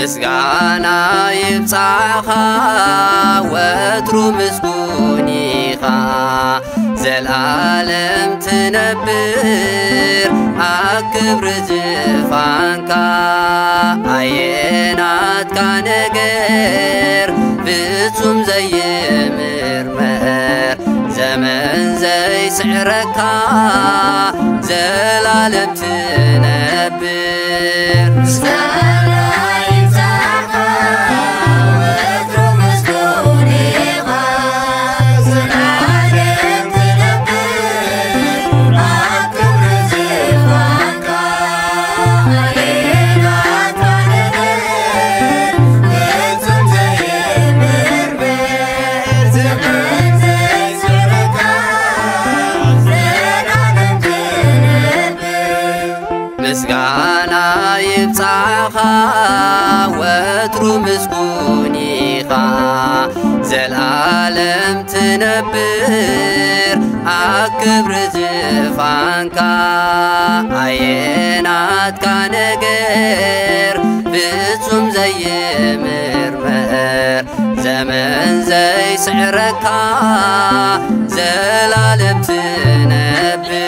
ምስጋና ይብጻኻ፣ ወትሩ ምስጉን ኢኻ፣ ዘልኣለም ትነብር ኣብ ክብሪ ዝፋንካ። ኣየናትካ ነገር ፍጹም ዘይምርመር፣ ዘመን ዘይስዕረካ፣ ዘላለም ትነብር። ምስጋና ይብጻሕካ፣ ወትሩ ምስጉን ኢኻ፣ ዘላለም ትነብር ኣብ ክብሪ ዝፋንካ። ኣየናትካ ነገር ፍጹም ዘይምርመር፣ ዘመን ዘይስዕረካ፣ ዘላለም ትነብር። ምስጋና ይብጻኻ፣ ወትሩ ምስጉን ኢኻ፣ ዘልኣለም ትነብር ኣብ ክብሪ ዝፋንካ። ኣየናትካ ነገር ፍጹም ዘይምርመር፣ ዘመን ዘይስዕረካ፣ ዘላለም ትነብር።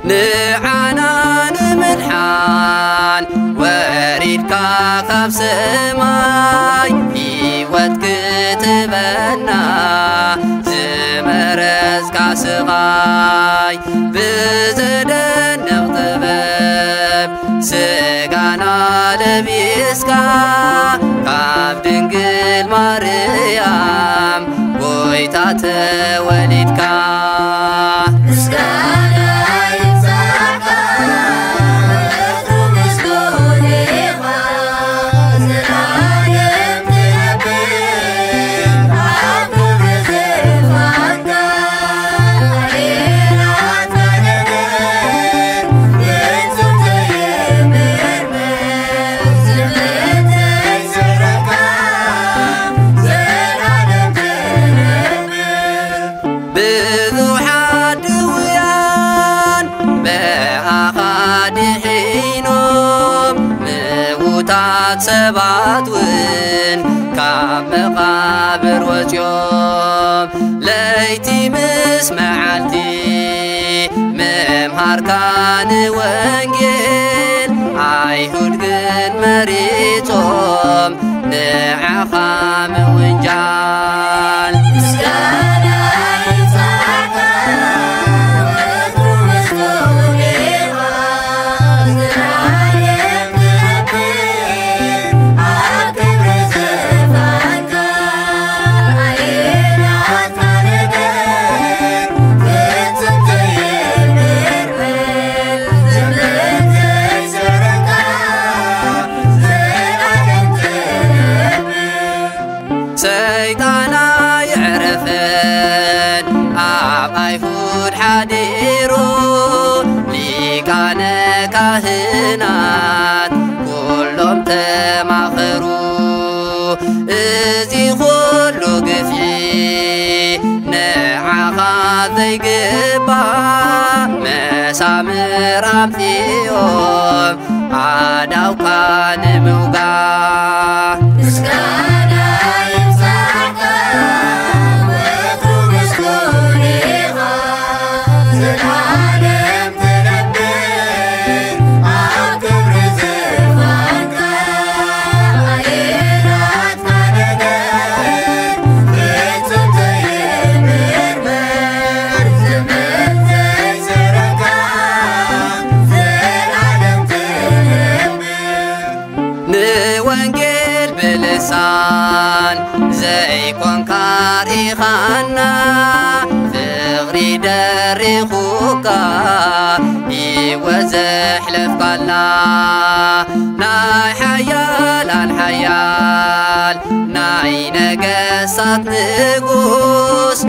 ንዓና ንምድሓን ወሪድካ ካብ ሰማይ፣ ህይወት ክትበና ዝመረጽካ ስቓይ፣ ብዘደንቕ ጥበብ ስጋና ለቢስካ፣ ካብ ድንግል ማርያም ጎይታ ተወሊድካ። ምስጋና ይብጻሕካ፣ ወትሩ ምስጉን ኢኻ፣ ዘላለም ትነብር ኣብ ክብሪ ዝፋንካ። ብዙሓት ድውያን ብኣኻ ድሒኖም፣ ምዉታት ሰባት እውን ካብ መቓብር ወጺኦም። ለይቲ ምስ መዓልቲ ምምሃርካ ንወንጌል፣ ኣይሁድ ግን መሪጾም ንዓኻ ምውንጃል። ምስጋና ይብጻሕካ፣ ወትሩ ምስጉን ኢኻ፣ ዘላለም ትነብር ኣብ ክብሪ ዝፋንካ። ኣየናትካ ነገር ፍጹም ዘይምርመር፣ ዘመን ዘይስዕረካ፣ ዘላለም ትነብር። ሰይጣን ኣይዕረፈን ኣብ ኣይሁድ ሓዲሩ፣ ሊቃነ ካህናት ኩሎም ተማኸሩ። እዚ ኩሉ ግፍዒ ንዓኻ ዘይግባእ፣ መሳምር ኣምጺኦም ኣእዳውካ ንምውጋእ። ምስጋና ይብጻሕካ፣ ወትሩ ምስጉን ኢኻ፣ ዘላለም ትነብር ኣብ ክብሪ ዝፋንካ። ኣየናትካ ነገር ፍጹም ዘይምርመር፣ ዘመን ዘይስዕረካ፣ ዘላለም ትነብር። ንወንጌል ብልሳን ዘይኮንካ ርኢኻና፣ ፍቕሪ ደሪኹካ ህይወት ዘሕለፍካልና፣ ናይ ሓያላን ሓያል ኣይ ነገሳት ንጉስ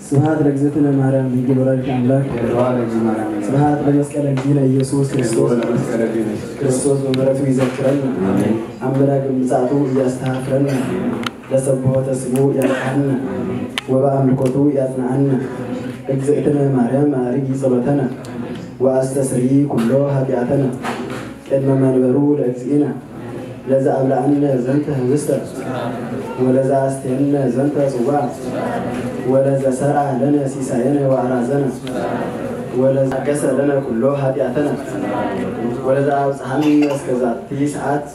ስብሐት ለእግዝእትነ ማርያም ድንግል ወላዲተ ኣምላክ። ስብሐት ለመስቀለ እግዚእነ ኢየሱስ ክርስቶስ። ክርስቶስ በምሕረቱ ይዘክረን። ኣመላገ ምጽኣቱ እያስተሃፍረን። ለሰብሖ ተስቦ ያብጽሐን ወበአምልኮቱ ያጽንዓን። እግዝእትነ ማርያም አርጊ ጸሎተነ ወአስተስሪ ኩሎ ኃጢአተነ ቅድመ መንበሩ ለእግዚእነ። ለዘ አብልዐነ ዘንተ ህብስተ ወለዘ አስተየነ ዘንተ ጽዋ ወለዘ ሰርዐ ለነ ሲሳየነ ወአራዘነ ወለዘ አገሰ ለነ ኩሎ ኃጢአተነ ወለዘ አብጽሐነ እስከ ዛቲ ሰዓት።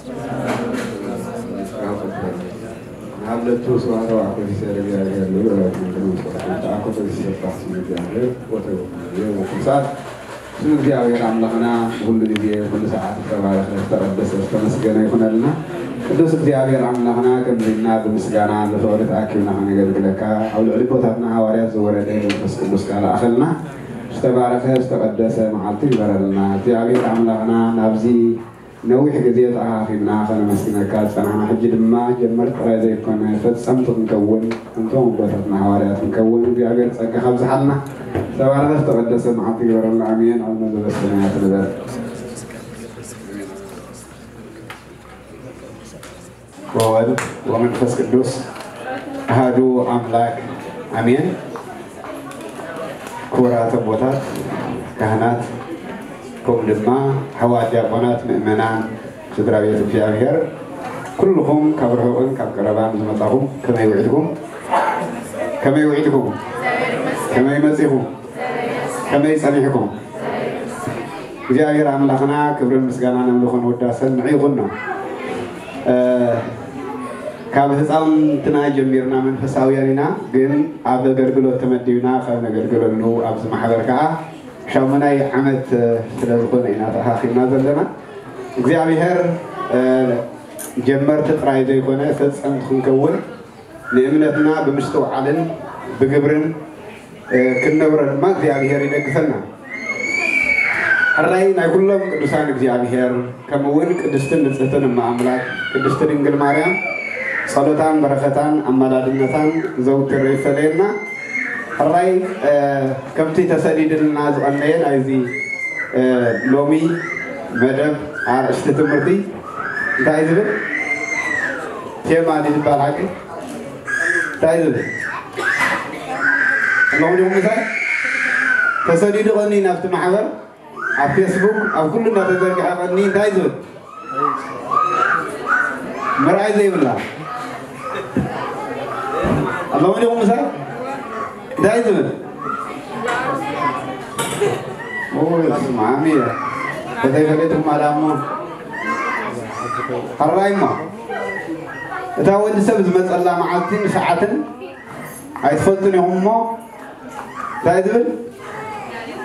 ናብለቱ ስብሐተ ወአኮ ሲሳይ ለእግዚአብሔር ንብረት መንግስቱ ተአኮ ሲሰባሕ ስም እግዚአብሔር ወተወክል ወኩል ሰዓት። ስም እግዚአብሔር አምላኽና ብኹሉ ግዜ ብኹሉ ሰዓት ዝተባረኸ ዝተቐደሰ ዝተመስገነ ይኹነልና። ቅዱስ እግዚኣብሔር ኣምላኽና፣ ከምዚ ኢልና ብምስጋና ብፍቕሪ ተኣኪብና ከነገልግለካ፣ ኣብ ልዕሊ ኣቦታትና ሃዋርያት ዝወረደ መንፈስ ቅዱስ ቃል ኣኸልና ዝተባረኸ ዝተቐደሰ መዓልቲ ይግበረልና። እግዚኣብሔር ኣምላኽና፣ ናብዚ ነዊሕ ግዜ ተኣኻኺብና ከነመስግነካ ዝጸናሕና፣ ሕጂ ድማ ጀመርቲ ጥራይ ዘይኮነ ፈጸምቲ ክንከውን፣ ከምቶም ኣቦታትና ሃዋርያት ክንከውን እግዚኣብሔር ጸጋ ካብዝሓልና። ዝተባረኸ ዝተቐደሰ መዓልቲ ይግበረልና። ኣሜን። ኣብ መበበሰናያት ንበር። ወወልድ ወመንፈስ ቅዱስ ኣሃዱ ኣምላክ ኣሜን። ክቡራት ኣቦታት ካህናት፣ ከምኡ ድማ ኣሕዋት ዲያቆናት፣ ምእመናን፣ ስድራ ቤት እግዚኣብሔር፣ ኩልኹም ካብ ርሑቕን ካብ ቀረባን ዝመጻኹም ከመይ ውዒልኩም? ከመይ ውዒልኩም? ከመይ መጺኹም? ከመይ ጸኒሕኩም? እግዚኣብሔር ኣምላኽና ክብርን ምስጋናን ኣምልኾን ውዳሰን ንዕኡ ይኹኖ። እ፣ ካብ ህፃውንትና ጀሚርና መንፈሳውያን ኢና፣ ግን ኣብ ኣገልግሎት ተመዲብና ካብ ነገልግለሉ ኣብዚ ማሕበር ከዓ ሻሙናይ ዓመት ስለ ዝኾነ ኢና ተኣኻኺብና ዘለና። እግዚኣብሔር፣ እ፣ ጀመርቲ ጥራይ ዘይኮነ ፈጸምቲ ክንከውን ንእምነትና ብምስትውዓልን ብግብርን፣ እ፣ ክንነብሮ ድማ እግዚኣብሔር ይደግፈና። ሕራይ ናይ ኩሎም ቅዱሳን እግዚኣብሔር፣ ከምኡ እውን ቅድስትን ንጽህትን እመ ኣምላክ ቅድስቲ ድንግል ማርያም ጸሎታን በረኸታን ኣማላድነታን ዘውትር ይፈለየና። ሕራይ፣ እ፣ ከምቲ ተሰዲድልና ዝቐነየ ናይዚ፣ እ፣ ሎሚ መደብ ኣርእስቲ ትምህርቲ እንታይ ዝብል? ቴማ ድዩ ዝበሃል ሓቂ? እንታይ ዝብል? ኣለኹም ዲኹም ምሳይ? ተሰዲዱ ቀኒ ናብቲ ማሕበር፣ ኣብ ፌስቡክ፣ ኣብ ኩሉ እናተዘርግሐ ቀኒ እንታይ ዝብል? ምርኣይ ዘይብላ። ኣለኹም ዲኹም ምሳይ? እንታይ ዝብል? ኦይ፣ ስማሚ እያ። ከተይፈለጥኩም ኣላ እሞ። ሕራይ እሞ። እታ ወዲ ሰብ ዝመጸላ መዓልትን ሰዓትን ኣይትፈልጡን ኢኹም እሞ፣ እንታይ ዝብል?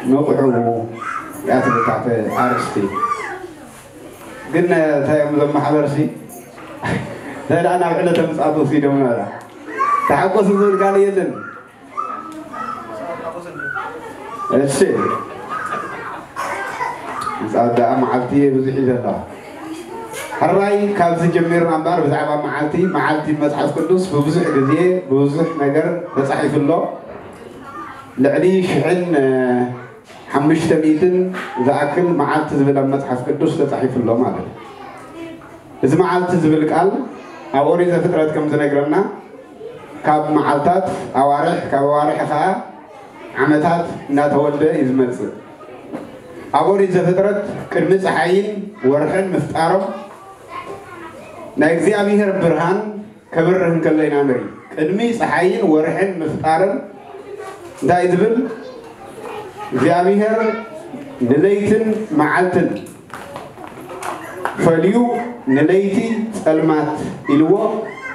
ንቕሑ እያ ትብል ታሕቲ ኣርእስቲ። ግን እንታይ እዮም እዞም ማሕበርሲ? እንታይ ደኣ ናብ ዕለተ ምጽኣቱ ወሲዶም ነራ። ተሓጎሱ ዝብል ቃል የለን። እሺ። ምጽኣት ደኣ መዓልቲ ብዙሕ እዩ ዘለዋ። ሕራይ ካብዚ ጀሚርና እምበኣር ብዛዕባ መዓልቲ፣ መዓልቲ መጽሓፍ ቅዱስ ብብዙሕ ግዜ ብብዙሕ ነገር ተጻሒፉ ኣሎ። ልዕሊ ሽሕን፣ እ፣ ሓሙሽተ ሚእትን ዝኣክል መዓልቲ ዝብል ኣብ መጽሓፍ ቅዱስ ተጻሒፉ ኣሎ ማለት እዩ። እዚ መዓልቲ ዝብል ቃል ኣብ ኦሪት ዘፍጥረት ከም ዝነግረና ካብ መዓልታት ኣዋርሕ፣ ካብ ኣዋርሕ ኸዓ ዓመታት እናተወልደ እዩ ዝመጽእ። ኣብ ኦሪት ዘፍጥረት ቅድሚ ጸሓይን ወርሕን ምፍጣሮም ናይ እግዚኣብሔር ብርሃን ከብርህ እንከሎ ኢና ንርኢ። ቅድሚ ጸሓይን ወርሕን ምፍጣርን እንታይ ዝብል? እግዚኣብሔር ንለይትን መዓልትን ፈልዩ ንለይቲ ጸልማት ኢልዎ፣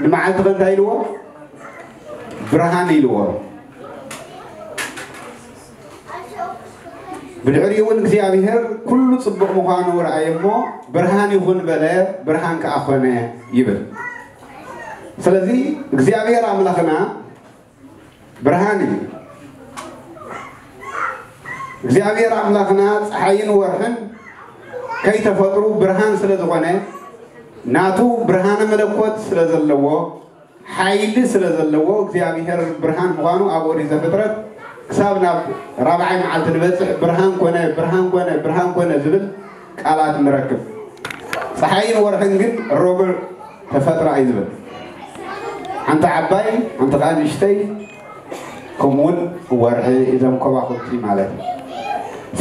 ንመዓልቲ ከ እንታይ ኢልዎ? ብርሃን ኢልዎ። ብድሕሪኡ እውን እግዚኣብሔር ኩሉ ጽቡቕ ምዃኑ ረኣየ እሞ፣ "ብርሃን ይኹን" በለ፣ ብርሃን ከኣ ኾነ ይብል። ስለዚ እግዚኣብሔር ኣምላኽና ብርሃን እዩ። እግዚኣብሔር ኣምላኽና ጸሓይን ወርሕን ከይተፈጥሩ ብርሃን ስለ ዝኾነ፣ ናቱ ብርሃነ መለኮት ስለ ዘለዎ፣ ሓይሊ ስለ ዘለዎ እግዚኣብሔር ብርሃን ምዃኑ ኣብ ኦሪት ዘፍጥረት ክሳብ ናብ ራብዓይ መዓልቲ ንበጽሕ ብርሃን ኮነ፣ ብርሃን ኮነ፣ ብርሃን ኮነ ዝብል ቃላት ንረክብ። ጸሓይን ወርሕን ግን ረቡዕ ተፈጥራ እዩ ዝብል። ሓንቲ ዓባይ፣ ሓንቲ ከኣ ንእሽተይ፣ ከምኡውን ወርሒ፣ እዞም ከዋኽብቲ ማለት እዩ።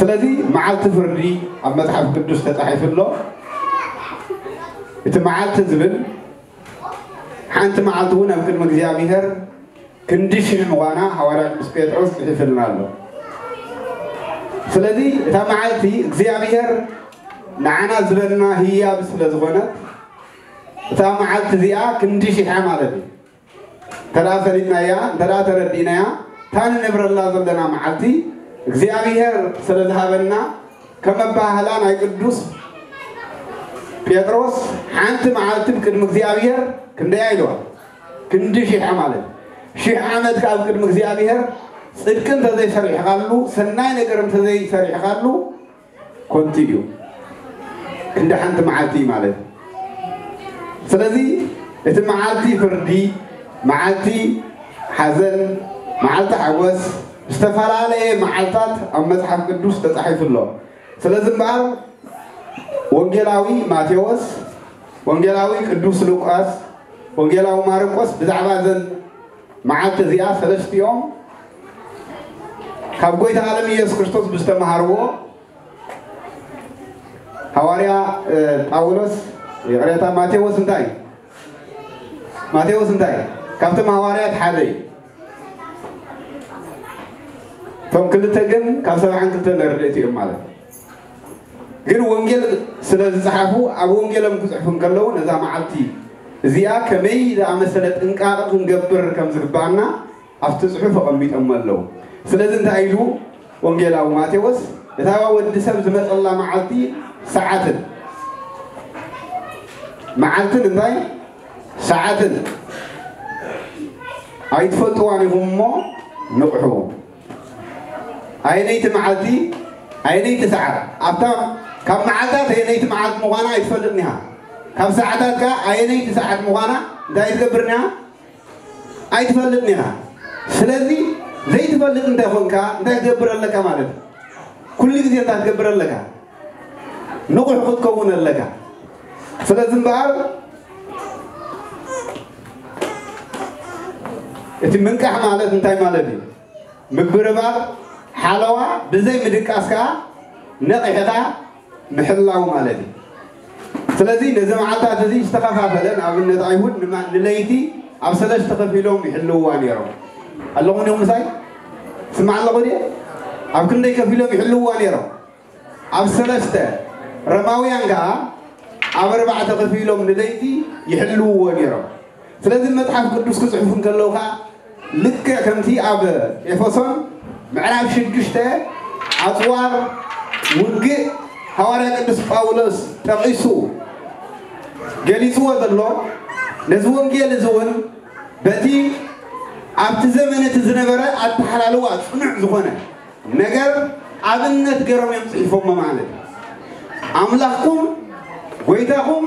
ስለዚ መዓልቲ ፍርዲ ኣብ መጽሓፍ ቅዱስ ተጻሒፉ ኣሎ። እቲ መዓልቲ ዝብል ሓንቲ መዓልቲ እውን ኣብ ቅድሚ እግዚኣብሔር ክንዲ ሽሕ ምዃና ሃዋርያ ቅዱስ ጴጥሮስ ጽሒፍልና ኣሎ። ስለዚ እታ መዓልቲ እግዚኣብሔር ንዓና ዝበልና ህያብ ስለ ዝኾነት፣ እታ መዓልቲ እዚኣ ክንዲ ሽሕ እያ ማለት እዩ። እንተ ደኣ ፈሊጥናያ፣ እንተ ደኣ ተረዲእናያ፣ እታ ንነብረላ ዘለና መዓልቲ እግዚኣብሔር ስለ ዝሃበና፣ ከም ኣበሃህላ ናይ ቅዱስ ጴጥሮስ ሓንቲ መዓልቲ ብቅድሚ እግዚኣብሔር ክንደያ ኢልዋ? ክንዲ ሺሕ ማለት። ሺሕ ዓመት ካብ ቅድሚ እግዚኣብሔር ጽድቂ እንተዘይሰሪሕኻሉ፣ ሰናይ ነገር እንተዘይሰሪሕኻሉ፣ ኮንቲ እዩ። ክንዲ ሓንቲ መዓልቲ ማለት እዩ። ስለዚ እቲ መዓልቲ ፍርዲ፣ መዓልቲ ሓዘን፣ መዓልቲ ሓጎስ፣ ዝተፈላለየ መዓልታት ኣብ መጽሓፍ ቅዱስ ተጻሒፉ ኣሎ። ስለዚ እምበኣር ወንጌላዊ ማቴዎስ፣ ወንጌላዊ ቅዱስ ሉቃስ፣ ወንጌላዊ ማርቆስ ብዛዕባ እዘን መዓልቲ እዚኣ ሰለስቲኦም ካብ ጎይታ ዓለም ኢየሱስ ክርስቶስ ብዝተምሃርዎ፣ ሃዋርያ ጳውሎስ፣ ይቕሬታ፣ ማቴዎስ እንታይ እዩ? ማቴዎስ እንታይ እዩ? ካብቶም ሃዋርያት ሓደ እዩ። እቶም ክልተ ግን ካብ ሰብዓን ክልተን ኣርድእቲ እዮም ማለት እዩ። ግን ወንጌል ስለ ዝጸሓፉ፣ ኣብ ወንጌሎም ክጽሕፉ እንከለዉ፣ ነዛ መዓልቲ እዚኣ ከመይ ዝኣመሰለ ጥንቃቐ ክንገብር ከም ዝግባኣና ኣብቲ ጽሑፍ ኣቐሚጦሞ ኣለዉ። ስለዚ እንታይ ኢሉ ወንጌላዊ ማቴዎስ? እታ ወዲ ሰብ ዝመጸላ መዓልቲ፣ ሰዓትን፣ መዓልትን እንታይ ሰዓትን ኣይትፈልጥዋን ኢኹም እሞ ንቕሑ። ኣየነይቲ መዓልቲ፣ ኣየነይቲ ሰዓት፣ ኣብታ ካብ መዓልታት ኣየነይቲ መዓልቲ ምዃና ኣይትፈልጥን ኢኻ። ካብ ሰዓታት ከኣ ኣየነይቲ ሰዓት ምዃና እንታይ ትገብር ኢኻ? ኣይትፈልጥን ኢኻ። ስለዚ ዘይትፈልጥ እንተ ኾንካ እንታይ ትገብር ኣለካ ማለት እዩ? ኩሉ ግዜ እንታይ ትገብር ኣለካ? ንቑሕ ክትከውን ኣለካ። ስለዚ እምበኣር እቲ ምንቃሕ ማለት እንታይ ማለት እዩ? ምግብርባር፣ ሓለዋ፣ ብዘይ ምድቃስ ከኣ ነቒሕኻ ምሕላው ማለት እዩ። ስለዚ ነዚ መዓልታት እዚ ዝተኸፋፈለ፣ ንኣብነት ኣይሁድ ንማ-፣ ንለይቲ ኣብ ሰለስተ ከፊሎም ይሕልውዋ ነይሮም። ኣለኹም ዲኹም ምሳይ? ስማዕ ኣለኹ ድየ? ኣብ ክንደይ ከፊሎም ይሕልውዋ ነይሮም? ኣብ ሰለስተ። ረማውያን ከኣ ኣብ ኣርባዕተ ከፊሎም ንለይቲ ይሕልውዎ ነይሮም። ስለዚ መጽሓፍ ቅዱስ ክጽሕፉ እንከለዉ ከኣ ልክዕ ከምቲ ኣብ ኤፌሶን ምዕራፍ ሽዱሽተ ኣጽዋር ውግእ ሃዋርያ ቅዱስ ጳውሎስ ጠቒሱ ገሊጽዎ ዘሎ፣ ነዚ ወንጌል እዚ እውን በቲ ኣብቲ ዘመን እቲ ዝነበረ ኣተሓላልዋ ጽኑዕ ዝኾነ ነገር ኣብነት ገይሮም እዮም ጽሒፎሞ ማለት እዩ። ኣምላኽኩም፣ ጎይታኹም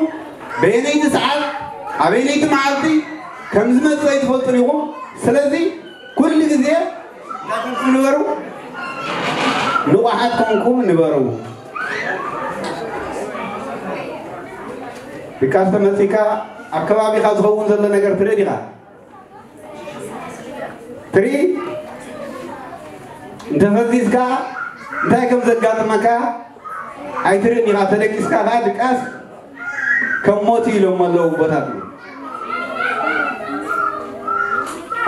በየነይቲ ሰዓት፣ ኣበየነይቲ መዓልቲ ከም ዝመጽእ ኣይትፈልጡን ኢኹም። ስለዚ ኩሉ ግዜ እንታይ ኮንኩም ንበሩ? ንቑሓት ኮንኩም ንበሩ። ድቃስ ተመጺካ ኣብ ከባቢኻ ዝኸውን ዘሎ ነገር ትርኢ ዲኻ? ትርኢ? እንተፈዚዝካ እንታይ ከም ዘጋጥመካ ኣይትርእን ኢኻ። ተደቂስካ ከኣ ድቃስ ከም ሞት እዩ ኢሎም ኣለዉ ኣቦታትና።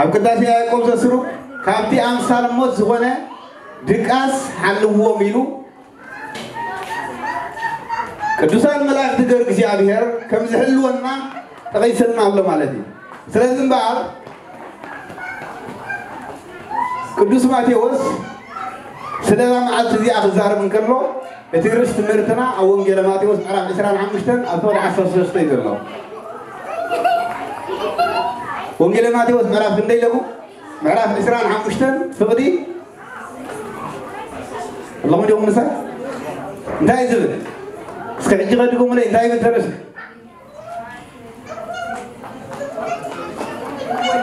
ኣብ ቅዳሴ ያዕቆብ ዘስሩግ ካብቲ ኣምሳል ሞት ዝኾነ ድቃስ ሓልዎም ኢሉ ቅዱሳን መላእክቲ ገር እግዚኣብሔር ከም ዝሕልወና ጠቒስልና ኣሎ ማለት እዩ። ስለዚ እምበኣር ቅዱስ ማቴዎስ ስለዛ መዓልቲ እዚኣ ክዛረብ እንከሎ፣ እቲ ርእሲ ትምህርትና ኣብ ወንጌለ ማቴዎስ ምዕራፍ ዕስራን ሓሙሽተን ኣብ ፍቕዲ ዓሰርተ ሰለስተ እዩ ዘሎ። ወንጌለ ማቴዎስ ምዕራፍ ክንደይ ኣለኹ? ምዕራፍ ዕስራን ሓሙሽተን ፍቕዲ ኣለኹም ዲኹም ምሳይ? እንታይ እዩ ዝብል? እስከ ሕጂ ከድግሙለይ፣ እንታይ ይብል ተረስ?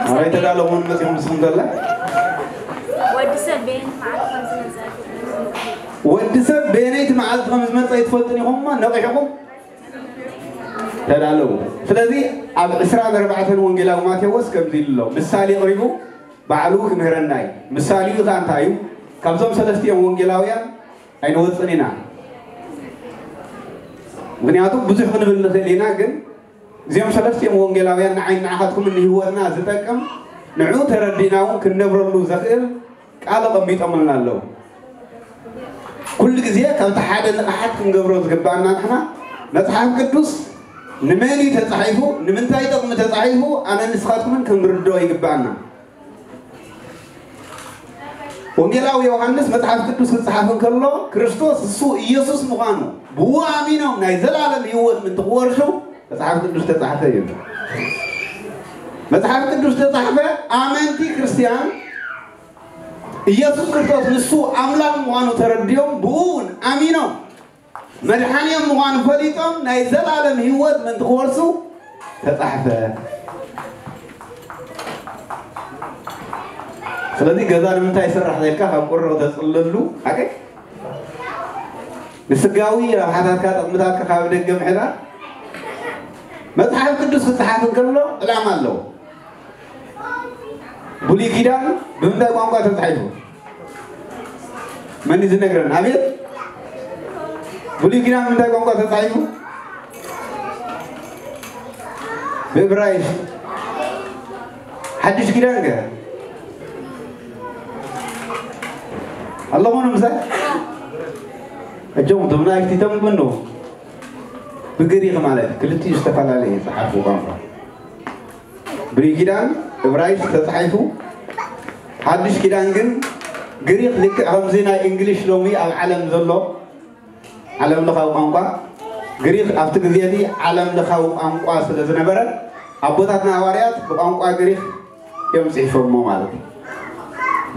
ኣበይ ተዳለኹም መጺኹም ንስኹም ዘላ? ወዲ ሰብ በየነይቲ መዓልቲ ከም ዝመጸ ወዲ ሰብ በየነይቲ መዓልቲ ከም ዝመጸ ኣይትፈልጡን ኢኹም እሞ ነቒሕኹም ተዳለዉ። ስለዚ ኣብ ዕስራን ኣርባዕተን ወንጌላዊ ማቴዎስ ከምዚ ኢሉ ኣሎ፣ ምሳሌ ኣቕሪቡ ባዕሉ ክምህረና እዩ። ምሳሌኡ ከኣ እንታይ እዩ? ካብዞም ሰለስቲኦም ወንጌላውያን ኣይንወጽን ኢና። ምኽንያቱ ብዙሕ ክንብል ንኽእል ኢና፣ ግን እዚኦም ሰለስቲኦም ወንጌላውያን ንዓይን ንዓኻትኩምን ንህይወትና ዝጠቅም፣ ንዑ ተረዲእና እውን ክንነብረሉ ዘኽእል ቃል ኣቐሚጦምልና ኣለዉ። ኩሉ ግዜ ካብቲ ሓደ ንቕሓት ክንገብሮ ዝግባኣና ንሕና መጽሓፍ ቅዱስ ንመን እዩ ተጻሒፉ፣ ንምንታይ ጥቕሚ ተጻሒፉ፣ ኣነ ንስኻትኩምን ክንርድኦ ይግባኣና። ወንጌላዊ ዮሃንስ መጽሓፍ ቅዱስ ክጸሓፍ እንከሎ ክርስቶስ እሱ ኢየሱስ ምዃኑ ብኡ ኣሚኖም ናይ ዘላለም ህይወት ምእንቲ ክወርሱ መጽሓፍ ቅዱስ ተጻሕፈ እዩ። መጽሓፍ ቅዱስ ተጻሕፈ። ኣመንቲ ክርስትያን ኢየሱስ ክርስቶስ ንሱ ኣምላኽ ምዃኑ ተረዲኦም ብኡ እውን ኣሚኖም መድሓኒኦም ምዃኑ ፈሊጦም ናይ ዘላለም ህይወት ምእንቲ ክወርሱ ተጻሕፈ። ስለዚ ገዛ ንምንታይ ይስራሕ ኢልካ ካብ ቁሮ ተጽለሉ ሓቀይ ንስጋዊ ረብሓታትካ ጥቕምታትካ ካብ ደገ ምሕዳር መጽሓፍ ቅዱስ ክጽሓፍ እንከሎ ዕላማ ኣለዎ። ብሉይ ኪዳን ብምንታይ ቋንቋ ተጻሒፉ? መን እዩ ዝነግረን? ኣቤት ብሉይ ኪዳን ብምንታይ ቋንቋ ተጻሒፉ? ብእብራይስጥ። ሓድሽ ኪዳን ከ ኣለኹም ምሳይ? እጆም እቶም ናይፍቲ ተንብብ ኣለዉ። ብግሪኽ ማለት ክልቲኡ ዝተፈላለየ እዩ ዝሓልፉ ቋንቋ። ብሉይ ኪዳን እብራይስጥ ተጻሒፉ፣ ሓድሽ ኪዳን ግን ግሪኽ። ልክዕ ከምዚ ናይ እንግሊሽ ሎሚ ኣብ ዓለም ዘሎ ዓለም ለኻዊ ቋንቋ፣ ግሪኽ ኣብቲ ግዜ እቲ ዓለም ለኻዊ ቋንቋ ስለ ዝነበረ ኣቦታትና ሃዋርያት ብቋንቋ ግሪኽ እዮም ጽሒፎሞ ማለት እዩ።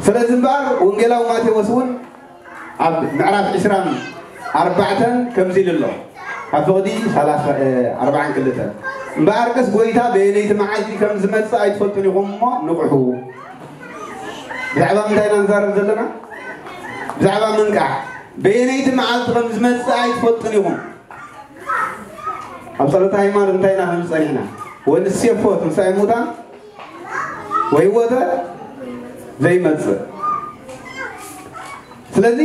ስለዚ እምበኣር ወንጌላዊ ማቴዎስ እውን ኣብ ምዕራፍ ዕስራን ኣርባዕተን ከምዚ ኢሉ ኣሎ። ኣብ ፍቕዲ ሰላሳ፣ እ፣ ኣርባዓን ክልተን። እምበኣርከስ ጐይታ በየነይቲ መዓልቲ ከም ዝመጽእ ኣይትፈልጡን ኢኹም እሞ ንቕሑ። ብዛዕባ ምንታይ ኢና ንዛረብ ዘለና? ብዛዕባ ምንቃሕ። በየነይቲ መዓልቲ ከም ዝመጽእ ኣይትፈልጡን ኢኹም። ኣብ ጸሎተ ሃይማኖት እንታይ ኢና ክንብል ጸኒሕና? ወንሴፎ ትንሳኤ ሙታን ወይወተ ዘይመጽእ። ስለዚ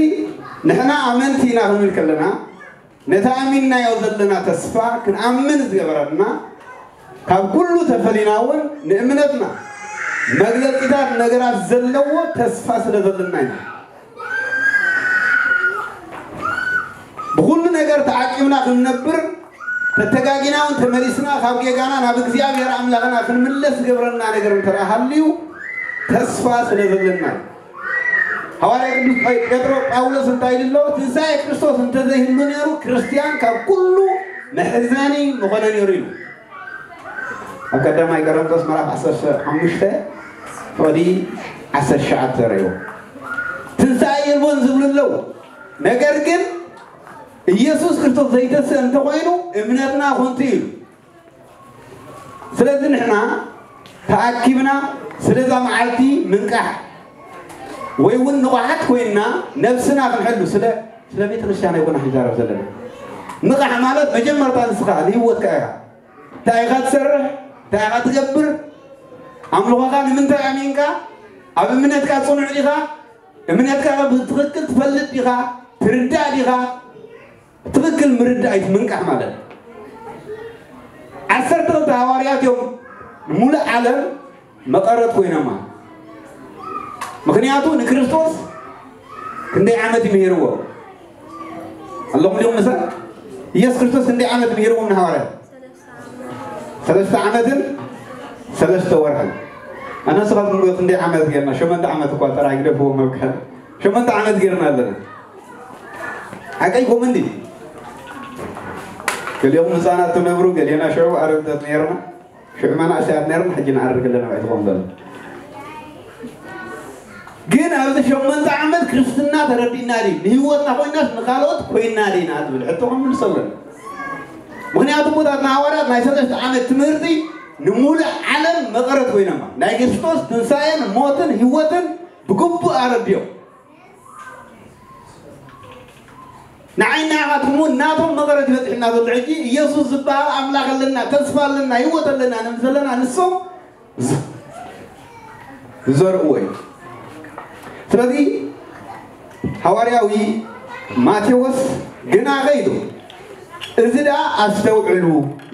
ንሕና ኣመንቲ ኢና ክንብል ከለና ነቲ ኣሚንናዮ ዘለና ተስፋ ክንኣምን ዝገበረና ካብ ኩሉ ተፈሊና እውን ንእምነትና መግለጺታት ነገራት ዘለዎ ተስፋ ስለ ዘለና ኢና። ብኹሉ ነገር ተዓቂብና ክንነብር ተተጋጊና እውን ተመሊስና ካብ ጌጋና ናብ እግዚኣብሔር ኣምላኽና ክንምለስ ዝገብረና ነገር እንተ ደኣ ሃልዩ ተስፋ ስለ ዘለና እዩ። ሃዋርያ ቅዱስ ጳ- ጴጥሮ ጳውሎስ እንታይ ኢሉ ኣሎ? ትንሳኤ ክርስቶስ እንተዘይህሉ ነይሩ ክርስትያን ካብ ኩሉ መሕዘኒ ምኾነ ነይሩ ኢሉ። ኣብ ቀዳማይ ቆሮንቶስ ምዕራፍ ዓሰርተ ሓሙሽተ ፍቕዲ ዓሰርተ ትሽዓተ ርእዮ። ትንሳኤ የልቦን ዝብሉ ኣለዉ። ነገር ግን ኢየሱስ ክርስቶስ ዘይተስእ እንተኾይኑ እምነትና ኮንቱ እዩ። ስለዚ ንሕና ተኣኪብና ስለዛ መዓልቲ ምንቃሕ ወይ እውን ንቑሓት ኮይንና ነብስና ክንሕሉ ስለ ስለ ቤተ ክርስቲያን ኣይኮና ክንዛረብ ዘለና። ንቓሕ ማለት መጀመርታ ንስኻ ንህይወትካ ኢኻ። እንታይ ኢኻ ትሰርሕ? እንታይ ኢኻ ትገብር? ኣምልኾኻ ንምንታይ ኣሚንካ? ኣብ እምነትካ ጽኑዕ ዲኻ? እምነትካ ብትኽክል ትፈልጥ ዲኻ? ትርዳእ ዲኻ? ትኽክል ምርዳእ እዩ ምንቃሕ ማለት። ዓሰርተ ክልተ ሃዋርያት እዮም ንሙሉእ ዓለም መቐረት ኮይኖማ። ምኽንያቱ ንክርስቶስ ክንደይ ዓመት እዩ ምሂርዎ? ኣለኹም ዲኹም ምሳይ? ኢየሱስ ክርስቶስ ክንደይ ዓመት ምሂርዎም ንሃዋርያት? ሰለስተ ዓመትን ሰለስተ ወርሕን። ኣነ ንስኻትኩም ከ ክንደይ ዓመት ጌርና? ሸሞንተ ዓመት እኳ ጥራይ ግደፍዎ ምባል። ሸሞንተ ዓመት ጌርና ኣለና። ሓቀይኩም እንዲ? ገሊኹም ህፃናት ትነብሩ፣ ገሊና ሽዑ ኣረግቶት ነይርና። ሽዑ መናእሰያት ነይርና፣ ሕጂ ንዓርግ ኣለና ባይ ትኾን ዘሎ። ግን ኣብዚ ሸሞንተ ዓመት ክርስትና ተረዲእና ድዩ? ንህይወትና ኮይናስ ንኻልኦት ኮይና ዲና ትብል ሕቶ ክንምልሰሉ ኣለና። ምኽንያቱ ኣቦታትና ሃዋርያት ናይ ሰለስተ ዓመት ትምህርቲ ንሙሉእ ዓለም መቐረት ኮይኖማ። ናይ ክርስቶስ ትንሳኤን ሞትን ህይወትን ብግቡእ ኣረድዮም። ንዓይ ንዓኻትኩም እውን ናቶም መቐረት ይበፅሕና ዘሎ። ሕጂ ኢየሱስ ዝበሃል ኣምላኽ ኣለና፣ ተስፋ ኣለና፣ ህይወት ኣለና ንብል ዘለና ንሶም ዝ- ዝዘርእዎ እዩ። ስለዚ ሃዋርያዊ ማቴዎስ ግና ከይዱ እዚ ደኣ ኣስተውዕሉ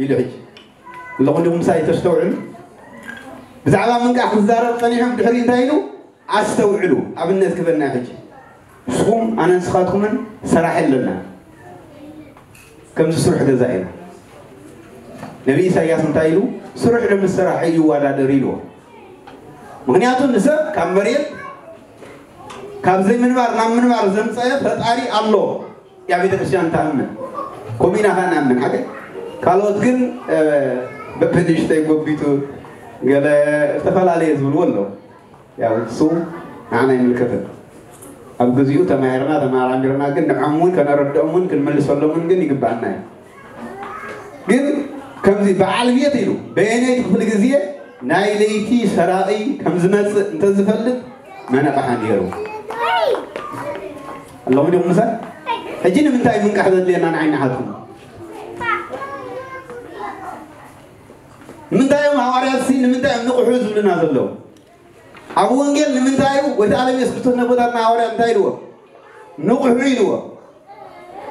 ኢሉ። ሕጂ ኣለኹም ዲኹም ምሳይ ተስተውዕሉ? ብዛዕባ ምንቃሕ ክዛረብ ጸኒሑ ድሕሪ እንታይ ኢሉ? ኣስተውዕሉ፣ ኣብነት ክበና ሕጂ። ንስኹም ኣነ ንስኻትኩምን ሰራሒ ኣለና። ከምዚ ስሩሕ ገዛ ኢና። ነቢ ኢሳያስ እንታይ ኢሉ? ስሩሕ ዶ ምስ ሰራሒ ይወዳደር ኢልዎ። ምኽንያቱ ንሰብ ካብ መሬት ካብ ዘይምንባር ናብ ምንባር ዘምፀአ ፈጣሪ ኣሎ። ያ ቤተ ክርስቲያን ትኣምን። ከምኡ ኢና ኸዓ ንኣምን ሓቀይ። ካልኦት ግን በብንእሽተይ ጎቢቱ ገለ ዝተፈላለየ ዝብልዎ ኣለዉ። ያው እሱ ንዓና ኣይምልከትን። ኣብ ግዚኡ ተማሂርና ተመራሚርና ግን ንዖም እውን ከነረድኦም እውን ክንምልሰሎም እውን ግን ይግባኣና እዩ። ግን ከምዚ በዓል ቤት ኢሉ በየነይቲ ክፍሊ ግዜ ናይ ለይቲ ሰራቒ ከም ዝመጽእ እንተዝፈልጥ መነቕሓ ነይሩ። ኣለኹም ዲኹም ምሳይ? ሕጂ ንምንታይ ምንቃሕ ዘድልየና ንዓይ ንዓኹም? ንምንታይ እዮም ሃዋርያት ሲ ንምንታይ እዮም ንቕሑ ዝብሉና ዘለዉ? ኣብ ወንጌል ንምንታይ እዩ ወይታ ዓለም የሱስ ክርስቶስ ነቦታትና ሃዋርያት እንታይ ኢልዎ? ንቕሑ ኢልዎ።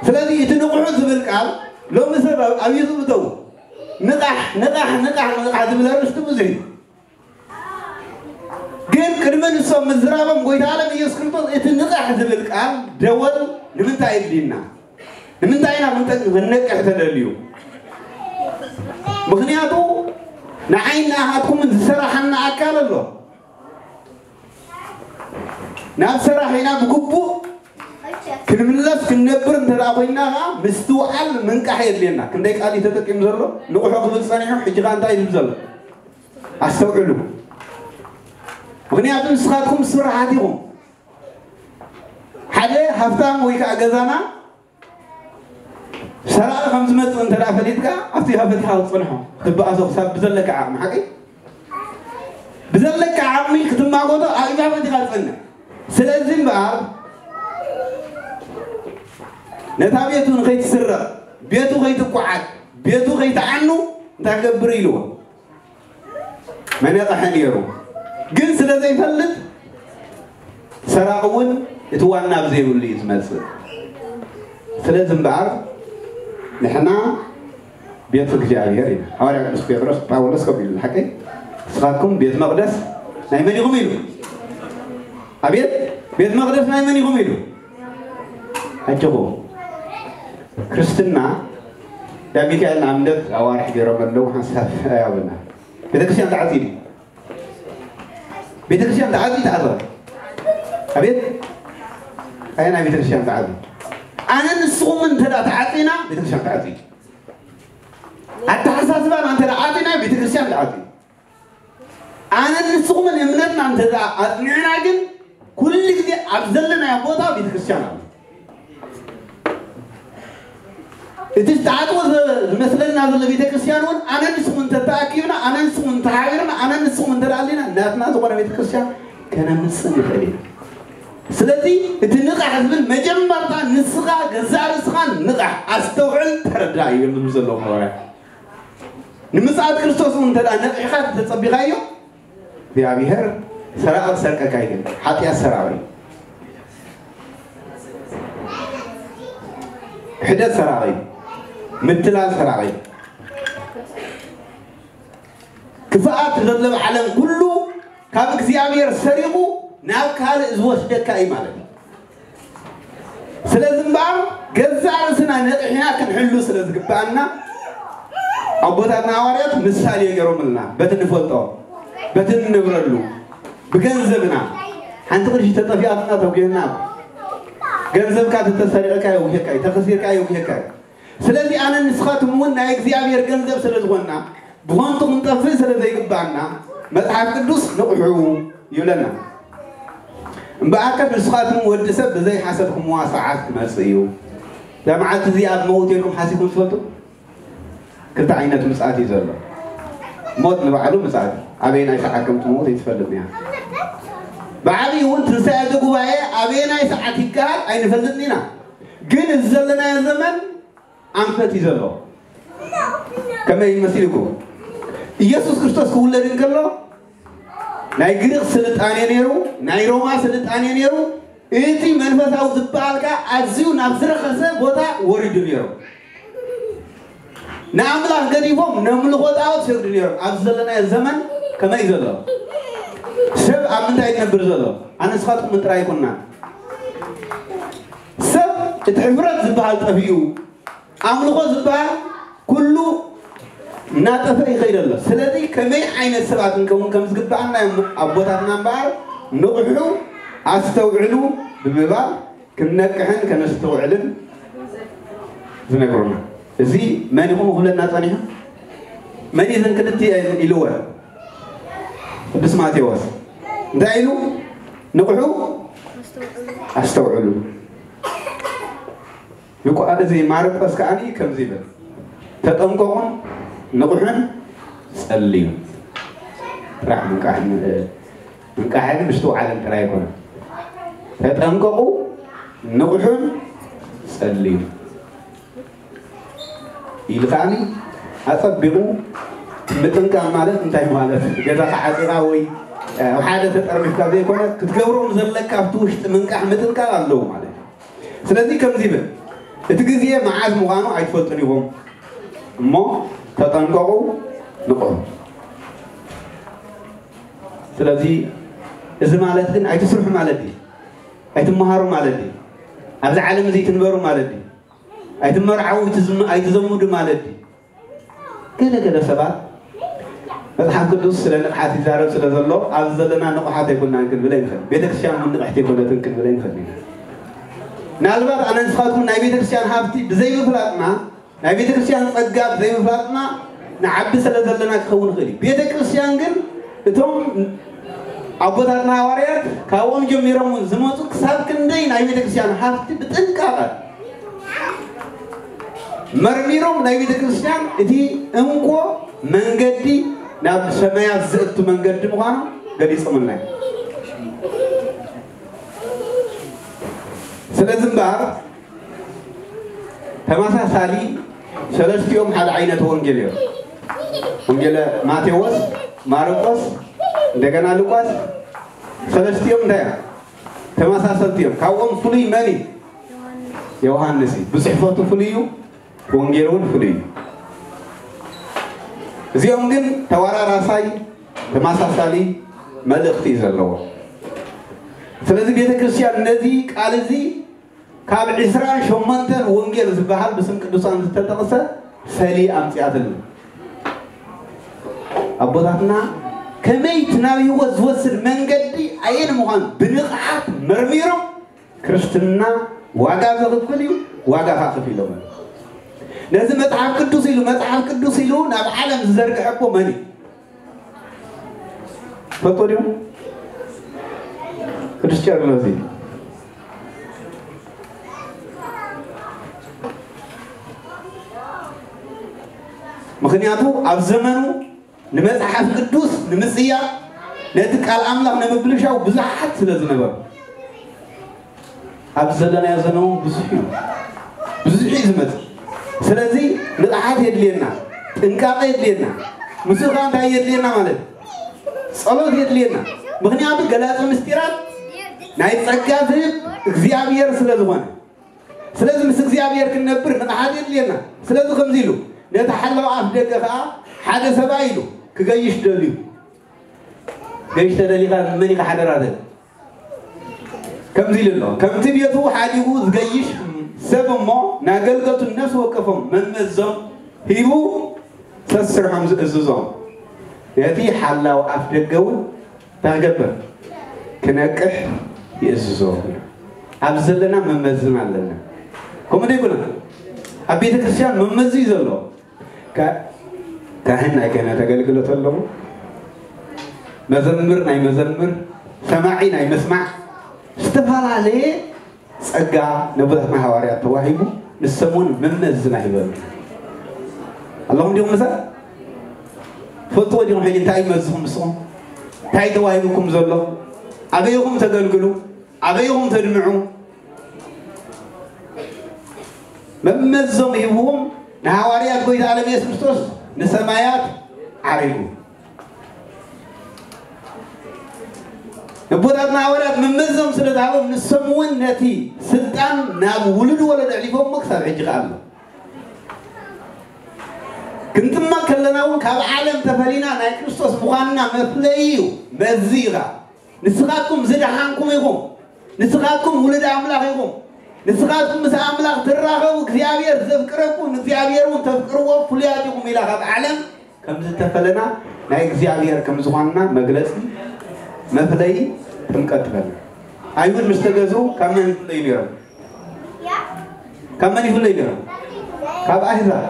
ስለዚ እቲ ንቕሑ ዝብል ቃል ሎሚ ሰብ ኣብ ኣብ ዩቱብ እተው ንቓሕ ንቓሕ ንቓሕ ንቓሕ ዝብል ኣርእስቲ ብዙሕ እዩ። ግን ቅድሚ ንሶም ምዝራቦም ጎይታ ዓለም ኢየሱስ ክርስቶስ እቲ ንቓሕ ዝብል ቃል ደወል ንምንታይ የድልየና? ንምንታይ ኢና ክንጠ- ክንነቅሕ ተደልዩ? ምኽንያቱ ንዓይ ንኣኻትኩምን ዝሰራሓና ኣካል ኣሎ። ናብ ሰራሕ ኢና ብግቡእ ክንምለስ ክንነብር እንተ ደኣ ኮይንና ኸዓ ምስትውዓል ምንቃሕ የድልየና። ክንደይ ቃል እዩ ተጠቂሙ ዘሎ? ንቑሑ ክብል ጸኒሑ፣ ሕጂ ኸዓ እንታይ ይብል ዘሎ? ኣስተውዕሉ። ምኽንያቱ ንስኻትኩም ስራሓት ኢኹም። ሓደ ሃፍታም ወይ ከዓ ገዛና ሰራቂ ከም ዝመፅእ እንተ ደኣ ፈሊጥካ ኣብቲ ሃፈት ኢኻ ክትፅንሖ ክትበኣሶ ክሳብ ብዘለካ ዓቕሚ ሓቂ ብዘለካ ዓቕሚ ክትማጎቶ ኣብ ኢኻ ፈት ኢኻ ትፅንሕ። ስለዚ እምበኣር ነታ ቤቱ ንኸይትስረቕ ቤቱ ከይትቋዓት ቤቱ ከይትዓኑ እንታይ ክገብር ኢልዎ መነቕሐ ነይሩ። ግን ስለ ዘይፈልጥ ሰራቒ እውን እቲ ዋና ኣብ ዘይብሉ እዩ ዝመፅእ። ስለዚ እምበኣር ንሕና ቤት እግዚኣብሔር ኢና። ሃዋርያ ቅዱስ ጴጥሮስ ጳውሎስ ከምኡ ኢሉ ሓቀይ ንስኻትኩም ቤት መቕደስ ናይ መን ኢኹም ኢሉ። ኣቤት ቤት መቕደስ ናይ መን ኢኹም ኢሉ። ኣጆኹም ክርስትና ዳ ሚካኤል ንኣብነት ኣዋርሕ ገይሮም ኣለዉ ሓንሳብ ያብና ቤተክርስትያን ተዓፂ ቤተክርስትያን ተዓፂ ተኣዘ ኣቤት ኣየና ቤተክርስትያን ተዓፂ ኣነ ንስኹም እንተ ተዓፂና ቤተክርስትያን ተዓፂ ኣተሓሳስባና እንተ ዓፂና ቤተክርስትያን ተዓፂ ኣነ ንስኹምን እምነትና እንተ ኣፅኒዕና ግን ኩሉ ግዜ ኣብ ዘለናዮ ቦታ ቤተክርስትያን ኣሎ። እቲ ዝተዓጥወ ዝመስለና ዘሎ ቤተክርስትያን እውን ኣነ ንስኹም እንተተኣኪብና ኣነ ንስኹም እንተሓቢርና ኣነ ንስኹም እንተደኣሊና ናትና ዝኾነ ቤተክርስትያን ከነምፅእ ንኽእል ኢና። ስለዚ እቲ ንቓሕ ዝብል መጀመርታ ንስኻ ገዛእ ርእስኻ ንቓሕ ኣስተውዕል ተረዳእ ይብል ዘለዎም ሃዋርያ ንምፅኣት ክርስቶስ እውን እንተ ነቒሕካ ተፀቢኻዮ እግዚኣብሔር ሰራቂ ክሰርቀካ ይግን ሓጢኣት ሰራቂ ክሕደት ሰራቂ ምትላል ሰራቂ ክፍኣት ዘለብ ዓለም ኩሉ ካብ እግዚኣብሔር ሰሪቑ ናብ ካልእ ዝወስደካ እዩ ማለት እዩ። ስለዚ እምበኣር ገዛእ ርእስና ነቕሕና ክንሕሉ ስለ ዝግብኣና ኣቦታትና ሃዋርያት ምሳሌ ገይሮምልና በቲ ንፈልጦ በቲ ንነብረሉ ብገንዘብና ሓንቲ ቅርሺ ተጠፊኣትና ተጒህና ገንዘብካ ተተሰሪቕካ የውሄካ እዩ ተኸሲርካ የውሄካ እዩ። ስለዚ ኣነ ንስኻትኩም እውን ናይ እግዚኣብሔር ገንዘብ ስለ ዝኾንና ብኾንቱ ክንጠፍእ ስለ ዘይግባና መፅሓፍ ቅዱስ ንቕሑ ይብለና። እምበኣርከስ ንስኻትኩም ወዲ ሰብ ብዘይሓሰብኩምዋ ሰዓት ክመፅእ እዩ። እዛ መዓልቲ እዚኣ ኣብ መውት ኢልኩም ሓሲብኩም ትፈልጡ? ክልተ ዓይነት ምፅኣት እዩ ዘሎ። ሞት ንባዕሉ ምፅኣት እዩ። ኣበየናይ ሰዓት ከም ትመውት ኣይትፈልጥን እያ። ብዓብዪ እውን ትንሳኤ ዘጉባኤ ኣበየናይ ሰዓት ይከሃል ኣይንፈልጥን ኢና። ግን እዚ ዘለናዮ ዘመን ኣንፈት እዩ ዘሎ። ከመይ መሲልኩም? ኢየሱስ ክርስቶስ ክውለድ እንከሎ ናይ ግሪኽ ስልጣኔ ነይሩ፣ ናይ ሮማ ስልጣኔ ነይሩ። እቲ መንፈሳዊ ዝበሃል ከኣ ኣዝዩ ናብ ዝረኸሰ ቦታ ወሪዱ ነይሩ። ንኣምላኽ ገዲፎም ነምልኾ ጣዖት ሰግዱ ነይሮም። ኣብዚ ዘለናዮ ዘመን ከመይ ዘሎ ሰብ ኣብ ምንታይ ይነብር ዘሎ? ኣነ ንስኻትኩም ጥራይ ኣይኮንና። ሰብ እቲ ሕፍረት ዝበሃል ጠፊኡ ኣምልኾ ዝበሃል ኩሉ እናጠፈ ይኸይድ ኣሎ። ስለዚ ከመይ ዓይነት ሰባት እንከውን ከም ዝግብኣና እዮም ኣቦታትና እምበኣር ንቕሑ ኣስተውዕሉ ብምባል ክንነቅሕን ከነስተውዕልን ዝነግሩና። እዚ መን ኢኹም ክብለና ጸኒሑ? መን እዩ እዘን ክልቲኤን ኢልወን? ቅዱስ ማቴዎስ እንታይ ኢሉ? ንቕሑ ኣስተውዕሉ። ሉቃ እዚ ማርቆስ ከኣ ከምዚ ይብል፣ ተጠንቀቑን ንቕሑን ጸልዩ። ጥራሕ ምንቃሕን ምንቃሕን ምስትውዓልን ጥራይ ኣይኮነን። ተጠንቀቑ ንቕሑን ጸልዩ ኢሉ ከኣኒ ኣጸቢቑ ምጥንቃቕ ማለት እንታይ ማለት? ገዛኻ ዓጺኻ ወይ ኣብ ሓደ ተጠርኒፍካ ዘይኮነ ክትገብሮም ዘለካ ኣብቲ ውሽጢ ምንቃሕ ምጥንቃቕ ኣለዎ ማለት እዩ። ስለዚ ከምዚ ይብል፣ እቲ ግዜ መዓዝ ምዃኑ ኣይትፈልጡን ኢኹም እሞ ተጠንቀቑ ንቕሑ። ስለዚ እዚ ማለት ግን ኣይትስርሑ ማለት ድዩ? ኣይትመሃሩ ማለት ድዩ? ኣብዚ ዓለም እዚ ኣይትንበሩ ማለት ድዩ? ኣይትመርዓዉ ኣይትዝም- ኣይትዘምዱ ማለት ድዩ? ገለ ገለ ሰባት መጽሓፍ ቅዱስ ስለ ንቕሓት ይዛረብ ስለ ዘሎ ኣብዚ ዘለና ንቑሓት ኣይኮናን ክንብል ኣይንኽእል። ቤተክርስትያን እውን ንቕሕቲ ኣይኮነትን ክንብል ኣይንኽእል ኢና። ምናልባት ኣነ ንስኻትኩም ናይ ቤተክርስትያን ሃብቲ ብዘይምፍላጥና ናይ ቤተክርስትያን ጸጋ ብዘይምፍላጥና ንዓቢ ስለ ዘለና ክኸውን ይኽእል እዩ። ቤተክርስትያን ግን እቶም ኣቦታትና ሃዋርያት ካብኦም ጀሚሮም እውን ዝመፁ ክሳብ ክንደይ ናይ ቤተክርስትያን ሃፍቲ ብጥንቃቐ መርሚሮም ናይ ቤተክርስትያን እቲ እንኮ መንገዲ ናብ ሰማያት ዘእቱ መንገዲ ምዃኑ ገሊፆምልና እዮም። ስለዚ እምበኣር ተመሳሳሊ ሰለስቲኦም ሓደ ዓይነት ወንጌል እዮም። ወንጌለ ማቴዎስ፣ ማርቆስ፣ እንደገና ሉቃስ ሰለስቲኦም እንታይ እዮም? ተመሳሰልቲ እዮም። ካብኦም ፍሉይ መን እዩ? ዮሃንስ እዩ። ብፅሕፈቱ ፍሉይ እዩ፣ ወንጌል እውን ፍሉይ እዩ። እዚኦም ግን ተወራራሳይ ተመሳሳሊ መልእኽቲ እዩ ዘለዎ። ስለዚ ቤተ ክርስቲያን ነዚ ቃል እዚ ካብ ዕስራን ሸሞንተን ወንጌል ዝበሃል ብስም ቅዱሳን ዝተጠቕሰ ፈሊ ኣምፅኣትልና። ኣቦታትና ከመይ እቲ ናብ ህይወት ዝወስድ መንገዲ ኣየን ምዃኑ ብንቕሓት መርሚሮም ክርስትና ዋጋ ዘኽፍል እዩ፣ ዋጋ ከዓ ከፊሎም። ነዚ መጽሓፍ ቅዱስ ኢሉ መጽሓፍ ቅዱስ ኢሉ ናብ ዓለም ዝዘርግሐ እኮ መን እዩ? ትፈልጦ ዲኹም? ቅዱስ ቄርሎስ እዩ። ምኽንያቱ ኣብ ዘመኑ ንመጽሓፍ ቅዱስ ንምጽያር ነቲ ቃል ኣምላኽ ንምብልሻው ብዙሓት ስለ ዝነበሩ ኣብዚ ዘለናዮ ዘመን እውን ብዙሕ እዩ፣ ብዙሕ እዩ ዝመጽእ። ስለዚ ንቕሓት የድልየና፣ ጥንቃቐ የድልየና። ምስኡ ከዓ እንታይ የድልየና ማለት ጸሎት የድልየና። ምኽንያቱ ገላጺ ምስጢራት ናይ ጸጋ ዝህብ እግዚኣብሔር ስለ ዝኾነ ስለዚ ምስ እግዚኣብሔር ክንነብር ንቕሓት የድልየና። ስለዚ ከምዚ ኢሉ ነቲ ሓላው ኣፍ ደገ ከዓ ሓደ ሰብኣይ ኢሉ ክገይሽ ደልዩ። ገይሽ ተደሊኻ መን ኢኻ ሓደራ ትብል? ከምዚ ኢሉ ኣሎ፣ ከምቲ ቤቱ ሓዲጉ ዝገይሽ ሰብ እሞ ንኣገልገልቱ ነፍሲ ወከፎም መመዞም ሂቡ ሰስርሖም ዝእዝዞም ነቲ ሓላው ኣፍ ደገ እውን እንታይ ክገብር ክነቅሕ ይእዝዞ። ኣብ ዘለና መመዝን ኣለና። ከምኡ ደይኮነ ኣብ ቤተ ክርስቲያን መመዝ እዩ ዘሎ። ካህን ናይ ክህነት ኣገልግሎት ኣለዎ። መዘምር ናይ መዘምር፣ ሰማዒ ናይ መስማዕ ዝተፈላለየ ጸጋ ነቦታትና ሃዋርያት ተዋሂቡ ንሶም እውን መመዝና ሂቦም ኣለኹም ዲኹም ምሳይ? ትፈልጥዎ ዲኹም ሕጂ እንታይ ይመዝኹም ንስኹም? እንታይ ተዋሂቡኩም ዘሎ? ኣበይኹም ተገልግሉ? ኣበይኹም ተድምዑ? መመዞም ሂብዎም ንሃዋርያት ጎይታ ዓለም የሱስ ክርስቶስ ንሰማያት ዓሪጉ። ነቦታትና ሃዋርያት መመዞም ስለ ዝሃቦም ንሶም እውን ነቲ ስልጣን ናብ ውሉድ ወለዶ ኣሕሊፎሞ ክሳብ ሕጂ ከኣ ኣሎ። ክንጥመቕ ከለና እውን ካብ ዓለም ተፈሊና ናይ ክርስቶስ ምዃንና መፍለዪ እዩ። መዚ ኢኻ ንስኻትኩም ዝደሓንኩም ኢኹም። ንስኻትኩም ውሉድ ኣምላኽ ኢኹም። ንስኻትኩም ምስ ኣምላኽ ትራኸቡ እግዚኣብሔር ዘፍቅረኩም ንእግዚኣብሔር እውን ተፍቅርዎ ፍሉያት ኢኹም ኢላ ካብ ዓለም ከም ዝተፈለና ናይ እግዚኣብሔር ከም ዝኾንና መግለፂ መፍለዪ ጥምቀት ትበል። ኣይሁድ ምስ ተገዝኡ ካብ መን ይፍለዩ ነይሮም? ካብ መን ይፍለዩ ነይሮም? ካብ ኣህዛብ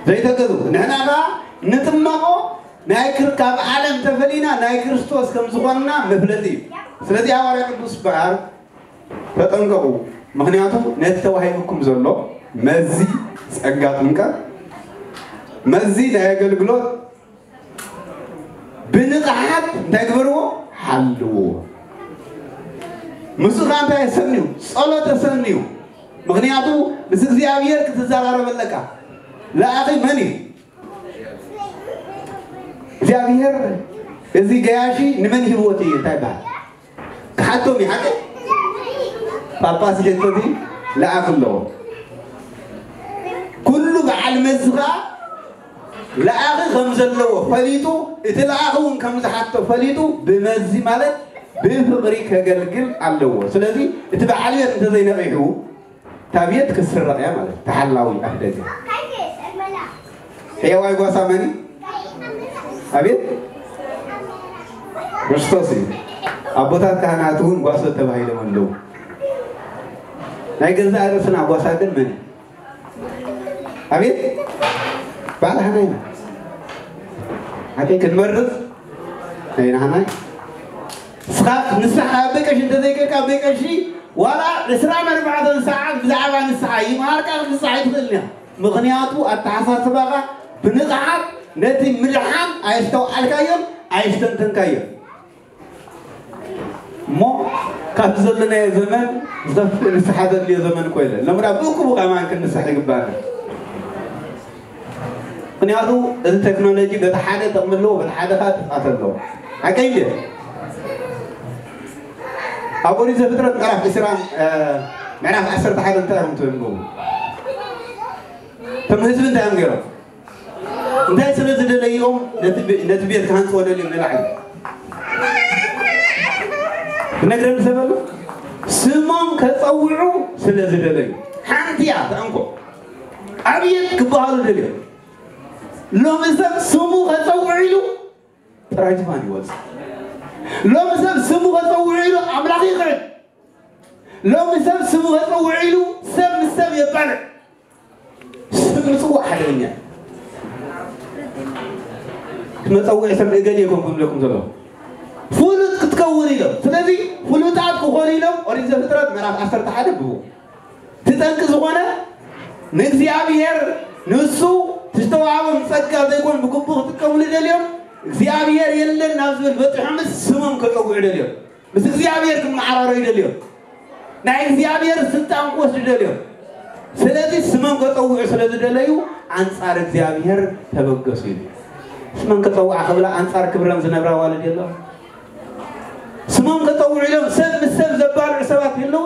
ዘይተገዙ ንሕና ኸዓ ንጥመቖ ናይ ክር ካብ ዓለም ተፈሊና ናይ ክርስቶስ ከም ዝኾንና መፍለጢ እዩ። ስለዚ ሃዋርያ ቅዱስ ጳውሎስ ተጠንቀቑ፣ ምኽንያቱ ነቲ ተዋሂቡኩም ዘሎ መዚ ጸጋ ጥምቀት፣ መዚ ናይ ኣገልግሎት ብንቕሓት እንታይ ግበርዎ? ሓልዎ። ምስኡ ኸዓ እንታይ ኣሰንዩ? ጸሎት ኣሰንዩ። ምኽንያቱ ምስ እግዚኣብሔር ክትዘራረብ ኣለካ። ለኣኺ መን እዩ? እግዚኣብሔር እዚ ገያሺ ንመን ሂብዎ እቲ እንታይ ይበሃል? ክሓቶም እዩ ሓቂ? ጳጳስ ይሕቶ ድዩ? ለኣኺ ኣለዎ። ኩሉ በዓል መዚ ኸዓ ለኣኺ ከም ዘለዎ ፈሊጡ፣ እቲ ለኣኺ እውን ከም ዝሓቶ ፈሊጡ፣ ብመዚ ማለት ብፍቕሪ ከገልግል ኣለዎ። ስለዚ እቲ በዓል ቤት እንተዘይነቒሑ፣ እታ ቤት ክትስረቕ እያ ማለት እዩ። ተሓላዊ ኣፍ ደገ። ሕያዋይ ጓሳ መን እዩ? ኣቤት፣ ክርስቶስ እዩ። ኣቦታት ካህናት እውን ጓሶት ተባሂሎም ኣለዉ። ናይ ገዛእ ርእስና ጓሳ ግን መን እዩ? ኣቤት፣ ባዕላህና ኢና። ሓቂ ክንመርጽ ናይ ናህና እዩ። ንስኻ ንስኻ ኣብ ቤት ቀሺ እንተዘይከድካ፣ ኣብ ቤት ቀሺ ዋላ ዕስራን ኣርባዕተን ሰዓት ብዛዕባ ንስኻ ይምሃርካ፣ ክትንስሓ ኣይትኽእልን ኢኻ። ምኽንያቱ ኣተሓሳስባኻ ብንቕሓት ነቲ ምድሓን ኣየስተውዓልካዮን ኣየስተንተንካዮን። እሞ ካብዚ ዘለናዮ ዘመን ዝኸፍእ ንስሓ ዘድልዮ ዘመን እኮ የለን። ሎምዳ ብእኩቡ ከማን ክንንስሕ ይግባና። ምኽንያቱ እዚ ቴክኖሎጂ በቲ ሓደ ጥቕሚ ኣለዎ፣ በቲ ሓደ ኸዓ ጥፍኣት ኣለዎ። ሓቀይ እንድየ? ኣብ ኦሪት ዘፍጥረት ምዕራፍ ዕስራን፣ እ፣ ምዕራፍ ዓሰርተ ሓደ እንታይ እዮም ተንብቡ? እቶም ህዝቢ እንታይ እዮም ገይሮም? እንታይ ስለ ዝደለዩ እዮም ነቲ ቤ-፣ ነቲ ቤት ክሃንጽዎ ደልዮም ንላዕሊ? ክነግረኒ ሰብ ኣሎ? ስሞም ከጸውዑ ስለ ዝደለዩ። ሓንቲ እያ እታ እንኮ። ኣብየት ክበሃሉ ደልዮም። ሎሚ ሰብ ስሙ ከጸውዕ ኢሉ ጥራይ ዝፋን ይወጽእ። ሎሚ ሰብ ስሙ ከጸውዕ ኢሉ ኣምላኽ ይኽዕድ። ሎሚ ሰብ ስሙ ከጸውዕ ኢሉ ሰብ ምስ ሰብ የባልዕ። ስም ምጽዋዕ ሓደገኛ እዩ። መጸውዒ ስም እገሌ ይኮን ክብለኩም ዘሎ። ፍሉጥ ክትከውን ኢሎም። ስለዚ ፍሉጣት ክኾኑ ኢሎም ኦሪት ዘፍጥረት ምዕራፍ ዓሰርተ ሓደ ብቡ። እቲ ጠንቂ ዝኾነ ንእግዚኣብሔር ንሱ ዝተዋሃቦም ጸጋ ዘይኮን ብግቡእ ክጥቀምሉ ደልዮም፣ እግዚኣብሔር የለን ናብ ዝብል በጺሖምስ ስሞም ከጸውዑ ደልዮም። ምስ እግዚኣብሔር ክመዓራረዩ ደልዮም። ናይ እግዚኣብሔር ስልጣን ክወስዱ ደልዮም። ስለዚ ስሞም ከጸውዑ ስለ ዝደለዩ ኣንጻር እግዚኣብሔር ተበገሱ ኢሉ። ስሞም ከጸውዓ ክብላ ኣንጻር ክብረን ዝነብራ ኣዋልድ የለዋ። ስሞም ከጸውዑ ኢሎም ሰብ ምስ ሰብ ዘባልዑ ሰባት የለዉ።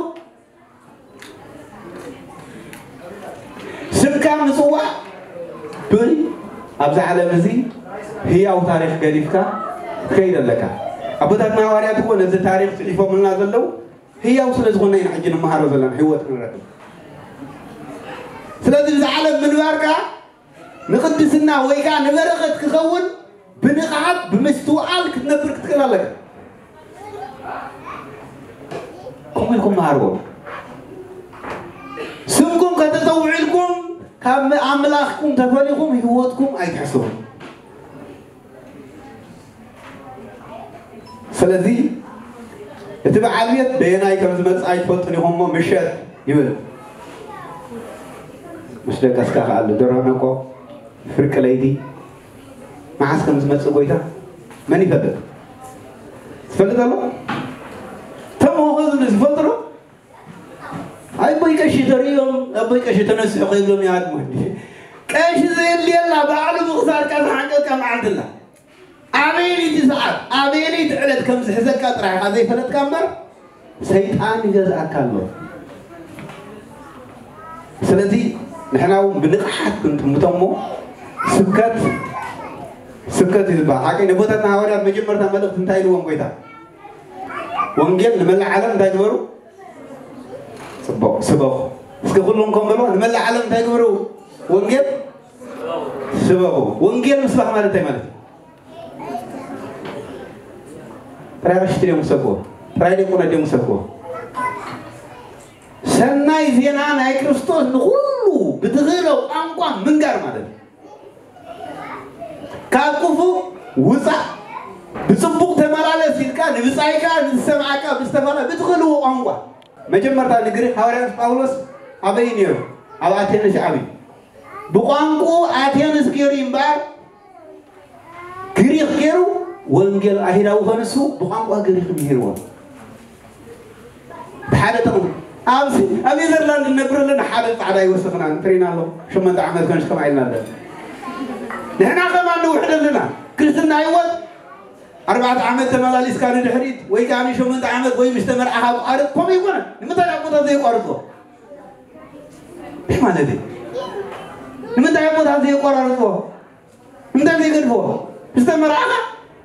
ስምካ ምጽዋዕ ብል ኣብዚ ዓለም እዚ ህያው ታሪኽ ገዲፍካ ትከይድ ኣለካ። ኣቦታትና ሃዋርያት እኮ ነዚ ታሪኽ ጽሒፎምልና ዘለዉ ህያው ስለ ዝኾነ ኢና ሕጂ ንመሃሮ ዘለና ህይወት ክንረክብ። ስለዚ እዚ ዓለም ምንባርካ ንቕድስና ወይ ከኣ ንበረኸት ክኸውን ብንቕሓት ብምስትውዓል ክትነብር ክትክእል ኣለካ። ከምኡ ኢልኩም መሃርዎም። ስምኩም ከተጸውዑ ኢልኩም ካብ ኣምላኽኩም ተፈሊኹም ህይወትኩም ኣይትሕስቡ። ስለዚ እቲ በዓል ቤት በየናይ ከም ዝመጽእ ኣይትፈልጡን ኢኹም እሞ ምሸት ይብል። ምስ ደቀስካ ከኣሉ ደርሆ ነቆ ፍርቂ ለይቲ መዓስ ከም ዝመጽእ ጎይታ መን ይፈልጥ? ዝፈልጥ ኣሎ? ተምሆኸ ዝብሉ ዝፈልጡ ዶ? ኣቦይ ቀሺ ተርእዮም፣ ኣቦይ ቀሺ ተነስሑ ከይብሎም ይሃድሙ። ቀሺ ዘየድልየላ ባዕሉ ምኽሳድካ ዝሓንቀካ መዓልቲ ኣላ። ኣበየነይቲ ሰዓት ኣበየነይቲ ዕለት ከም ዝሕዘካ ጥራሕ ኢኻ ዘይፈለጥካ እምበር ሰይጣን ይገዝኣካ ኣሎ። ስለዚ ንሕና እውን ብንቕሓት ክንጥምቶ እሞ ስብከት ስብከት እዩ ዝበሃል። ሓቀይ ነቦታትና ሃዋርያት መጀመርታ መልእኽቲ እንታይ ኢልዎም ጎይታ? ወንጌል ንመላእ ዓለም እንታይ ግበሩ? ጽቡቕ ስበኹ። እስኪ ኩሎም ከም በልዋ ንመላእ ዓለም እንታይ ግበሩ? ወንጌል ስበኹ። ወንጌል ምስባኽ ማለት እንታይ ማለት እዩ? ጥራይ ቀሽቲ ድዮም ክሰብክዎ? ጥራይ ዲያቆናት ድዮም ክሰብክዎ? ሰናይ ዜና ናይ ክርስቶስ ንኹሉ ብትኽእሎ ቋንቋ ምንጋር ማለት እዩ። ካብ ክፉእ ውፃእ፣ ብፅቡቕ ተመላለስ ኢልካ ንብፃይካ ንዝሰምዓካ ብዝተፈላ ብትኽእልዎ ቋንቋ። መጀመርታ ንግሪክ ሃዋርያ ጳውሎስ ኣበይ ነይሩ? ኣብ ኣቴንስ ዓብዩ። ብቋንቋ ኣቴንስ ገይሩ እምበኣር ግሪክ ገይሩ ወንጌል ኣይሁዳዊ ኮነ እሱ ብቋንቋ ግሪክ ምሂርዎ። ሓደ ጥቕሚ ኣብዚ ኣብ ኔዘርላንድ ንነብር ኣለና። ሓደ ፃዕዳ ይወስኽና ንጥሪና ኣሎ። ሸሞንተ ዓመት ከንሽ ከማ ኢልና ኣለና። ንሕና ከማን ንውሕድ ኣለና። ክርስትና ህይወት ኣርባዕተ ዓመት ተመላሊስካ ንድሕሪት ወይ ከዓ ንሸሞንተ ዓመት ወይ ምስ ተመርዓኻ ቋርጥ ከምኡ ይኮነ። ንምንታይ ኣቦታት ዘይቋርጥዎ? እንታይ ማለት እዩ? ንምንታይ ኣቦታት ዘይቋራርጥዎ? እንታይ ዘይገድፍዎ? ዝተመርዓኻ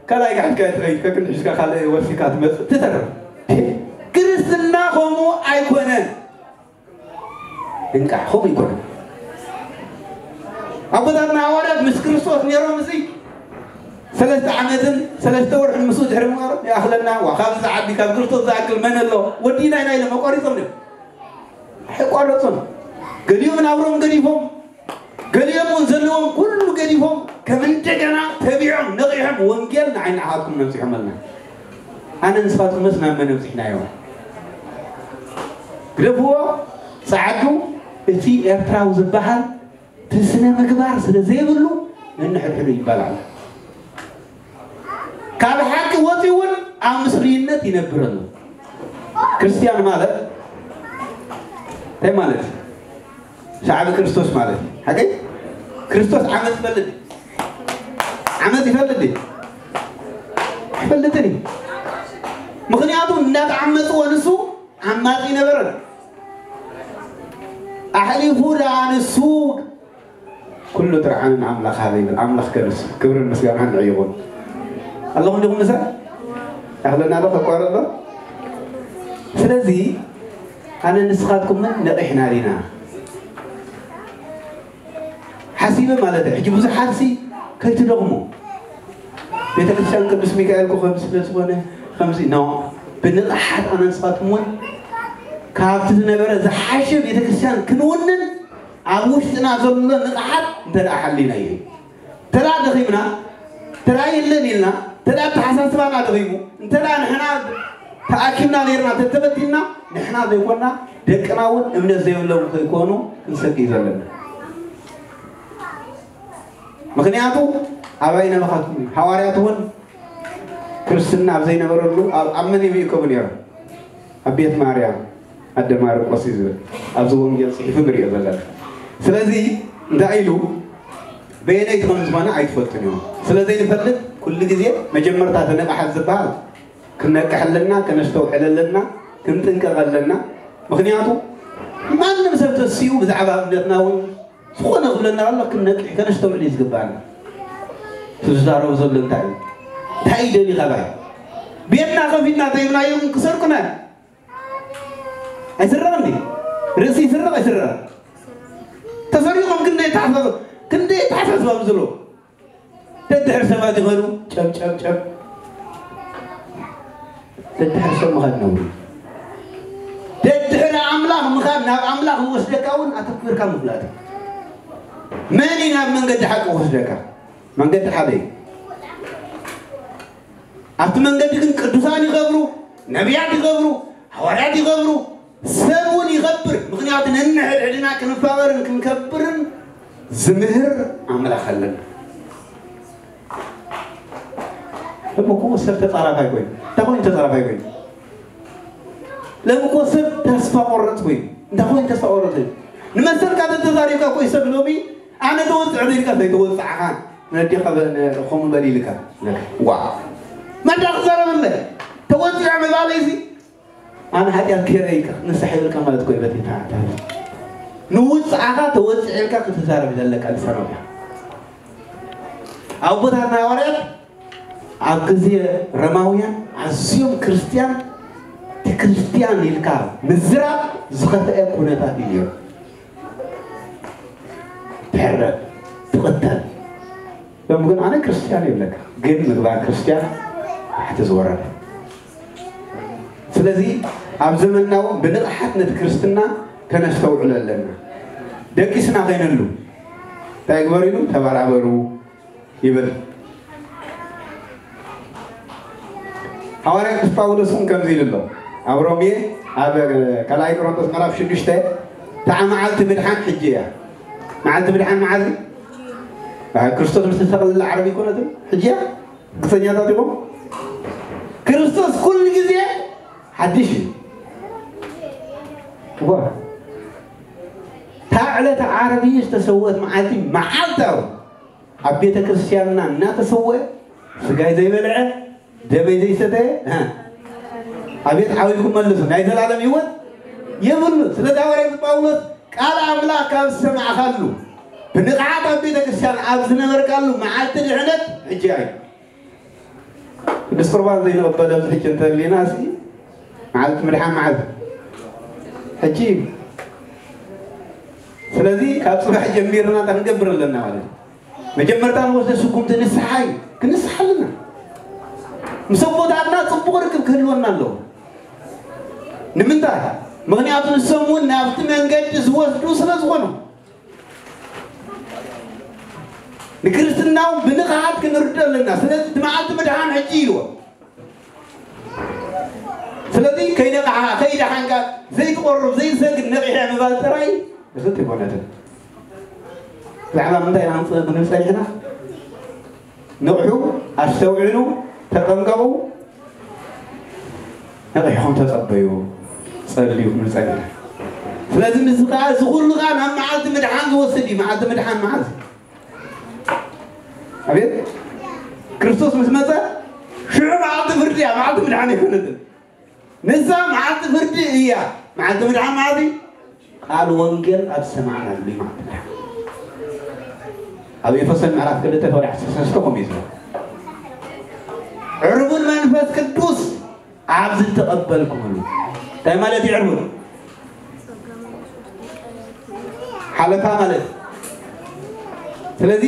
ካልኣይ ጋሕትካ ትኸይድ ከክን ሒዝካ ካልእ ወሲካ ትመፅእ ትተርፍ። ክርስትና ከምኡ ኣይኮነን። እንቃዕ ከምኡ ይኮነን። ኣቦታትና ሃዋርያት ምስ ክርስቶስ ነይሮም እዚ ሰለስተ ዓመትን ሰለስተ ወርሕን ምስኡ ድሕሪ ምንባሮም ይኣኽለና። ዋ፣ ካብዚ ዝዓቢ ካብ ክርስቶስ ዝኣክል መን ኣሎ? ወዲና ኢና ኢሎም ኣቋሪጾም እዮም። ኣይቋረጹን። ገሊኦም ናብሮም ገዲፎም፣ ገሊኦም እውን ዘለዎም ኩሉ ገዲፎም ከም እንደገና ተቢዖም ነቒሖም ወንጌል ንዓይ ንዓኻትኩም ነብጺሖመልና። ኣነ ንስኻትኩምስ ናብ መን ኣብጺሕናዮ? ግደፍዎ፣ ጸዓዱ። እቲ ኤርትራዊ ዝበሃል እቲ ስነ ምግባር ስለ ዘይብሉ ነንሕድሕዱ ይባላዕ። ካብ ሓቂ ወፂኡ እውን ኣብ ምስሉይነት ይነብር ኣሎ። ክርስትያን ማለት እንታይ ማለት እዩ? ሻዕቢ ክርስቶስ ማለት እዩ። ሓቀይ? ክርስቶስ ዓመፅ ይፈልጥ ድዩ? ዓመፅ ይፈልጥ ድዩ? ኣይፈልጥን እዩ። ምኽንያቱ እንዳተዓመፅዎ ንሱ ዓማፂ ነበረ። ኣሕሊፉ ደኣ ንሱ ኩሉ ጥርዓን ንኣምላኽ ሃበ ይብል። ኣምላኽ ከንሱ ክብርን ምስጋናን ንዕኡ ይኹን። ኣለኹም ዲኹም ምሳይ? ያኽለና ዶ ከቋርጥ ዶ? ስለዚ ኣነ ንስኻትኩምን ነቒሕና ዲና? ሓሲበ ማለት እዩ። ሕጂ ብዙሓት ሲ ከይትደኽሙ ቤተክርስትያን ቅዱስ ሚካኤል ኮኸብ ስለ ዝኾነ ከምዚ ኖ ብንቕሓት ኣነ ንስኻትኩም እውን ካብቲ ዝነበረ ዝሓሸ ቤተክርስትያን ክንውንን ኣብ ውሽጥና ዘሎ ንቕሓት እንተ ደኣ ሓሊና እዩ። እንተ ደኣ ደኺምና፣ እንተ ደኣ የለን ኢልና፣ እንተ ደኣ ኣተሓሳስባና ደኺሙ፣ እንተ ደኣ ንሕና ተኣኪብና ነይርና ተተበቲንና፣ ንሕና ዘይኮንና ደቅና እውን እምነት ዘይብሎም ከይኮኑ ክንሰግእ እዩ ዘለና። ምኽንያቱ ኣባይ ነበኻትኩም እዩ። ሃዋርያት እውን ክርስትና ኣብ ዘይነበረሉ ኣብ ኣብ መን ይብእከቡ ነይሮም? ኣብ ቤት ማርያም ኣደ ማርቆስ እዩ ዝብል ኣብዚ ወንጌል ጽሒፉ ንሪኦ ዘለና። ስለዚ እንታይ ኢሉ በየነይቲ ከም ዝኾነ ኣይትፈልጡን እዮም። ስለ ዘይንፈልጥ ኩሉ ግዜ መጀመርታ ተነቃሓት ዝበሃል ክነቅሕ ኣለና፣ ከነስተውዕል ኣለና፣ ክንጥንቀቕ ኣለና። ምኽንያቱ ማንም ሰብ ተስኡ ብዛዕባ እምነትና እውን ዝኾነ ክብለና ከሎ ክንነቅሕ ከነስተውዕል እዩ ዝግባኣና። ትዛረቡ ዘሎ እንታይ እዩ? እንታይ እዩ ደሊ ካባይ? ቤትና ከፊትና ተይብናዮም ክሰርቁና እዮም። ኣይስረቕን ድዩ? ርእሲ ይስረቕ ኣይስረቕ? ተሰሪቖም ክንደይ ተሓሳስ ክንደይ ተሓሳስባ ዘሎ ደድሕር ሰባት ይኸዱ ጨብ ጨብ ጨብ። ደድሕር ሰብ ምኻድ ነውሪ። ደድሕሪ ኣምላኽ ምኻድ ናብ ኣምላኽ ዝወስደካ እውን ኣተኲርካ ምፍላጥ እዩ። መን እዩ ናብ መንገዲ ሓቂ ክወስደካ? መንገዲ ሓደ እዩ። ኣብቲ መንገዲ ግን ቅዱሳን ይኸብሩ፣ ነቢያት ይኸብሩ፣ ሃዋርያት ይኸብሩ፣ ሰብ እውን ይኸብር። ምኽንያቱ ነንሕድሕድና ክንፋቐርን ክንከብርን ዝምህር ኣምላኽ ኣለና። ሎሚ እኮ ሰብ ተጻራፋይ ኮይኑ እንታይ ኮይኑ ተጻራፋይ ኮይኑ ሎሚ እኮ ሰብ ተስፋ ቆረጥ ኮይኑ እንታይ ኮይኑ ተስፋ ቆረጥ ኮይኑ ንመሰልካ ተተዛሪብካ እኮ ሰብ ሎሚ ኣነ ተወፅዕ ደልካ ዘይተወፅዕኻ ነዲኻ ከምኡ በል ኢልካ ዋ መዳ ክዛረበለ ተወፅዕ ምባለይሲ ኣነ ሓጢኣት ገይረ ኢልካ ንስሕ ይብልካ ማለት እኮ እዩ በቲ ንውፅዓኻ ተወፅዕ ኢልካ ክትዛረብ ዘለካ ልሳኖም እያ ኣቦታትና ሃዋርያት ኣብ ግዜ ረማውያን ኣዝዮም ክርስትያን እቲ ክርስትያን ኢልካ ምዝራብ ዝኸፍአ ኩነታት እዩ ነይሩ ትሕረድ ትቕተል ሎም ግን ኣነ ክርስትያን ይብለካ ግን ምግባር ክርስትያን ታሕቲ ዝወረደ ስለዚ ኣብ ዘመንና እውን ብንቕሓት ነቲ ክርስትና ከነስተውዕሎ ኣለና ደቂስና ከይነሉ እንታይ ግበሩ ኢሉ? ተበራበሩ ይብል። ሃዋርያ ቅዱስ ጳውሎስ እውን ከምዚ ኢሉ ኣሎ። ኣብ ሮሜ፣ ኣብ ካልኣይ ቆሮንቶስ ምዕራፍ ሽዱሽተ፣ እታ መዓልቲ ምድሓን ሕጂ እያ። መዓልቲ ምድሓን መዓዝ እዩ? ኣብ ክርስቶስ ዝተሰቕለላ ዓርቢ ኣይኮነትን? ሕጂ እያ። ርግጸኛታት ኢኹም? ክርስቶስ ኩሉ ግዜ ሓድሽ እዩ። እዋ፣ እታ ዕለተ ዓርቢ ዝተሰወት መዓልቲ መዓልታዊ ኣብ ቤተ ክርስቲያንና እናተሰወ፣ ስጋይ ዘይበልዐ፣ ደመይ ዘይሰተየ፣ እ፣ ኣቤት ዓዊርኩም መልሱ፣ ናይ ዘላለም ህይወት የብሉ። ስለዚ ሃዋርያ ጳውሎስ ቃል ኣምላኽ ካብ ዝሰማዕካሉ፣ ብንቕሓት ኣብ ቤተ ክርስቲያን ኣብ ዝነበርካሉ መዓልቲ ድሕነት ሕጂ እዩ። ቅዱስ ቁርባን ዘይንቕበል ኣብዚ ሕጂ እንተሊና፣ እስኪ መዓልቲ ምድሓን መዓዝ? ሕጂ እዩ። ስለዚ ካብ ጽባሕ ጀሚርና እንታይ ክንገብር ኣለና ማለት እዩ? መጀመርታ ንወስደ ስጉምቲ ንስሓ እዩ። ክንስሓ ኣለና። ምስ ኣቦታትና ጽቡቕ ርክብ ክህልወና ኣለዎ። ንምንታይ? ምኽንያቱ ንሶም እውን ናብቲ መንገዲ ዝወስዱ ስለ ዝኾኑ። ንክርስትናው ብንቕሓት ክንርዶ ኣለና። ስለዚ እቲ መዓልቲ ምድሓን ሕጂ ኢልዎ። ስለዚ ከይነቕሓ፣ ከይደሓንካ፣ ዘይትቆርብ፣ ዘይትሰግድ፣ ነቒሐ ምባል ጥራይ ብስንት ኣይኮነትን። ብዛዕባ ምንታይ ኢና ክንጽ-፣ ክንብል ጸኒሕና? ንቕሑ፣ ኣስተውዕሉ፣ ተጠንቀቑ፣ ነቒሕኩም ተጸበዩ፣ ጸልዩ ክንብል ጸኒሕና። ስለዚ ምስዚ ከኣ እዚ ኩሉ ከኣ ናብ መዓልቲ ምድሓን ዝወስድ እዩ። መዓልቲ ምድሓን መዓዝ? ኣቤት፣ ክርስቶስ ምስ መጸ ሽዑ መዓልቲ ፍርዲ እያ፣ መዓልቲ ምድሓን ኣይኮነትን። ንሳ መዓልቲ ፍርዲ እያ። መዓልቲ ምድሓን መዓልቲ ቃል ወንጌል ኣብ ዝሰማዕናሉ እዩ፣ መዓልቲ ምድሓን። ኣብ ኤፌሶን ምዕራፍ ክልተ ፍቕዲ ዓሰርተ ሰለስተ ከምኡ እዩ ዝብል። ዕርቡን መንፈስ ቅዱስ ኣብ ዝተቐበልኩምሉ። እንታይ ማለት እዩ ዕርቡን? ሓለፋ ማለት እዩ። ስለዚ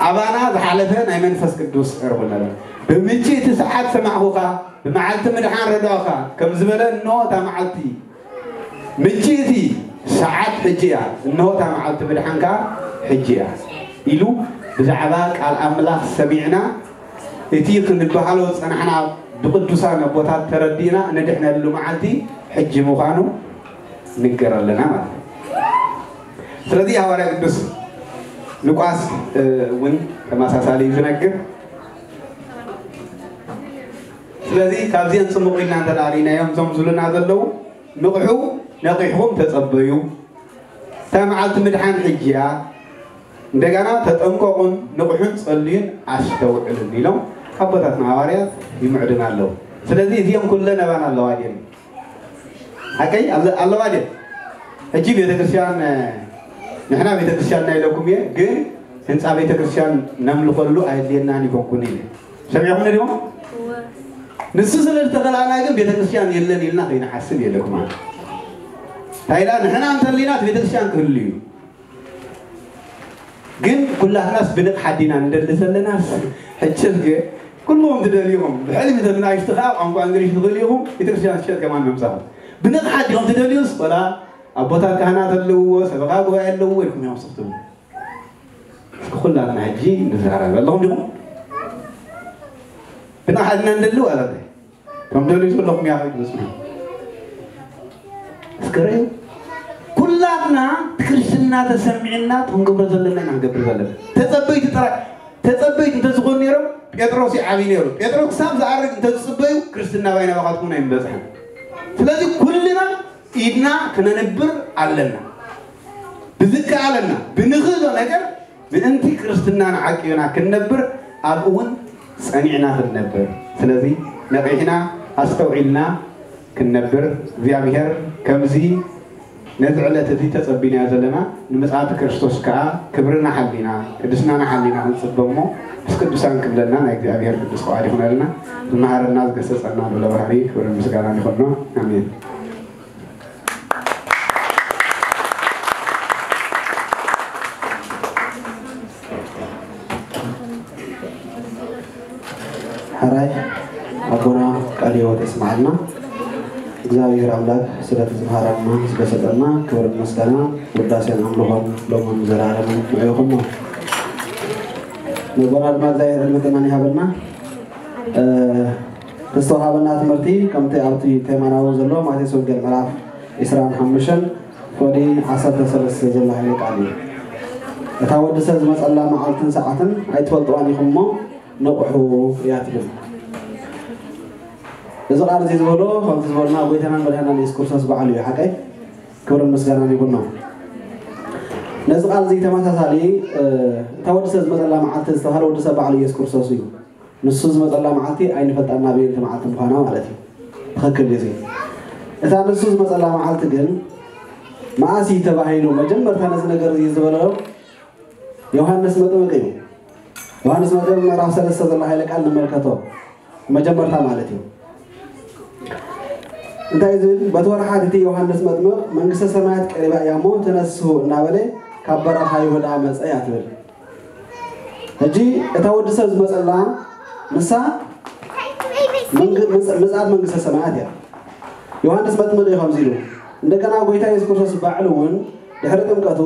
ኣባና ዝሓለፈ ናይ መንፈስ ቅዱስ ዕርቡን ኣሎ። ብምቺ እቲ ሰዓት ሰማዕኹኻ፣ ብመዓልቲ ምድሓን ረዳእኻ፣ ከም ዝበለ፣ እንሆ እታ መዓልቲ፣ ምቺ እቲ ሰዓት ሕጂ እያ፣ እንሆ እታ መዓልቲ ምድሓን ከኣ ሕጂ እያ ኢሉ ብዛዕባ ቃል ኣምላኽ ሰሚዕና፣ እቲ ክንበሃሎ ዝጸናሕና ብቅዱሳን ኣቦታት ተረዲእና እንድሕነሉ መዓልቲ ሕጂ ምዃኑ ንገር ኣለና ማለት እዩ። ስለዚ ሃዋርያ ቅዱስ ሉቃስ፣ እ፣ እውን ተመሳሳሊ እዩ ዝነግር። ስለዚ ካብዚአን ጽሙቕ ኢልና እንተ ደኣ ርኢናዮም፣ እዞም ዝብሉና ዘለዉ፣ ንቕሑ፣ ነቒሕኩም ተጸበዩ፣ እታ መዓልቲ ምድሓን ሕጂ እያ፣ እንደገና ተጠንቀቑን ንቕሑን ጸልዩን ኣስተውዕሉን ኢሎም ኣቦታትና ሃዋርያት ይምዕዱና ኣለዉ። ስለዚ እዚኦም ኩለን ኣባና ኣለዋ ድየን? ሓቀይ ኣለ-፣ ኣለዋ ድየን? ሕጂ ቤተክርስትያን፣ ንሕና ቤተክርስትያንና ኢለኩም እየ፣ ግን ህንፃ ቤተክርስትያን ነምልኸሉ ኣየድልየናን ይኮንኩን ኢለ። ሰሚዕኹም ዲኹም? እወ። ንሱ ስለ ዝተኸላና ግን ቤተክርስትያን የለን ኢልና ከይንሓስብ የለኩም። እንታይ ኢላ? ንሕና እንተሊና እቲ ቤተክርስትያን ክህሉ እዩ። ግን ኩላትናስ ብንቕሓት ዲና ንደሊ ዘለናስ? ሕጂ እስከ ኩልኹም ትደልዩኹም፣ ብሕልሚ ተናእሽቱ ከዓ ቋንቋ እንግሊሽ ትኽእሉ ኢኹም፣ ቤተክርስትያን ትሸጥ ከማን ምምፃኹም። ብንቕሓት ዲኹም ትደልዩስ? ወላ ኣቦታት ካህናት ኣለውዎ፣ ሰበኻ ጉባኤ ኣለውዎ ኢልኩም እዮም ስኽትቡ። እስኪ ኩላትና ሕጂ ንዛረብ ኣለኹም ዲኹም? ብንቕሓት ኢና ንደሊ ዋላ እንታይ? ከም ደልዩ ዘለኹም እያ ከይዱ ዝጽንሑ። እስከ ርእዩ። ኩላትና ክርስትና ተሰሚዕና ክንገብሮ ዘለና ኢና ክንገብር ዘለና። ተጸበይቲ ጥራይ፣ ተጸበይቲ እንተዝኾኑ ነይሮም፣ ጴጥሮስ ይዓብይ ነይሩ። ጴጥሮስ ክሳብ ዝኣርግ እንተዝጽበዩ፣ ክርስትና ባይና ባኻትኩም ኣይምበጽሐን። ስለዚ ኩልና ኢድና ክነንብር ኣለና። ብዝከኣለና፣ ብንኽእሎ ነገር ምእንቲ ክርስትናና ዓቂብና ክንነብር ኣብኡ እውን ጸኒዕና ክንነብር። ስለዚ ነቒሕና ኣስተውዒልና ክንነብር እግዚኣብሔር ከምዚ ነዚ ዕለት እዚ ተጸቢናዮ ዘለና ንምጽኣት ክርስቶስ ከኣ ክብርና ሓሊና ቅድስናና ሓሊና ክንጽበ እሞ ምስ ቅዱሳን ክብለና ናይ እግዚኣብሔር ቅዱስ ፍቓድ ይኹነልና። ዝመሃረና ዝገሰጸና ልዑለ ባህሪ ክብርን ምስጋናን ይኹኖ። ኣሜን። ሕራይ ኣቦና ቃለ ሕይወት የስምዓልና። እግዚኣብሔር ኣምላክ ስለቲ ዝመሃረና ስለሰጠና ክብርን ምስጋና ውዳሴን ኣምልኾን ሎምን ዘለዓለምን ንዑ ይኹኖ። ነቦና ድማ እግዚኣብሔር ዕድመ ጥዕናን ይሃበልና። ዝተወሃበና ትምህርቲ ከምቲ ኣብቲ ቴማናዊ ዘሎ ማቴዎስ ወንጌል ምዕራፍ ዕስራን ሓሙሽተን ፍቕዲ ዓሰርተ ሰለስተ ዘሎ ሓይለ ቃል እዩ። እታ ወዲ ሰብ ዝመፀላ መዓልትን ሰዓትን ኣይትፈልጥዋን ኢኹም እሞ ንቕሑ እያ ትብል። እዚ ቃል እዚ ዝበሎ ከምቲ ዝበልና ጎይታናን መድሓናን የሱስ ክርስቶስ ባዕሉ እዩ። ሓቀይ ክብርን ምስጋናን ይኹኖ። ነዚ ቃል እዚ ተመሳሳሊ እታ ወዲ ሰብ ዝመፀላ መዓልቲ ዝተባሃለ ወዲ ሰብ ባዕሉ የሱስ ክርስቶስ እዩ። ንሱ ዝመፀላ መዓልቲ ኣይንፈልጣን ናበየንቲ መዓልቲ ምዃና ማለት እዩ። ትኽክል እዩ። እታ ንሱ ዝመፀላ መዓልቲ ግን መዓስ እዩ ተባሂሉ? መጀመርታ ነዚ ነገር እዚ ዝበሎ ዮሃንስ መጥምቅ እዩ። ዮሃንስ መጥምቅ ምዕራፍ ሰለስተ ዘሎ ሓይለ ቃል ንመልከቶ። መጀመርታ ማለት እዩ። እንታይ ዝብል? በቲ ወርሓት እቲ ዮሃንስ መጥምቅ መንግስተ ሰማያት ቀሪባ እያ እሞ ተነስሑ እናበለ ካብ በረኻ ይሁዳ መፀ እያ ትብል። ሕጂ እታ ወዲ ሰብ ዝመፀላ ንሳ ምጽኣት መንግስተ ሰማያት እያ። ዮሃንስ መጥምቅ እዩ ከምዚ ኢሉ። እንደገና ጎይታ የሱስ ክርስቶስ ባዕሉ እውን ድሕሪ ጥምቀቱ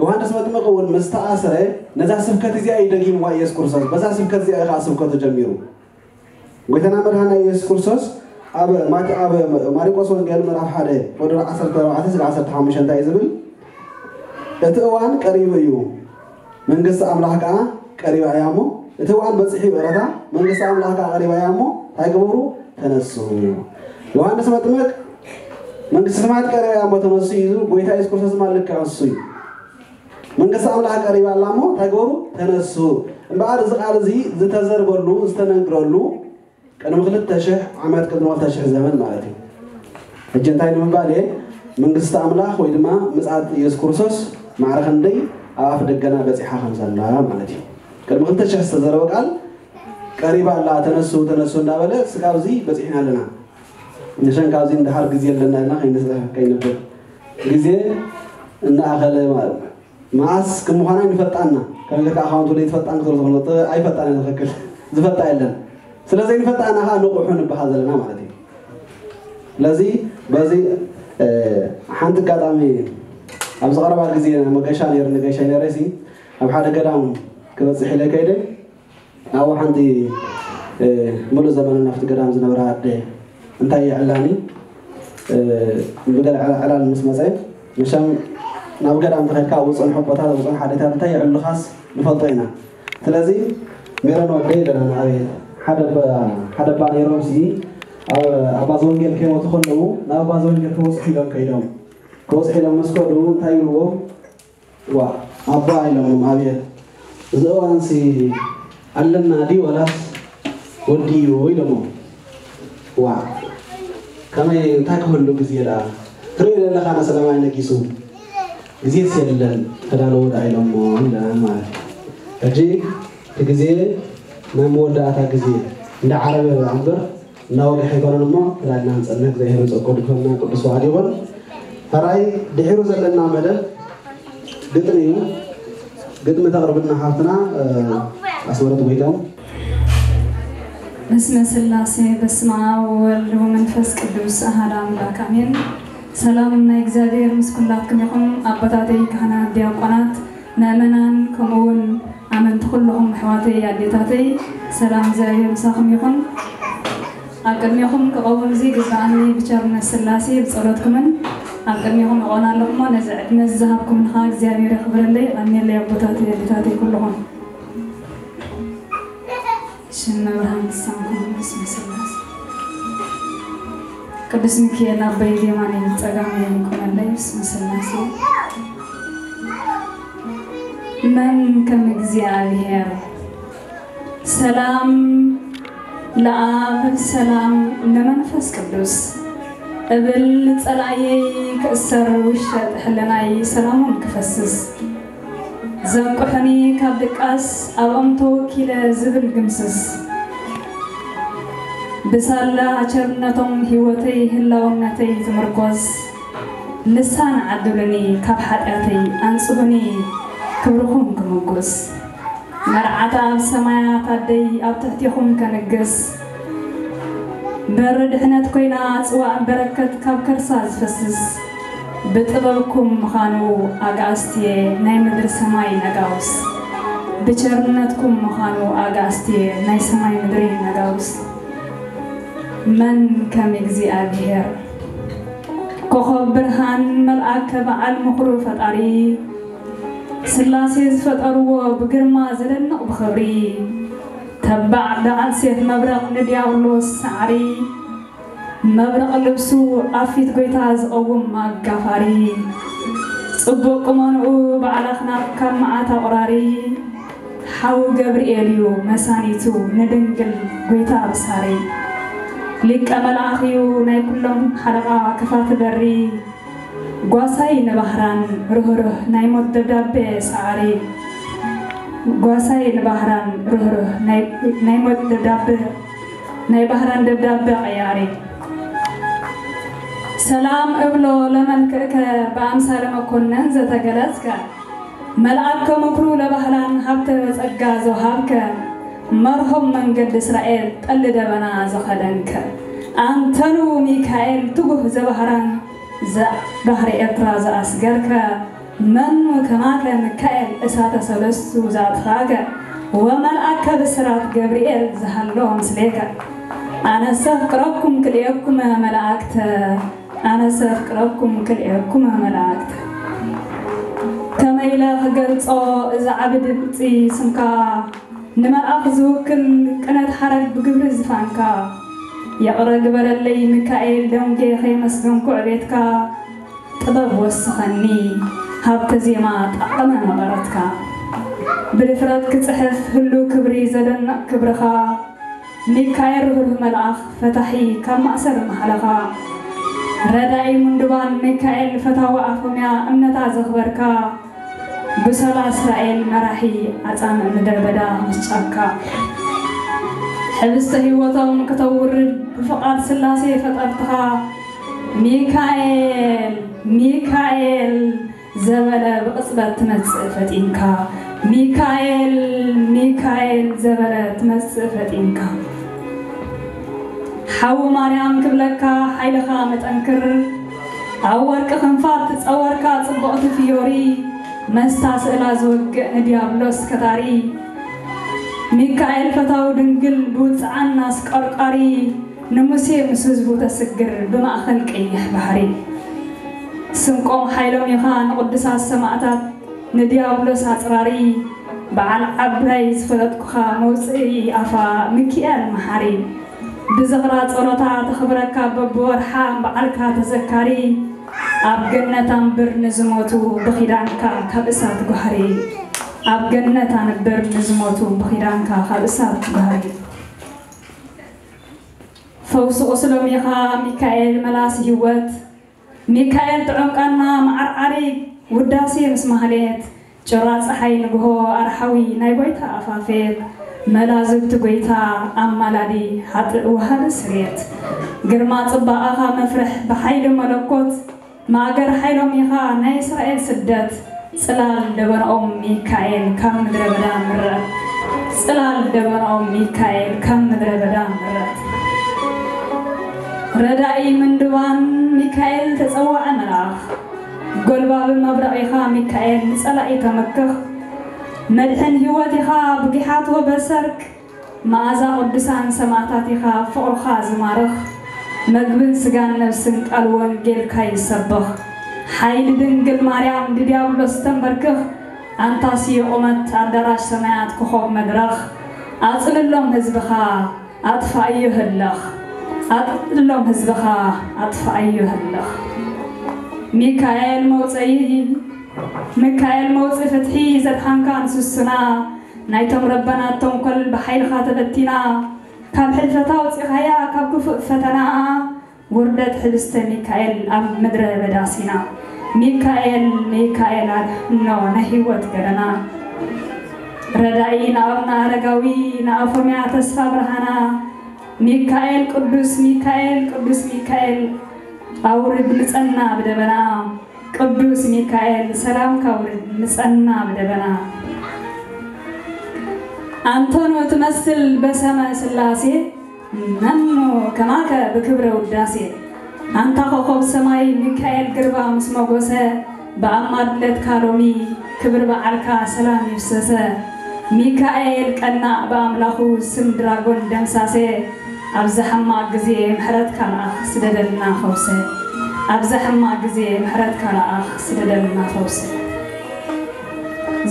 ዮሃንስ መጥምቅ እውን ምስ ተኣስረ ነዛ ስብከት እዚኣ እዩ ደጊምዋ። የሱስ ክርስቶስ በዛ ስብከት እዚኣ እዩ ከዓ ስብከቱ ጀሚሩ። ጎይታና መድሃና የሱስ ክርስቶስ ኣብ ማሪቆስ ወንጌል ምዕራፍ ሓደ ወደ ዓሰርተ ኣርባዕተ ስለ ዓሰርተ ሓሙሽተ እንታይ እዩ ዝብል? እቲ እዋን ቀሪቡ እዩ፣ መንግስቲ ኣምላኽ ከዓ ቀሪባ እያ እሞ እቲ እዋን በፂሑ ይቕረታ መንግስቲ ኣምላኽ ከዓ ቀሪባ እያ እሞ እንታይ ግበሩ? ተነሱ። ዮሃንስ መጥምቅ መንግስቲ ሰማያት ቀሪባ እያ እሞ ተነሱ እዩ ዝብል። ጎይታ የሱስ ክርስቶስ ድማ ልክዕ እሱ እዩ። መንግስቲ ኣምላኽ ቀሪባ ኣላ እሞ እንታይ ግበሩ? ተነሱ። እምበኣር እዚ ቃል እዚ ዝተዘርበሉ ዝተነግረሉ ቅድሚ ክልተ ሽሕ ዓመት ቅድሚ ክልተ ሽሕ ዘመን ማለት እዩ። ሕጂ እንታይ ንምባል እየ? መንግስቲ ኣምላኽ ወይ ድማ ምፅኣት የሱስ ክርስቶስ ማዕረ ክንደይ ኣብ ኣፍ ደገና በፂሓ ከም ዘላ ማለት እዩ። ቅድሚ ክልተ ሽሕ ዝተዘረበ ቃል ቀሪባ ኣላ፣ ተነሱ ተነሱ እንዳበለ ስጋብ እዚ በፂሕና ኣለና። ንሸን ካብዚ እንድሓር ግዜ ኣለና ኢልና ከይንብል ግዜ እናኣኸለ ማለት መዓስ ከም ምዃና ኣይንፈልጣና። ከመይ ጌርካ ኣኻውንት ወደ ይትፈልጣን ክትብል ትኽእል፣ ኣይፈልጣን እየ። ትኽክል፣ ዝፈልጣ የለን። ስለዚ ኣይንፈልጣና ከዓ ንቑሑ ንበሃል ዘለና ማለት እዩ። ስለዚ በዚ ሓንቲ ኣጋጣሚ ኣብዚ ቀረባ ግዜ መገሻ ነይሩ ንገሻ ነይረ ሲ ኣብ ሓደ ገዳም ክበፅሕ ኢለ ከይደ ኣብኡ ሓንቲ ምሉእ ዘመንን ኣብቲ ገዳም ዝነበራ ኣደ እንታይ የዕላኒ ብገለ ዕላል ምስ መፀ መሸም ናብ ገዳም ተኸድካ ኣብ ዝፀንሑ ኣቦታት ኣብ ዝፀንሑ ኣዴታት እንታይ የዕሉኻስ ንፈልጦ ኢና። ስለዚ ሜሮን ወደይ ኢለና ንኣብየት ሓደ ኣባ ነይሮም ሲ ኣባ ዘወንጌል ከይሞቱ ከለዉ ናብ ኣባ ዘወንጌል ክበፅሑ ኢሎም ከይዶም ክበፅሑ ኢሎም ምስ ከዱ እንታይ ይብልዎም ዋ ኣባ ኢሎምም ኣብየት እዚ እዋንሲ ኣለና ድዩ ዋላስ ወዲኡ ኢሎሞ ዋ ከመይ እንታይ ክህሉ ግዜ ደኣ ትሪኦ ዘለኻ ነሰለማይ ነጊሱ ግዜስ የለን ተዳለዎ ደኣ ኢሎሞ ኢለና ማለት እዩ ሕጂ እቲ ግዜ ናይ መወዳእታ ግዜ እንዳ ዓረበ እምበር እናወግሐ ኣይኮነን እሞ ተላልና ንፀንሕ እግዚኣብሔር ፀጉ ድፈና ቅዱስ በዓል ይኹን። ሕራይ ድሒሩ ዘለና መደብ ግጥሚ እዩ። ግጥሚ ተቕርብልና ሓፍትና ኣስመረት ጎይታው። በስመ ስላሴ በስመ ኣብ ወወልድ ወመንፈስ ቅዱስ ኣሃድ ኣምላክ ኣሜን። ሰላም ናይ እግዚኣብሔር ምስ ኩላትኩም ይኹን። ኣቦታተይ ካህናት፣ ዲያቆናት፣ ምእመናን ከምኡ እውን ኣመንቲ ኩልኹም ኣሕዋተይ ኣዴታተይ ሰላም እግዚኣብሔር ምሳኹም ይኹን። ኣብ ቅድሜኹም ክቐውም እዚ ግብኣኒ ብቸርነት ስላሴ ብጸሎትኩምን ኣብ ቅድሜኹም እቖም ኣለኹ እሞ ነዚ ዕድመ እዚ ዝሃብኩምኒ ኸዓ እግዚኣብሔር የኽብረለይ። የቐንየለይ ኣቦታተይ ኣዴታተይ ኩልኹም። ሽም መብርሃን ክሳንኩም ብስመ ስላሴ። ቅዱስ ሚካኤል ኣቦይ ብየማነይ ብጸጋመይ ይቁመለይ ብስመ ስላሴ። መን ከም እግዚኣብሔር። ሰላም ለኣብ ሰላም ለመንፈስ ቅዱስ እብል ጸላእየይ ክእሰር ውሸጥ ሕልናይ ሰላሞም ክፈስስ ዘንቁሑኒ ካብ ድቃስ ኣብኦም ተወኪለ ዝብል ግምስስ ብሳላ ቸርነቶም ህይወተይ ህላውነተይ ዝምርኮስ ልሳን ዓድሉኒ ካብ ሓጢኣተይ ኣንጽሁኒ ክብርኹም ክምጉስ መርዓታ ኣብ ሰማያት ኣደይ ኣብ ትሕቴኹም ከንግስ በሪ ድሕነት ኮይና ጽዋእ በረከት ካብ ከርሳ ዝፈስስ፣ ብጥበብኩም ምዃኑ ኣጋእዝትየ ናይ ምድሪ ሰማይ ነጋውስ፣ ብቸርነትኩም ምዃኑ ኣጋእዝትየ ናይ ሰማይ ምድሪ ነጋውስ። መን ከም እግዚኣብሔር፣ ኮኸብ ብርሃን መልኣከ በዓል ምኽሩ ፈጣሪ፣ ስላሴ ዝፈጠርዎ ብግርማ ዘደንቕ ብኽብሪ፣ ተባዕ በዓል ሴፍ መብረቕ ንዲያብሎስ ሰዓሪ፣ መብረቕ ልብሱ ኣብ ፊት ጎይታ ዝቐውም ኣጋፋሪ፣ ጽቡቕ ቁመንኡ በዓል ኣኽናፍ ካብ መዓት ኣቑራሪ፣ ሓው ገብርኤል እዩ መሳኒቱ ንድንግል ጎይታ ብሳሪ፣ ሊቀ መልኣኽ እዩ ናይ ኩሎም ሓለቓ ክፋት በሪ፣ ጓሳይ ንባህራን ርህሩህ ናይ ሞት ደብዳቤ ሰዓሪ፣ ጓሳይ ንባህራን ርህሩህ ናይ ናይ ሞት ደብዳቤ ናይ ባህራን ደብዳቤ ቀያሪ። ሰላም እብሎ ለመልክዕከ በኣምሳለ መኮነን ዘተገለጽከ፣ መልኣከ ምክሩ ለባህራን ሃብተ ጸጋ ዘውሃብከ፣ መርሆም መንገዲ እስራኤል ጠሊ ደበና ዘኸደንከ፣ ኣንተኑ ሚካኤል ትጉህ ዘባህራን ዘ-፣ ባህሪ ኤርትራ ዘኣስገርከ፣ መኑ ከማከ ሚካኤል እሳተ ሰለስቱ ዘኣጥፋእከ፣ ወመልኣከ ብስራት ገብርኤል ዝሃሎ ምስሌከ። ኣነሰ ኣፍቅረኩም ክልኤኩም መላእክተ፣ ኣነሰ ኣፍቅረኩም ክልኤኩም መላእክተ። ከመይ ኢለ ክገልጾ እዚ ዓቢ ድምጺ ስምካ፣ ንመልኣኽ ዝውክል ቅነት ሓረግ ብግብሪ ዝፋንካ፣ ይቕረ ግበረለይ ሚካኤል ደንጌ ከየመስገንኩ ዕቤትካ፣ ጥበብ ወስኸኒ ሃብተ ዜማ ጣዕመ መቐረትካ። ብድፍረት ክጽሕፍ ህሉ ክብሪ ዘደንቕ ክብርኻ፣ ሚካኤል ርህሩህ መልኣኽ ፈታሒ ካብ ማእሰር መሓለኻ፣ ረዳኢ ምንዱባን ሚካኤል ፈታዊ ኣፎምያ እምነታ ዘኽበርካ፣ ብሰላ እስራኤል መራሒ ኣጻምእ ምድረ በዳ ምስ ጫካ፣ ሕብስተ ህይወቶም ክተውርድ ብፍቓድ ስላሴ ፈጠርትኻ፣ ሚካኤል ሚካኤል ዘበለ ብቕጽበት ትመጽእ ፈጢንካ፣ ሚካኤል ሚካኤል ዘበለ ትመጽእ ፈጢንካ። ሓው ማርያም ክብለካ ሓይልኻ መጠንክር፣ ኣብ ወርቂ ክንፋት ትጸወርካ ጽብቕቲ ፍዮሪ፣ መስታ ስእላ ዝወግእ ንዲያብሎስ ከታሪ፣ ሚካኤል ፈታዊ ድንግል ብውጽዓን ኣስቀርቃሪ፣ ንሙሴ ምስ ህዝቡ ተስግር ብማእከል ቀይሕ ባሕሪ። ስንቆም ሓይሎም ኢኻ ንቕዱሳት ሰማእታት ንዲያብሎስ ኣጽራሪ፣ በዓል ዓባይ ዝፈለጥኩኻ መውጽኢ ኣፋ ሚኪኤል መሓሪ። ብዝኽራ ጸሎታ ተኽብረካ በብወርሓ በዓልካ ተዘካሪ፣ ኣብ ገነት ኣንብር ንዝሞቱ ብኺዳንካ ካብ እሳት ጓህሪ፣ ኣብ ገነት ኣንብር ንዝሞቱ ብኺዳንካ ካብ እሳት ጓህሪ። ፈውሲ ቁስሎም ኢኻ ሚካኤል መላሲ ህይወት፣ ሚካኤል ጥዑም ቃና መዓርዓሪ ውዳሴ ምስ ማህሌት፣ ጭራ ጸሓይ ንግሆ ኣርሓዊ ናይ ጎይታ ኣፋፌት፣ መላዝብቲ ጎይታ ኣማላዲ ሓጥእ ወሃቢ ስርየት፣ ግርማ ጽባቐኻ መፍርሕ ብሓይሊ መለኮት፣ ማእገር ሓይሎም ኢኻ ናይ እስራኤል ስደት፣ ጽላል ደበናኦም ሚካኤል ካብ ምድረ በዳ ምረት፣ ጽላል ደበናኦም ሚካኤል ካብ ምድረ በዳ ምረት። ረዳኢ ምንድባን ሚካኤል ተጸዋዐ መልኣኽ፣ ጎልባቢ መብረቕ ኢኻ ሚካኤል ንጸላኢ ተመክኽ፣ መድሕን ህይወት ኢኻ ብጊሓቶ በሰርክ፣ መኣዛ ቅዱሳን ሰማእታት ኢኻ ፍቕርኻ ዝማርኽ፣ መግብን ስጋን ነፍስን ቃል ወንጌልካ ይሰብኽ። ሓይሊ ድንግል ማርያም ንዲያብሎስ ተንበርክኽ፣ ኣንታ ስየ ቁመት ኣዳራሽ ሰማያት ኮኾብ መድረኽ፣ ኣጽልሎም ህዝብኻ ኣጥፋእዮ ህለኽ፣ ኣጽልሎም ህዝብኻ ኣጥፋእዮ ህለኽ። ሚካኤል መውፅኢ፣ ሚካኤል መውፅኢ ፍትሒ ዘድሓንካ ንስስና፣ ናይቶም ረበናት ተንኮል ብሓይልኻ ተበቲና፣ ካብ ሕልፈታ ኣውፂኻያ ካብ ክፉእ ፈተና፣ ውርደት ሕብስተ ሚካኤል ኣብ ምድረ በዳ ሲና። ሚካኤል ሚካኤል ኣድሕኖ ናይ ህይወት ገደና፣ ረዳኢ ንኣቡነ ኣረጋዊ ንኣፎምያ ተስፋ ብርሃና። ሚካኤል ቅዱስ ሚካኤል ቅዱስ ሚካኤል ኣውርድ ምጸና ብደበና። ቅዱስ ሚካኤል ሰላምካ ኣውርድ ምጸና ብደበና። ኣንተኖ ትመስል በሰመ ስላሴ፣ መኑ ከማከ ብክብረ ውዳሴ ኣንታ ኮኾብ ሰማይ ሚካኤል ግርባ ምስ መጎሰ ብኣማድነትካ ሎሚ ክብሪ በዓልካ ሰላም ይፍሰሰ። ሚካኤል ቀናእ ብኣምላኹ ስም ድራጎን ደምሳሴ ኣብዛ ሕማቕ ግዜ ምሕረትካ ለኣኽ ስደደልና ፈውሰ። ኣብዛ ሕማቕ ግዜ ምሕረትካ ለኣኽ ስደደልና ፈውሰ።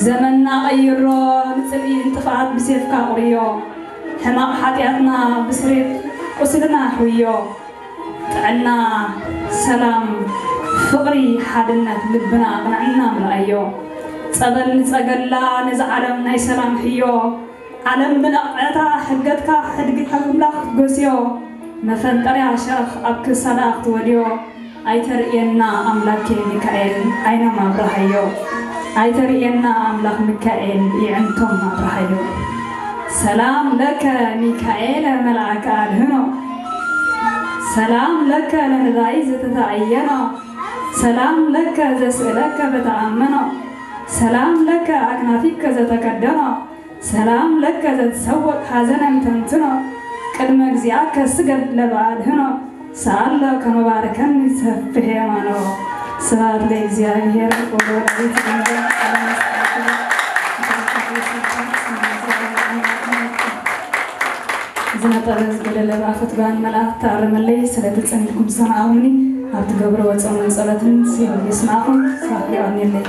ዘመንና ቀይሮ ንጽልኢ ንጥፍኣት ብሴፍካ ቁርዮ። ሕማቕ ሓጢኣትና ብስሬት ቁስልና ሕውዮ። ጥዕና፣ ሰላም፣ ፍቕሪ፣ ሓድነት ልብና ኣቕንዕና ምልኣዮ። ጸበል ንጸገላ ነዚ ዓለም ናይ ሰላም ሕዮ። ዓለም ብነቕዕታ ሕገትካ ሕድግካ ኣምላኽ ክትጎስዮ። መፈንጠርያ ሸረኽ ኣብ ክሳዳ ክትወድዮ። ኣይተርእየና ኣምላኬ ሚካኤል ዓይኖም ኣብርሃዮ። ኣይተርእየና ኣምላኽ ሚካኤል ይዕንቶም ኣብርሃዮ። ሰላም ለከ ሚካኤለ መልኣከ ኣድህኖ። ሰላም ለከ ለነዳይ ዘተተኣየኖ። ሰላም ለከ ዘስእለከ በተኣመኖ። ሰላም ለከ ኣክናፊከ ዘተከደኖ። ሰላም ለከ ዘትሰወቅ ሐዘነን ተንትኖ። ቅድመ እግዚኣከ ስገድ ለበአድህኖ። ሰአሎ ከመባርከኒ ሰፍሕ የማኖ። ስብሐት ለእግዚአብሔር ወለወላዲቱ ድንግል። ዝነጠበ ዝጎደለ ብኣፈት ጓን መልኣክ ተኣረመለይ። ስለቲ ጸኒሕኩም ዝሰማዕኹምኒ ኣብ ትገብርዎ ጾምን ጸሎትን ሲኦል ይስማዕኹም። ስብሐት የቐንየለይ።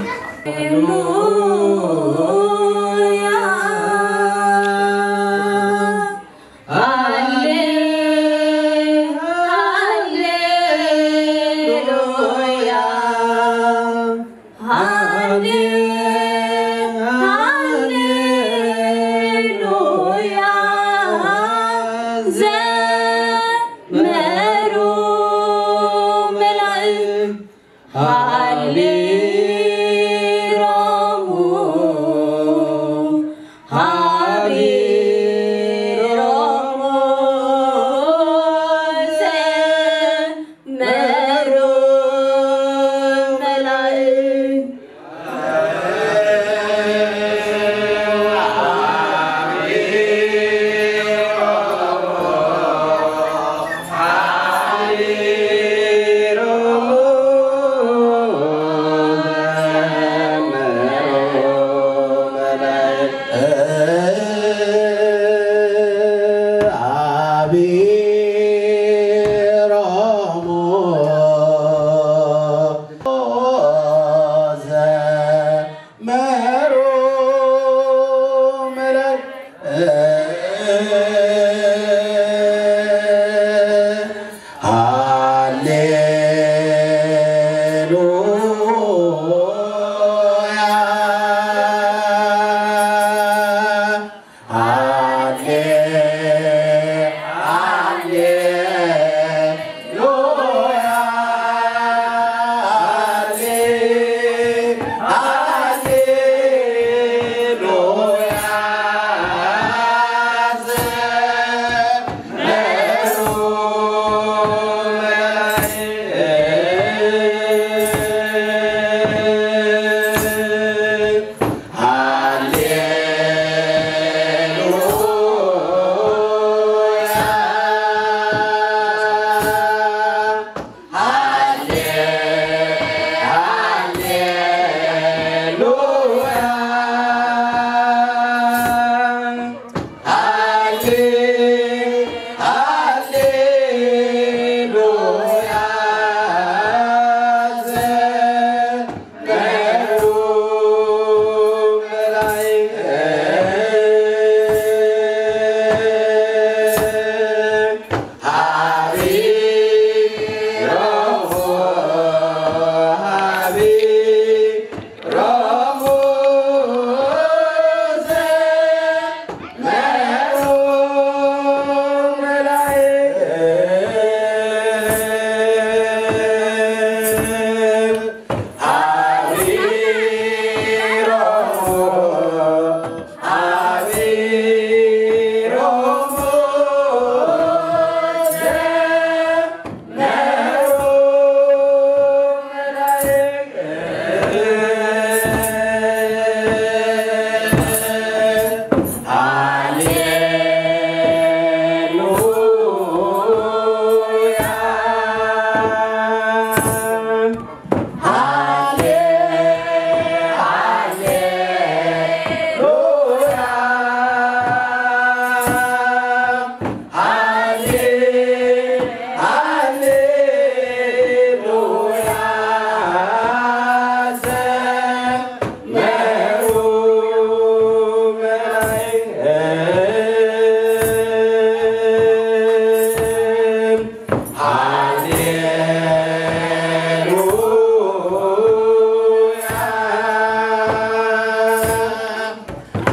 ሃሌሉያ፣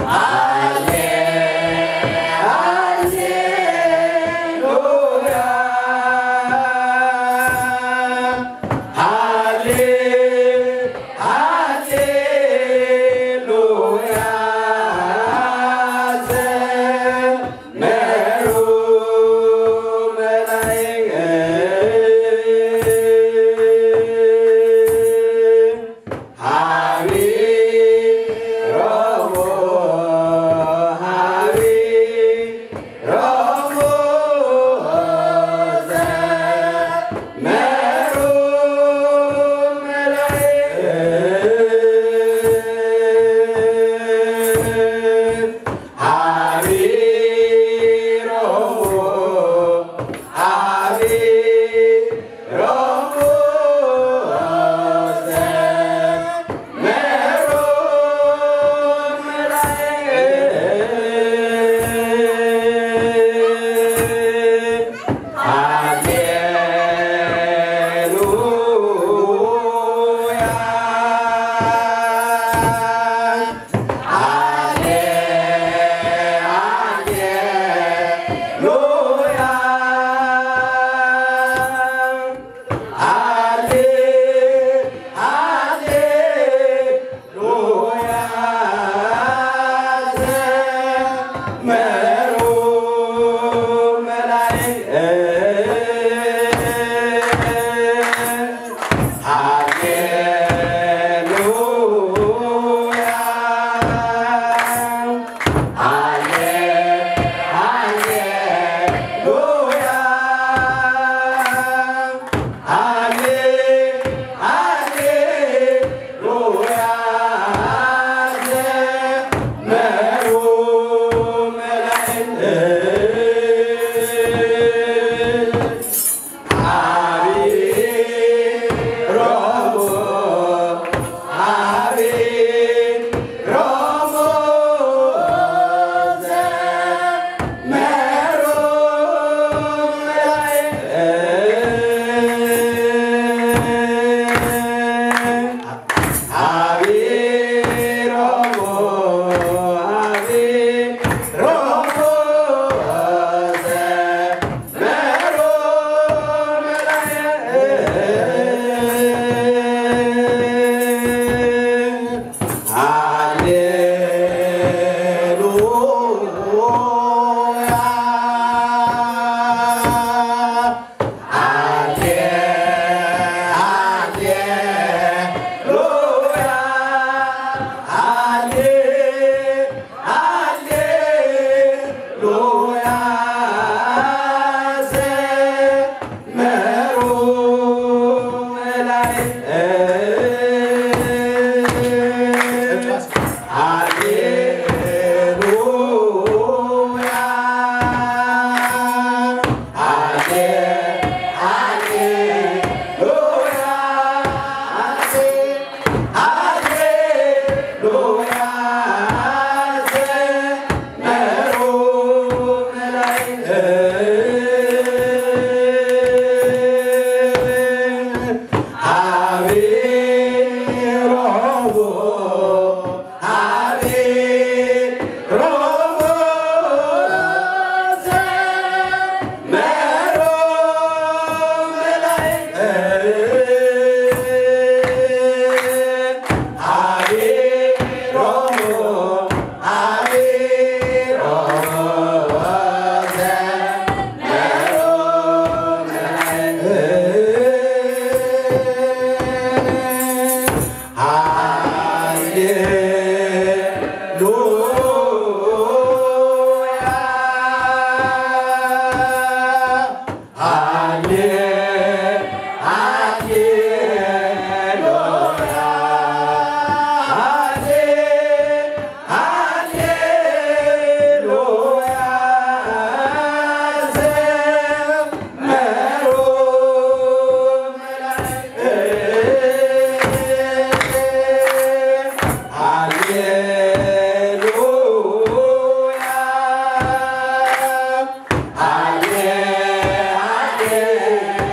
ሃሌ-፣ ሃሌሉያ፣ ሃሌ-፣ ሃሌሉያ። ዘመሩ መላእክት፣ ሀቢሮሙ፣ ሀቢሮሙ ዘመሩ መላእክት። ሀቢሮሙ፣ ሀቢሮሙ ዘመሩ መላእክት። ሃሌሉያ፣ ሃሌ-፣ ሃሌሉያ፣ ሃሌ-፣ ሃሌ-፣ ሉያ ዘመሩ መላእክት። ሃሌሉያ፣ ሃሌ-፣ ሃሌሉያ፣ ሃሌ-፣ ሃሌ- ሉያ ዘመሩ መላእክት። ሀቢሮሙ፣ ሀቢሮሙ ዘመሩ መላእክት። ሀቢሮሙ፣ ሀቢሮሙ ዘመሩ መላእክት። ሃሌሉያ። ሃሌ-፣ ሃሌሉያ፣ ሃሌ-፣ ሃሌሉያ፣ ዘመሩ መላእክት። ሃሌሉያ፣ ሃሌ-፣ ሃሌሉያ፣ ሃሌ-፣ ሃሌሉያ፣ ዘመሩ መላእክት። ሀቢሮሙ፣ ሀቢሮሙ ዘመሩ መላእክት። ሀቢሮሙ፣ ሀቢሮሙ ዘመሩ መላእክት። ሃሌሉያ፣ ሃሌ-፣ ሃሌሉያ፣ ሃሌ-፣ ሃሌሉያ፣ ዘመሩ መላእክት። ሃሌሉያ፣ ሃሌ-፣ ሃሌ-፣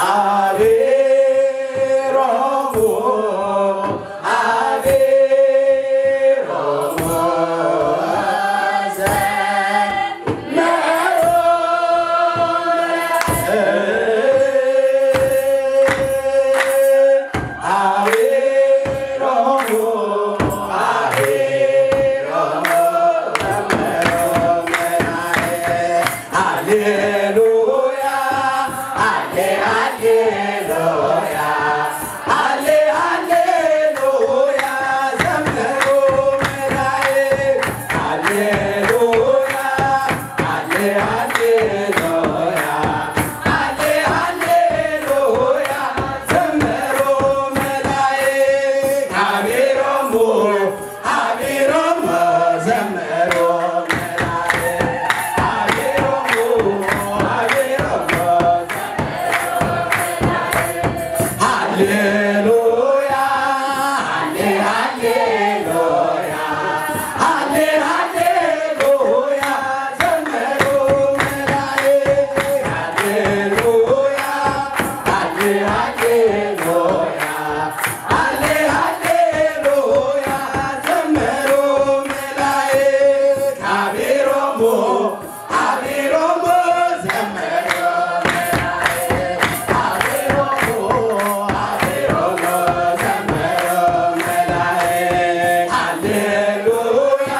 ኣቢሮሙ ኣቢሮሙ ዘመሩ ኣቢሮሙ ኣቢሮሙ ዘመሩ መላእክት። ሃሌሉያ፣ ሃሌ፣ ሃሌሉያ፣ ሃሌ፣ ሃሌሉያ፣ ዘምሩ መላእክት። ሃሌሉያ፣ ሃሌ፣ ሃሌሉያ፣ ሃሌ፣ ሃሌሉያ፣ ዘምሩ መላእክት። ሃቢሮሙ፣ ሃቢሮም ዘመሩ መላእክት፣ ሃቢሮም፣ ሃቢሮም ሃሌሉያ፣ ሃሌ፣ ሃሌሉያ፣ ሃሌ፣ ሃሌሉያ፣ ዘመሩ መላእክት፣ ሃሌሉያ፣ ሃሌ፣ ሃሌሉያ፣ ሃሌ ሃሌሉያ ዘመሩ መላእክት፣ ሃቢሮሙ፣ ሃቢሮሙ ዘመሩ መላእክት፣ ሃቢሮሙ፣ ሃቢሮሙ ዘመሩ መላእክት፣ ሃሌሉያ፣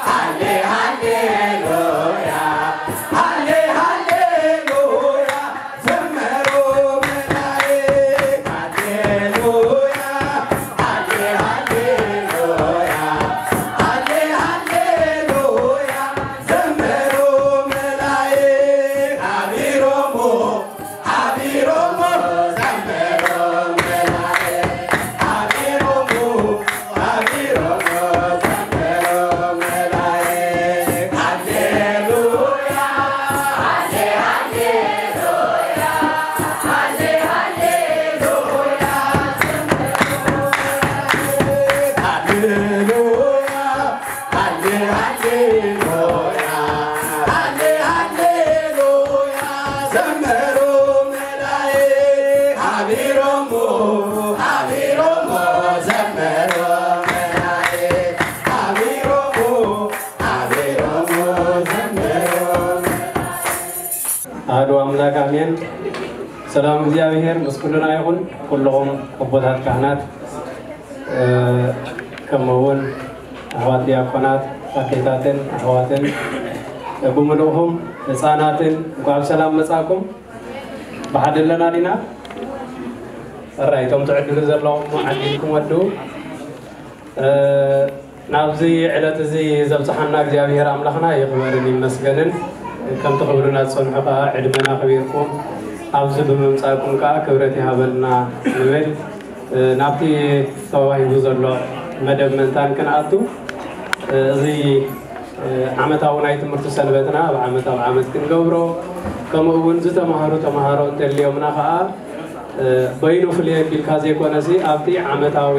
ሃሌ ሃሌሉያ፣ ሃሌ ሃሌሉያ ዘመሩ መላእክት፣ ሃሌሉያ፣ ሃሌ ሃሌሉያ፣ ሃሌ ሃሌሉያ ዘመሩ መላእክት፣ ሃቢሮሙ፣ ሃቢሮሙ ዘመሩ መላእክት፣ ሃቢሮሙ፣ ሃቢሮሙ ዘመሩ መላእክት፣ ሃሌሉያ፣ ሃሌ ሃሌሉያ፣ ሃሌ ሃሌሉያ፣ ሃሌሉያ፣ ሃሌ ሃሌሉያ፣ ሃሌ ሃሌሉያ፣ ዘመሩ መላእክት፣ ሃቢሮሙ፣ ሃቢሮሙ ዘመሩ መላእክት፣ ሃቢሮሙ፣ ሃቢሮሙ ዘመሩ። ኣሐዱ ኣምላክ ኣሜን። ሰላም እግዚኣብሔር ምስ ኩልና ይኹን። ኩልኹም ኣቦታት ካህናት፣ እ፣ ከምኡ እውን ኣሕዋት ዲያቆናት፣ ኣዴታትን ኣሕዋትን፣ ብምልእኹም ህፃናትን እንኳዕ ብሰላም መጻኩም። ብሓደ ኣለና ዲና? እራይ፣ እቶም ትዕድሉ ዘለኹም ዓዲልኩም ወዱ። እ፣ ናብዚ ዕለት እዚ ዘብጽሓና እግዚኣብሔር ኣምላኽና ይኽበርን ይመስገንን። ከምቲ ክብርና ዝጸንሑ ከኣ ዕድመና ኣኽቢርኩም ኣብዚ ብምምጻእኩም ከኣ ክብረት ይሃበልና ንብል። እ፣ ናብቲ ተዋሂቡ ዘሎ መደብ ምእንታን ክንኣቱ፣ እ፣ እዚ፣ እ፣ ዓመታዊ ናይ ትምህርቲ ሰንበትና ኣብ ዓመት ኣብ ዓመት ክንገብሮ፣ ከምኡ እውን ዝተማህሩ ተማሃሮ እንተልዮምና ከኣ፣ እ፣ በይኑ ፍልይ ኣቢልካ ዘይኮነሲ ኣብቲ ዓመታዊ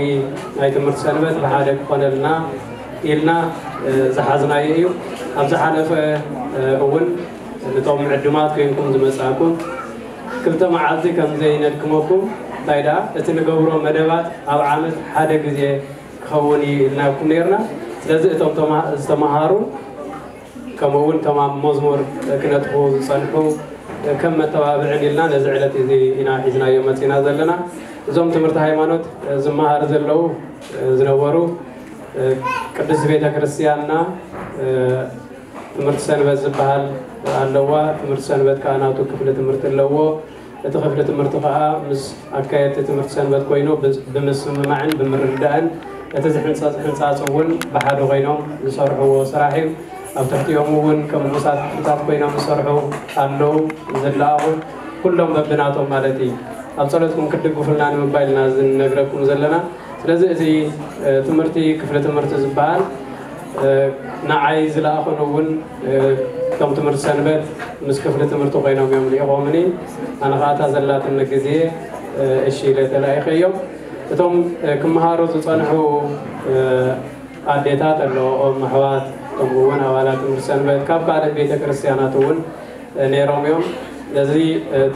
ናይ ትምህርቲ ሰንበት ብሓደ ክኾነልና ኢልና፣ እ፣ ዝሓዝናዮ እዩ። ኣብ ዝሓለፈ፣ እ፣ እውን ነቶም ዕዱማት ኮይንኩም ዝመጻእኩም ክልተ መዓልቲ ከም ዘይነድክመኩም፣ እንታይ ደኣ እቲ ንገብሮ መደባት ኣብ ዓመት ሓደ ግዜ ክኸውን እዩ ኢልናኩም ነይርና። ስለዚ እቶም ተማ-፣ ዝተማሃሩ ከምኡ እውን ከም ኣብ መዝሙር ክነጥፉ ዝጸንሑ ከም መተባብዕን ኢልና ነዚ ዕለት እዚ ኢና ሒዝናዮ መጺና ዘለና። እዞም ትምህርቲ ሃይማኖት ዝመሃር ዘለዉ ዝነበሩ ቅድስት ቤተ ክርስቲያንና ትምህርቲ ሰንበት ዝበሃል ኣለዋ። ትምህርቲ ሰንበት ከኣ ናቱ ክፍሊ ትምህርቲ ኣለዎ። እቲ ክፍሊ ትምህርቲ ከኣ ምስ ኣካየድቲ ትምህርቲ ሰንበት ኮይኑ ብ-፣ ብምስምማዕን ብምርድዳእን እቲ ዝሕንጸጽ ሕንጻጽ እውን ብሓደ ኮይኖም ዝሰርሕዎ ስራሕ እዩ። ኣብ ትሕቲኦም እውን ከም ንኡሳት ክፍልታት ኮይኖም ዝሰርሑ ኣለዉ፣ ዝለኣኹ ኩሎም በብናቶም ማለት እዩ። ኣብ ጸሎትኩም ክትድግፉልና ንምባል ኢና እዚ ንነግረኩም ዘለና። ስለዚ እዚ፣ እ፣ ትምህርቲ ክፍሊ ትምህርቲ ዝበሃል፣ እ፣ ንዓይ ዝለኣኹን እውን፣ እ፣ እቶም ትምህርቲ ሰንበት ምስ ክፍሊ ትምህርቲ ኮይኖም እዮም ልኢኾምኒ። ኣነ ኸኣ እታ ዘላትኒ ግዜ፣ እ፣ እሺ ኢለ ተላኢኸዮም። እቶም፣ እ፣ ክመሃሩ ዝጸንሑ፣ እ፣ ኣዴታት ኣለዎም፣ ኣሕዋት፣ ከምኡ እውን ኣባላት ትምህርቲ ሰንበት ካብ ካልእ ቤተ ክርስቲያናት እውን፣ እ፣ ነይሮም እዮም። እዚ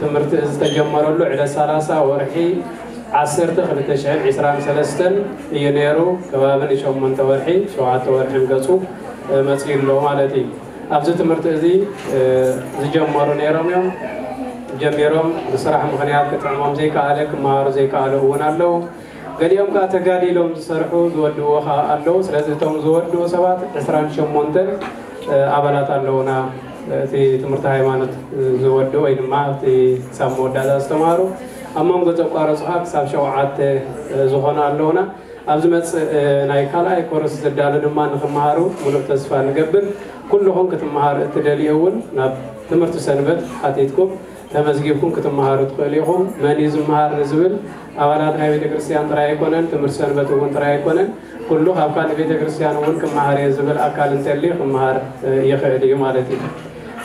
ትምህርቲ እዚ ዝተጀመረሉ ዕለት ሰላሳ ወርሒ ዓሰርተ ክልተ ሽሕን ዕስራን ሰለስተን እዩ ነይሩ። ከባቢ ንሸሞንተ ወርሒ ሸውዓተ ወርሒ ገፁ መፅኡ ኣሎ ማለት እዩ። ኣብዚ ትምህርቲ እዚ ዝጀመሩ ነይሮም እዮም። ጀሚሮም ብስራሕ ምኽንያት ክጥዕሞም ዘይከኣለ፣ ክመሃሩ ዘይከኣሉ እውን ኣለዉ። ገሊኦም ከዓ ተጋዲሎም ዝሰርሑ ዝወድዎ ከዓ ኣለዉ። ስለዚ እቶም ዝወድኡ ሰባት ዕስራን ሸሞንተን ኣባላት ኣለዉና። እቲ ትምህርቲ ሃይማኖት ዝወድኡ ወይ ድማ እቲ ክሳብ መወዳእታ ዝተምሃሩ፣ ኣብ መንጎ ዘቋረፁ ከዓ ክሳብ ሸውዓተ ዝኾኑ ኣለዉና። ኣብ ዝመፅእ ናይ ካልኣይ ኮርስ ዘዳሉ ድማ ንክመሃሩ ሙሉእ ተስፋ ንገብር። ኩልኹም ክትመሃሩ እትደልዩ እውን ናብ ትምህርቲ ሰንበት ሓቲትኩም ተመዝጊብኩም ክትመሃሩ ትኽእሉ ኢኹም። መን እዩ ዝመሃር ንዝብል ኣባላት ናይ ቤተክርስትያን ጥራይ ኣይኮነን፣ ትምህርቲ ሰንበት እውን ጥራይ ኣይኮነን። ኩሉ ካብ ካልእ ቤተክርስትያን እውን ክመሃር እየ ዝብል ኣካል እንተልዩ ክመሃር ይኽእል እዩ ማለት እዩ።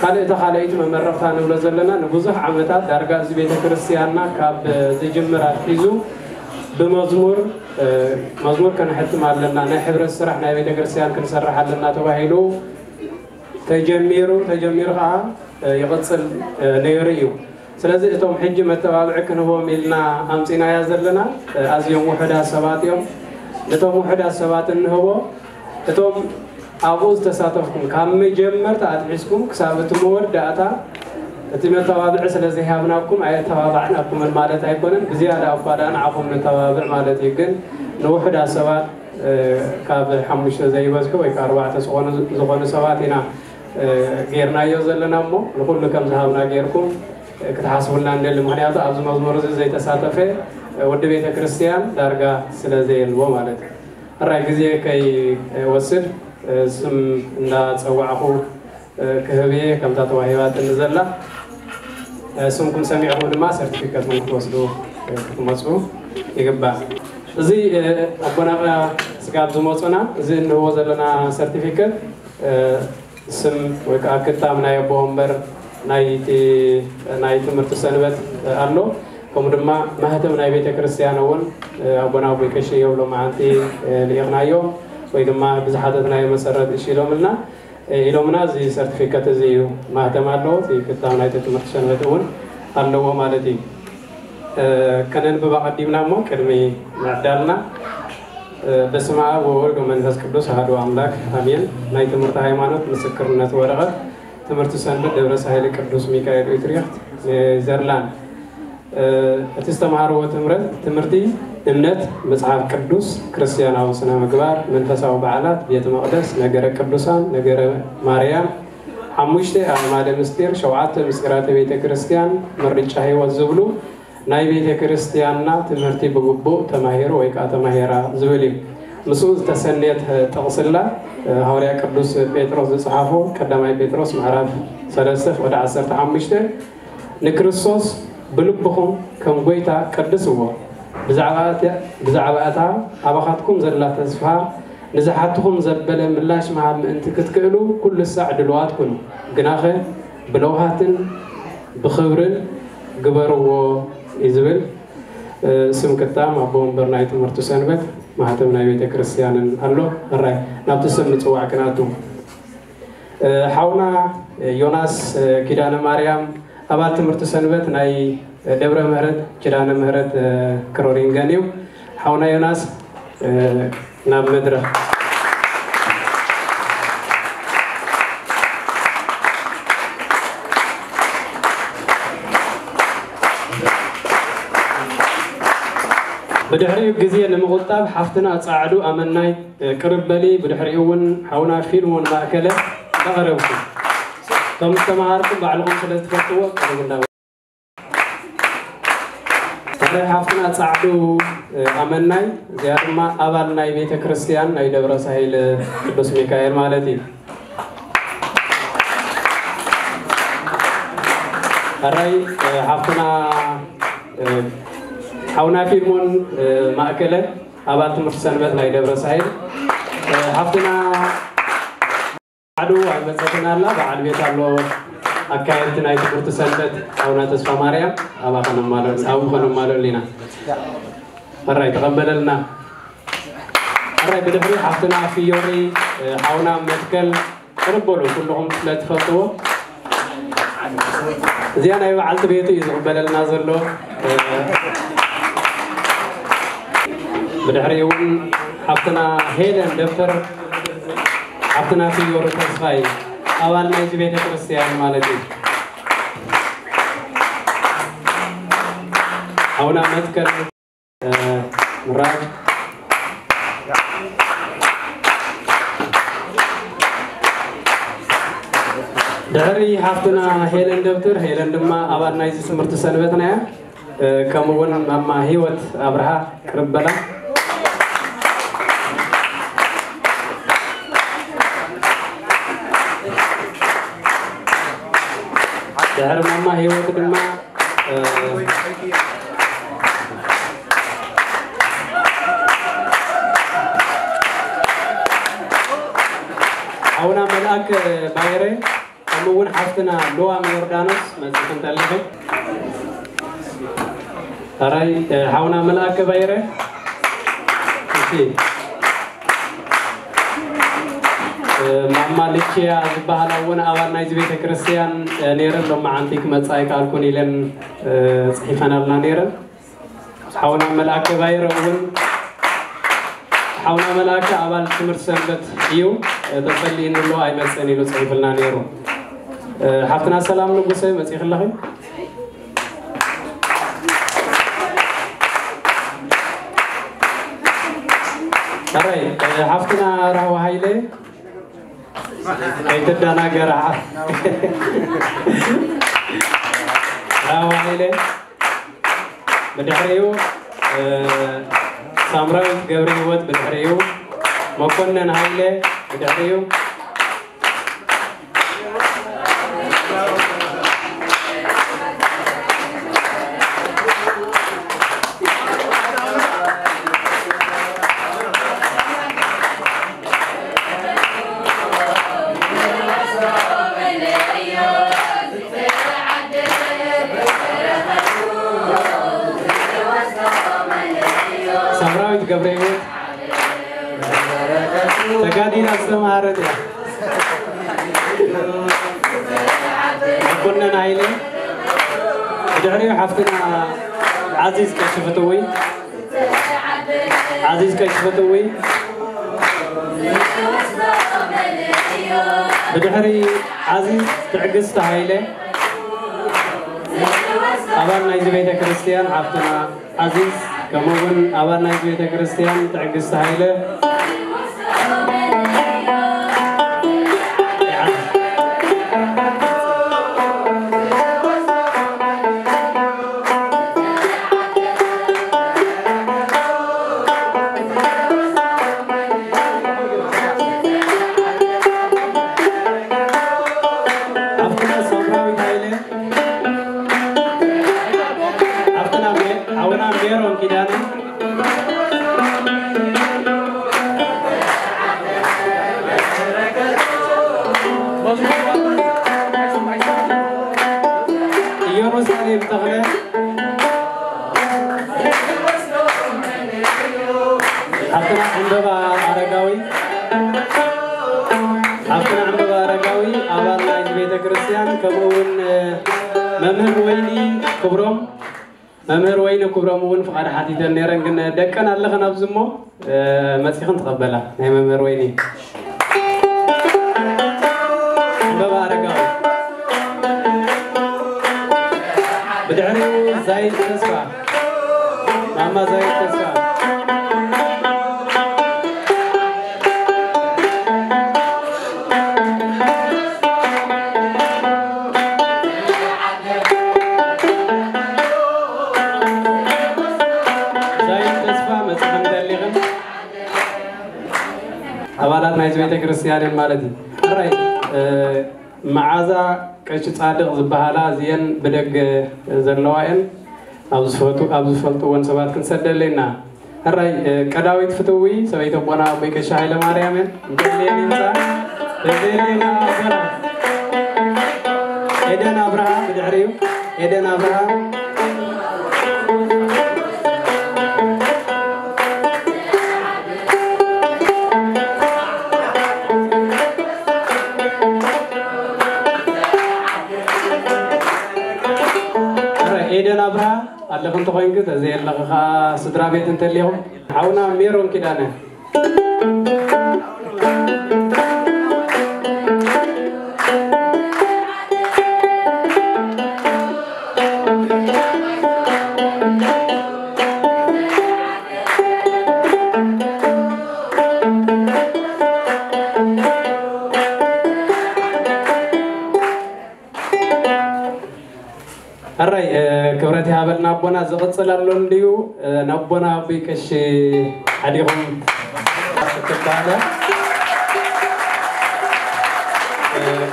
ካልእ እታ ካልኣይቲ መመረቕታ ንብሎ ዘለና ንብዙሕ ዓመታት ዳርጋ እዚ ቤተክርስትያንና ካብ ዝጅምር ኣትሒዙ ብመዝሙር መዝሙር ከነሕትም ኣለና፣ ናይ ሕብረት ስራሕ ናይ ቤተክርስትያን ክንሰርሕ ኣለና ተባሂሉ ተጀሚሩ ተጀሚሩ ከዓ ይቕፅል ነይሩ እዩ። ስለዚ እቶም ሕጂ መተባብዒ ክንህቦም ኢልና ኣምፂናያ ዘለና ኣዝዮም ውሑዳት ሰባት እዮም። ነቶም ውሑዳት ሰባት እንህቦ እቶም ኣብኡ ዝተሳተፍኩም ካብ መጀመርታ ኣትሒዝኩም ክሳብ እቲ መወዳእታ እቲ መተባብዒ ስለ ዘይሃብናኩም ኣየተባባዕናኩምን ማለት ኣይኮነን። ብዝያዳ እኳ ደኣ ንዓኹም ነተባብዕ ማለት እዩ። ግን ንውሑዳት ሰባት ካብ ሓሙሽተ ዘይበዝሑ ወይ ከዓ ኣርባዕተ ዝኾኑ ሰባት ኢና ጌርናዮ ዘለና እሞ ንኩሉ ከም ዝሃብና ጌርኩም ክትሓስቡልና ንደሊ። ምክንያቱ ኣብዚ መዝሙር እዚ ዘይተሳተፈ ወዲ ቤተ ክርስትያን ዳርጋ ስለ ዘየልዎ ማለት እዩ። ሕራይ ግዜ ከይወስድ ስም እንዳፀዋዕኹ ክህብ እየ። ከምታ ተዋሂባትኒ ዘላ ስምኩም ሰሚዕኹም ድማ ሰርቲፊከትኩም ክትወስዱ ክትመፁ ይግባእ። እዚ ኣቦና ስጋብ ዝመፁና እዚ እንህቦ ዘለና ሰርቲፊከት ስም ወይ ከዓ ክታም ናይ ኣቦ ወንበር ናይቲ ናይ ትምህርቲ ሰንበት ኣሎ። ከምኡ ድማ ማህተም ናይ ቤተ ክርስቲያን እውን ኣቦና ኣቦይ ቀሺ እዮም ሎማዓንቲ ልኢኽናዮ ወይ ድማ ብዝሓተትናዮ መሰረት እሺ ኢሎምልና ኢሎምና። እዚ ሰርቲፊከት እዚ እዩ ማህተም ኣለዎ። እቲ ክታም ናይቲ ትምህርቲ ሰንበት እውን ኣለዎ ማለት እዩ። ከነንብብ ኣቐዲምና እሞ ቅድሚ ምዕዳልና በስመ ኣብ ወወልድ ወመንፈስ ቅዱስ ኣሐዱ ኣምላክ ኣሜን። ናይ ትምህርቲ ሃይማኖት ምስክርነት ወረቐት ትምህርቲ ሰንበት ደብረ ሳህሊ ቅዱስ ሚካኤል ዩትሪክት ኔዘርላንድ። እቲ ዝተምሃርዎ ትምህረት ትምህርቲ እምነት፣ መጽሓፍ ቅዱስ፣ ክርስትያናዊ ስነ ምግባር፣ መንፈሳዊ በዓላት፣ ቤተ መቕደስ፣ ነገረ ቅዱሳን፣ ነገረ ማርያም፣ ሓሙሽተ ኣዕማደ ምስጢር፣ ሸውዓተ ምስጢራተ ቤተ ክርስቲያን፣ ምርጫ ህይወት ዝብሉ ናይ ቤተ ክርስቲያንና ትምህርቲ ብግቡእ ተማሂሩ ወይ ከዓ ተማሂራ ዝብል እዩ። ምስኡ ዝተሰነየት ጥቕስላ ሃዋርያ ቅዱስ ጴጥሮስ ዝጸሓፎ ቀዳማይ ጴጥሮስ ምዕራፍ ሰለስተ ፍቕዲ ዓሰርተ ሓሙሽተ ንክርስቶስ ብልብኹም ከም ጎይታ ቀድስዎ፣ ብዛዕባ እታ ኣባኻትኩም ዘላ ተስፋ ንዝሓትኹም ዘበለ ምላሽ ምሃብ ምእንቲ ክትክእሉ ኩሉ ሳዕ ድልዋት ኩኑ፣ ግናኸ ብለውሃትን ብኽብርን ግበርዎ እዩ ዝብል። ስም ክታም ኣቦ ወንበር ናይ ትምህርቲ ሰንበት ማህተም ናይ ቤተ ክርስቲያንን ኣሎ። ሕራይ ናብቲ ስም ምፅዋዕ ክናቱ ሓውና ዮናስ ኪዳነ ማርያም ኣባል ትምህርቲ ሰንበት ናይ ደብረ ምህረት ኪዳነ ምህረት ክሮሪንገን እዩ። ሓውና ዮናስ ናብ መድረኽ። ብድሕሪኡ ግዜ ንምቑጣብ ሓፍትና ጻዕዱ ኣመናይ ቅርብ በሊ። ብድሕሪኡ እውን ሓውና ፊልሞን ማእከለ እንዳቐረብኩም ከም ዝተመሃርኩም ባዕልኹም ስለ ዝትፈልጥዎ ቅርብ እንዳ። ሓደ ሓፍትና ጻዕዱ ኣመናይ እዚኣ ድማ ኣባል ናይ ቤተ ክርስቲያን ናይ ደብረ ሳይል ቅዱስ ሚካኤል ማለት እዩ። ሕራይ ሓፍትና ሓውና ፊልሞን ማእከለ ኣባል ትምህርቲ ሰንበት ናይ ደብረ ሳይል ሓፍትና ዓዱ ኣይመጸትን ኣላ። በዓል ቤት ኣሎ ኣካየድቲ ናይ ትምህርቲ ሰንበት ኣቡና ተስፋ ማርያም ኣባ ከነማለሉ ኣብኡ ከነማለሉ ኢና። ሕራይ ተቐበለልና። ሕራይ ብድሕሪ ሓፍትና ፍዮሪ ሓውና መትከል ቅርብ በሉ ኩልኹም ስለ ትፈልጥዎ። እዚኣ ናይ በዓልቲ ቤቱ እዩ ዝቕበለልና ዘሎ። ብድሕሪኡ እውን ሓፍትና ሄለን ደብተር፣ ሓፍትና ፍዮሪ ተስፋይ፣ ኣባል ናይዚ ቤተ ክርስቲያን ማለት እዩ። ሓውና መትከል ምራድ። ድሕሪ ሓፍትና ሄለን ደብተር፣ ሄለን ድማ ኣባል ናይዚ ትምህርቲ ሰንበትና እያ። ከምኡ እውን ማማ ህይወት ኣብርሃ ቅርብ በላ። ድሕሪ ማማ ህይወት ድማ ሓውና መልኣክ ባይረ፣ ከምኡ እውን ሓፍትና ሉዋም ዮርዳኖስ መፅእ ክንተልኸ። ሕራይ ሓውና መልኣክ ባይረ። እሺ። ማማ ልችያ ዝበሃላ እውን ኣባል ናይዚ ቤተ ክርስቲያን ነይረን፣ ሎማዓንቲ ክመፃ ኣይከኣልኩን ኢለን ፅሒፈናልና ነይረን። ሓውና መልኣከ ባይረ እውን፣ ሓውና መልኣከ ኣባል ትምህርቲ ሰንበት እዩ፣ ተጸሊእኒ ኣሎ ኣይመጽእን ኢሉ ጽሒፍልና ነይሩ። ሓፍትና ሰላም ንጉሰ መጺእኺ ኣለኺ? ሕራይ ሓፍትና ራህዋ ሃይለ ከይትደናገራ። ራህዋ ሃይለ ብድሕሪኡ ሳምራዊት ገብረ ህይወት፣ ብድሕሪኡ መኮነን ሃይለ፣ ብድሕሪኡ ሳምራዊት ገብረ ህይወት ተጋዲላ ዝተማሃረት እያ። መኮነን ሃይለ፣ ብድሕሪኡ ሓፍትና ዓዚዝ ቀሺ ፍትዊ፣ ዓዚዝ ቀሺ ፍትዊ፣ ብድሕሪ ዓዚዝ ትዕግስቲ ሃይለ፣ ኣባል ናይዚ ቤተ ክርስቲያን ሓፍትና ዓዚዝ፣ ከምኡ እውን ኣባል ናይዚ ቤተ ክርስቲያን ትዕግስቲ ሃይለ። ሓፍትና ሳምራዊት ሃይለ፣ ሓፍትና ሜ-፣ ሓውና ሜሮን ኪዳነ፣ ኢየሩሳሌም ተኽለ፣ ሓፍትና ዕምበባ ኣረጋዊ፣ ሓፍትና ዕምበባ ኣረጋዊ ኣባል ናይዚ ቤተ ክርስቲያን፣ ከምኡ እውን መምህር ወይኒ ክብሮም፣ መምህር ወይኒ ክብሮም እውን ፍቓድ ሓቲተን ነይረን፣ ግን ደቀን ኣለኽን ኣብዚ እሞ፣ እ፣ መጺኽን ትቐበላ ናይ መምህር ወይኒ። ዕምበባ ኣረጋዊ። ብድሕሪኡ ዛይድ ተስፋ፣ ማማ ዛይድ ተስፋ። ዛይድ ተስፋ መጽሓን ደሊኽን ኣባላት ናይዚ ቤተ ክርስቲያን ማለት እዩ። ሕራይ፣ እ፣ መዓዛ ቀሺ ጻድቕ ዝበሃላ እዚአን ብደገ ዘለዋ እየን። ኣብ ዝፈቱ-፣ ኣብ ዝፈልጥወን ሰባት ክንሰደለና። ሕራይ፣ እ፣ ቀዳዊት ፍትዊ ሰበይቲ ኣቦና ኣቦይ ቀሺ ሃይለ ማርያም እየን። እንተልየን ይምጻ። እንተልየን ኣቦና ኤደን ኣብርሃ ብድሕሪኡ። ኤደን ኣብርሃ። ኤደን ኣብርሃ ኣለኺ እንተኾይንኪ፣ ተዘየለኺ ኸዓ ስድራ ቤት እንተልዮም፣ ሓውና ሜሮን ኪዳነ። ሕራይ ክብረት ይሃበልና ኣቦና። ዝቕፅል ኣሎ እንድዩ። ነቦና ኣቦይ ቀሺ ሓዲኹም ክትባሃለ።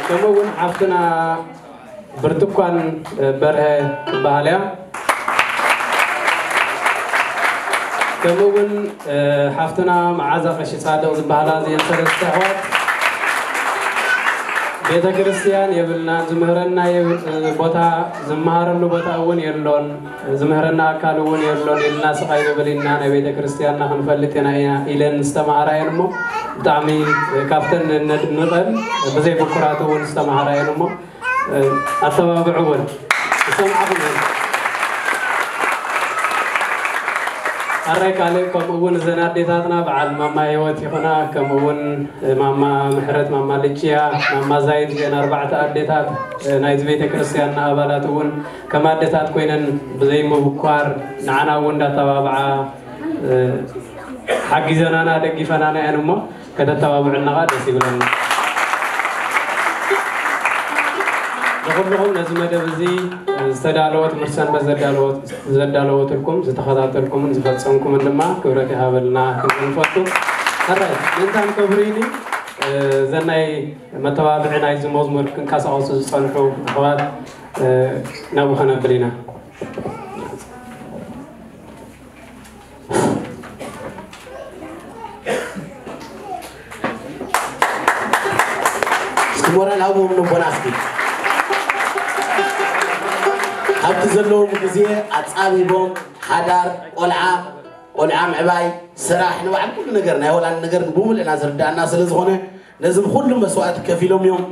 ከምኡ እውን ሓፍትና ብርቱኳን በርሀ ትበሃል እያ። ከምኡ እውን ሓፍትና መዓዛ ቀሺ ፃድቕ ዝበሃላ እዚአን ሰለስተ ኣሕዋት። ቤተ ክርስቲያን የብልናን፣ ዝምህረና የብል- ቦታ፣ ዝመሃረሉ ቦታ እውን የሎን፣ ዝምህረና ኣካል እውን የሎን፣ ኢልና ስቓይ ንብል ኢና፣ ናይ ቤተ ክርስቲያንና ክንፈልጥ ኢና ኢና ኢለን ዝተማሃራ እየን። እሞ ብጣዕሚ ካብተን ነድንቐን፣ ብዘይ ብኩራት እውን ዝተማሃራ እየን። እሞ ኣተባብዕወን፣ ይሰምዓኹም እየን። ኣራይ ካልእ ከምኡ እውን እዘን ኣዴታትና በዓል ማማ ህይወት ይኹና፣ ከምኡ እውን ማማ ምሕረት፣ ማማ ልጭያ፣ ማማ ዛይድ፣ እዘን ኣርባዕተ ኣዴታት ናይዚ ቤተ ክርስቲያንና ኣባላት እውን ከም ኣዴታት ኮይነን ብዘይምብኳር ንዓና እውን እንዳተባብዓ ሓጊዘናና፣ ደጊፈናና እየን። እሞ ከተተባብዕና ኸዓ ደስ ይብለና። ንኹልኹም ነዚ መደብ እዚ ዝተዳለወ ትምህርቲ ሰንበት ዘዳለወት- ዘዳለወትልኩም ዝተኸታተልኩምን ዝፈጸምኩምን ድማ ክብረት ይሃበልና ክንብል ንፈቱ። ሕራይ ምእንታን ከብሪኒ እዘን ናይ መተባብዒ ናይዚ መዝሙር ክንቀሳቐሱ ዝጸንሑ ኣሕዋት ናብኡ ከነብል ኢና። እስኪ ሞራል ሃብዎም ነቦና እስኪ። ካብቲ ዘለዎም ግዜ ኣጻቢቦም ሓዳር፣ ቆልዓ፣ ቆልዓ ምዕባይ፣ ስራሕ፣ ንባዕል ኩሉ ነገር ናይ ሆላንድ ነገር ብሙሉእና ዝርዳእና ስለ ዝኾነ ነዚ ብኩሉ መስዋእቲ ከፊሎም እዮም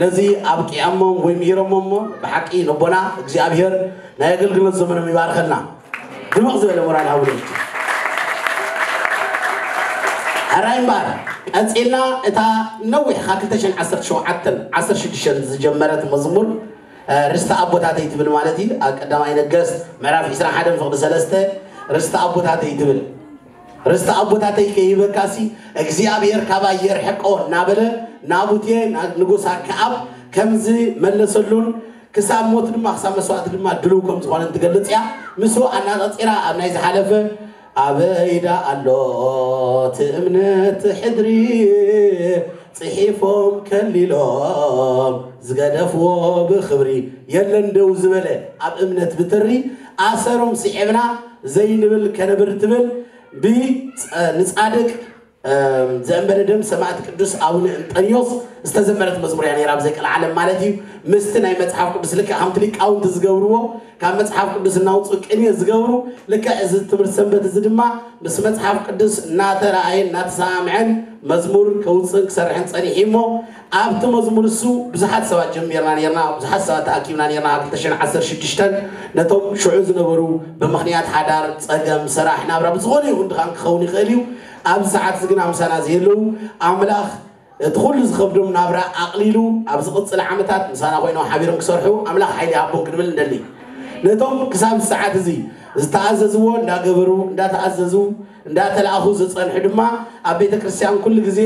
ነዚ ኣብቂዖሞም ወይ ምሂሮሞም። እሞ ብሓቂ ነቦና እግዚኣብሔር ናይ ኣገልግሎት ዘመኖም ይባርኸልና። ድምቕ ዝበለ ሞራል ሃቡሎም። ሕራይ እምበኣር ቀጺልና እታ ነዊሕ ካብ ክልተ ሽሕን ዓሰርተ ሸውዓተን ዓሰርተ ሽዱሽተን ዝጀመረት መዝሙር ርስቲ ኣቦታተይ ትብል ማለት እዩ። ኣብ ቀዳማይ ነገስት ምዕራፍ ዕስራን ሓደን ፍቕዲ ሰለስተ ርስቲ ኣቦታተይ ትብል። ርስቲ ኣቦታተይ ከይህበካሲ እግዚኣብሔር ካባይ የርሕቆ እናበለ ናቡቴ ንጉስ ኣክዓብ ከምዚ መለሰሉን ክሳብ ሞት ድማ ክሳብ መስዋእቲ ድማ ድልው ከም ዝኾነ እንትገልጽ እያ። ምስኡ ኣናጻጺራ ኣብ ናይ ዝሓለፈ ኣበይ ደኣ ኣሎ እቲ እምነት ሕድሪ ጽሒፎም ከሊሎም ዝገደፍዎ ብኽብሪ የለን ደው ዝበለ ኣብ እምነት ብትሪ ኣሰሮም ስዒብና ዘይንብል ከነብር ትብል ብንጻድቅ ዘእንበለ ደም ሰማዕት ቅዱስ ኣቡነ እንጠንዮስ ዝተዘመረት መዝሙር እያ ነይራ ብዘይ ቀልዓለም ማለት እዩ። ምስቲ ናይ መጽሓፍ ቅዱስ ልክዕ ከምቲ ሊቃውንቲ ዝገብርዎ ካብ መጽሓፍ ቅዱስ እናውፅኡ ቅኔ ዝገብሩ ልክዕ እዚ ትምህርቲ ሰንበት እዚ ድማ ምስ መጽሓፍ ቅዱስ እናተረኣየን እናተሰማምዐን መዝሙር ከውፅእን ክሰርሕን ፀኒሑ እሞ ኣብቲ መዝሙር እሱ ብዙሓት ሰባት ጀሚርና ነርና፣ ብዙሓት ሰባት ተኣኪብና ነርና። ኣብ ክልተ ሽሕን ዓሰርተ ሽዱሽተን ነቶም ሽዑ ዝነበሩ ብምኽንያት ሓዳር፣ ፀገም፣ ስራሕ፣ ናብራ ብዝኾነ ይኹን ድኻን ክኸውን ይኽእል እዩ። ኣብዚ ሰዓት እዚ ግን ኣምሳና ዘየለዉ ኣምላኽ እቲ ኩሉ ዝኸብዶም ናብራ ኣቕሊሉ ኣብ ዝቕፅል ዓመታት ምሳና ኮይኖም ሓቢሮም ክሰርሑ ኣምላኽ ሓይሊ ይሃቦም ክንብል እንደሊ። ነቶም ክሳብ ሰዓት እዚ ዝተኣዘዝዎ እንዳገበሩ እንዳተኣዘዙ እንዳተላእኹ ዝፀንሑ ድማ ኣብ ቤተ ክርስቲያን ኩሉ ግዜ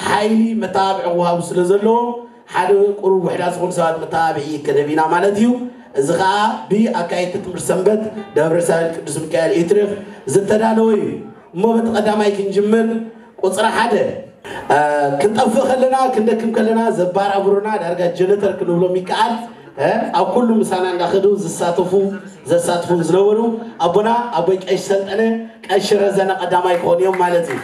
ሓይሊ መተባብዒ ክወሃቡ ስለ ዘለዎም ሓደ ቁሩብ ውሕዳት ዝኾኑ ሰባት መተባብዒ ክንህብ ኢና ማለት እዩ። እዚ ከዓ ብኣካየድቲ ትምህርቲ ሰንበት ደብረ ሳህል ቅዱስ ሚካኤል ኢትሪኽ ዝተዳለወ እዩ። እሞ በቲ ቀዳማይ ክንጅምር ቁፅሪ ሓደ ክንጠፍእ ከለና ክንደክም ከለና ዘባራብሩና ዳርጋ ጀነተር ክንብሎም ይከኣል። ኣብ ኩሉ ምሳና እንዳኸዱ ዝሳተፉ ዘሳትፉን ዝነበሩ ኣቦና ኣቦይ ቀሽ ሰልጠነ ቀሽ ረዘነ ቀዳማይ ክኾኑ እዮም ማለት እዩ።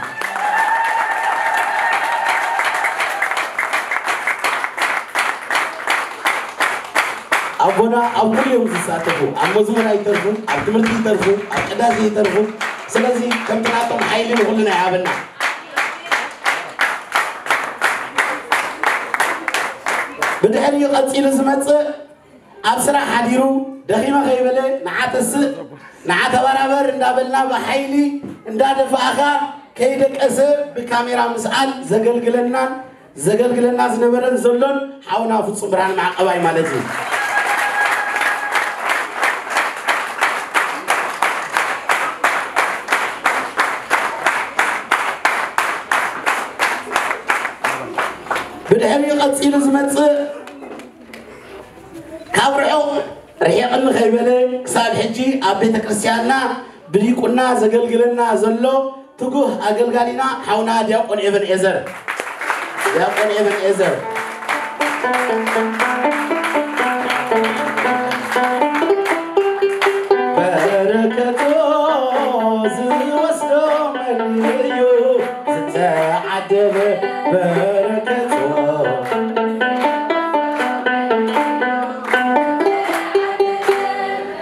ኣቦና ኣብ ኩሉ እዮም ዝሳተፉ፣ ኣብ መዝሙር ኣይተርፉ፣ ኣብ ትምህርቲ ይተርፉ፣ ኣብ ቅዳሴ ይተርፉ። ስለዚ ከምቲ ናቶም ሓይሊ ንኩልና ይሃበና። ብድሕሪኡ ቀፂሉ ዝመፅእ ኣብ ስራሕ ሓዲሩ ደኺመ ከይበለ ንዓ ተስእ ንዓ ተበራበር እንዳበልና ብሓይሊ እንዳደፋእኻ ከይደቀሰ ብካሜራ ምስኣል ዘገልግለናን ዘገልግለና ዝነበረን ዘሎን ሓውና ፍጹም ብርሃን ማዕቐባይ ማለት እዩ። ብድሕሪኡ ቀጺሉ ዝመጽእ ካብ ርሑቕ ርሒቕኒ ከይበለ ክሳብ ሕጂ ኣብ ቤተ ክርስቲያንና ብዲቁና ዘገልግለና ዘሎ ትጉህ ኣገልጋሊና ሓውና ዲያቆን ኤቨን ኤዘር። ዲያቆን ኤቨን ኤዘር። በረከቶ ዝወስዶ መን እዩ ዝተዓደለ በረከቶ።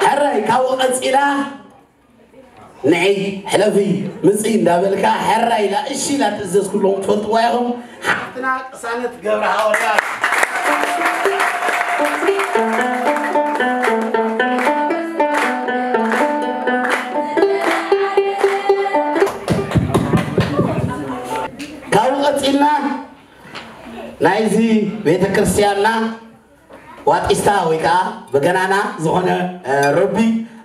ሕራይ ካብኡ ቀጺላ ንዒ ሕለፊ ምጺ እንዳበልካ ሕራይ ኢላ እሺ ኢላ ትእዘዝ ኩሎም ትፈልጥዋ ኢኹም። ሓፍትና ቅሳነት ገብረ ሃወርያት። ካብኡ ቀጺልና ናይዚ ቤተ ክርስቲያንና ዋጢስታ ወይ ከዓ በገናና ዝኾነ ረቢ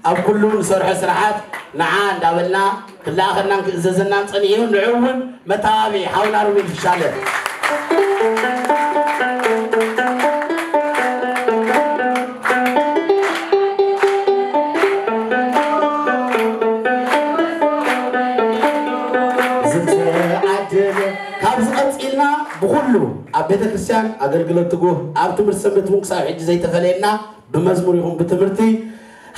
ኣብ ኩሉ ንሰርሖ ስራሓት ንዓ እንዳበልና ክለኣኸናን ክእዘዘናን ጸኒሑ ንዑ እውን መተባብዒ ሓውና ሩቤል ፍሻለ። ዝተዓደለ ካብዚ ቀፂልና ብኩሉ ኣብ ቤተክርስትያን ኣገልግሎት ትጉህ ኣብ ትምህርቲ ሰንበት እውን ክሳብ ሕጂ ዘይተፈለየና ብመዝሙር ይኹን ብትምህርቲ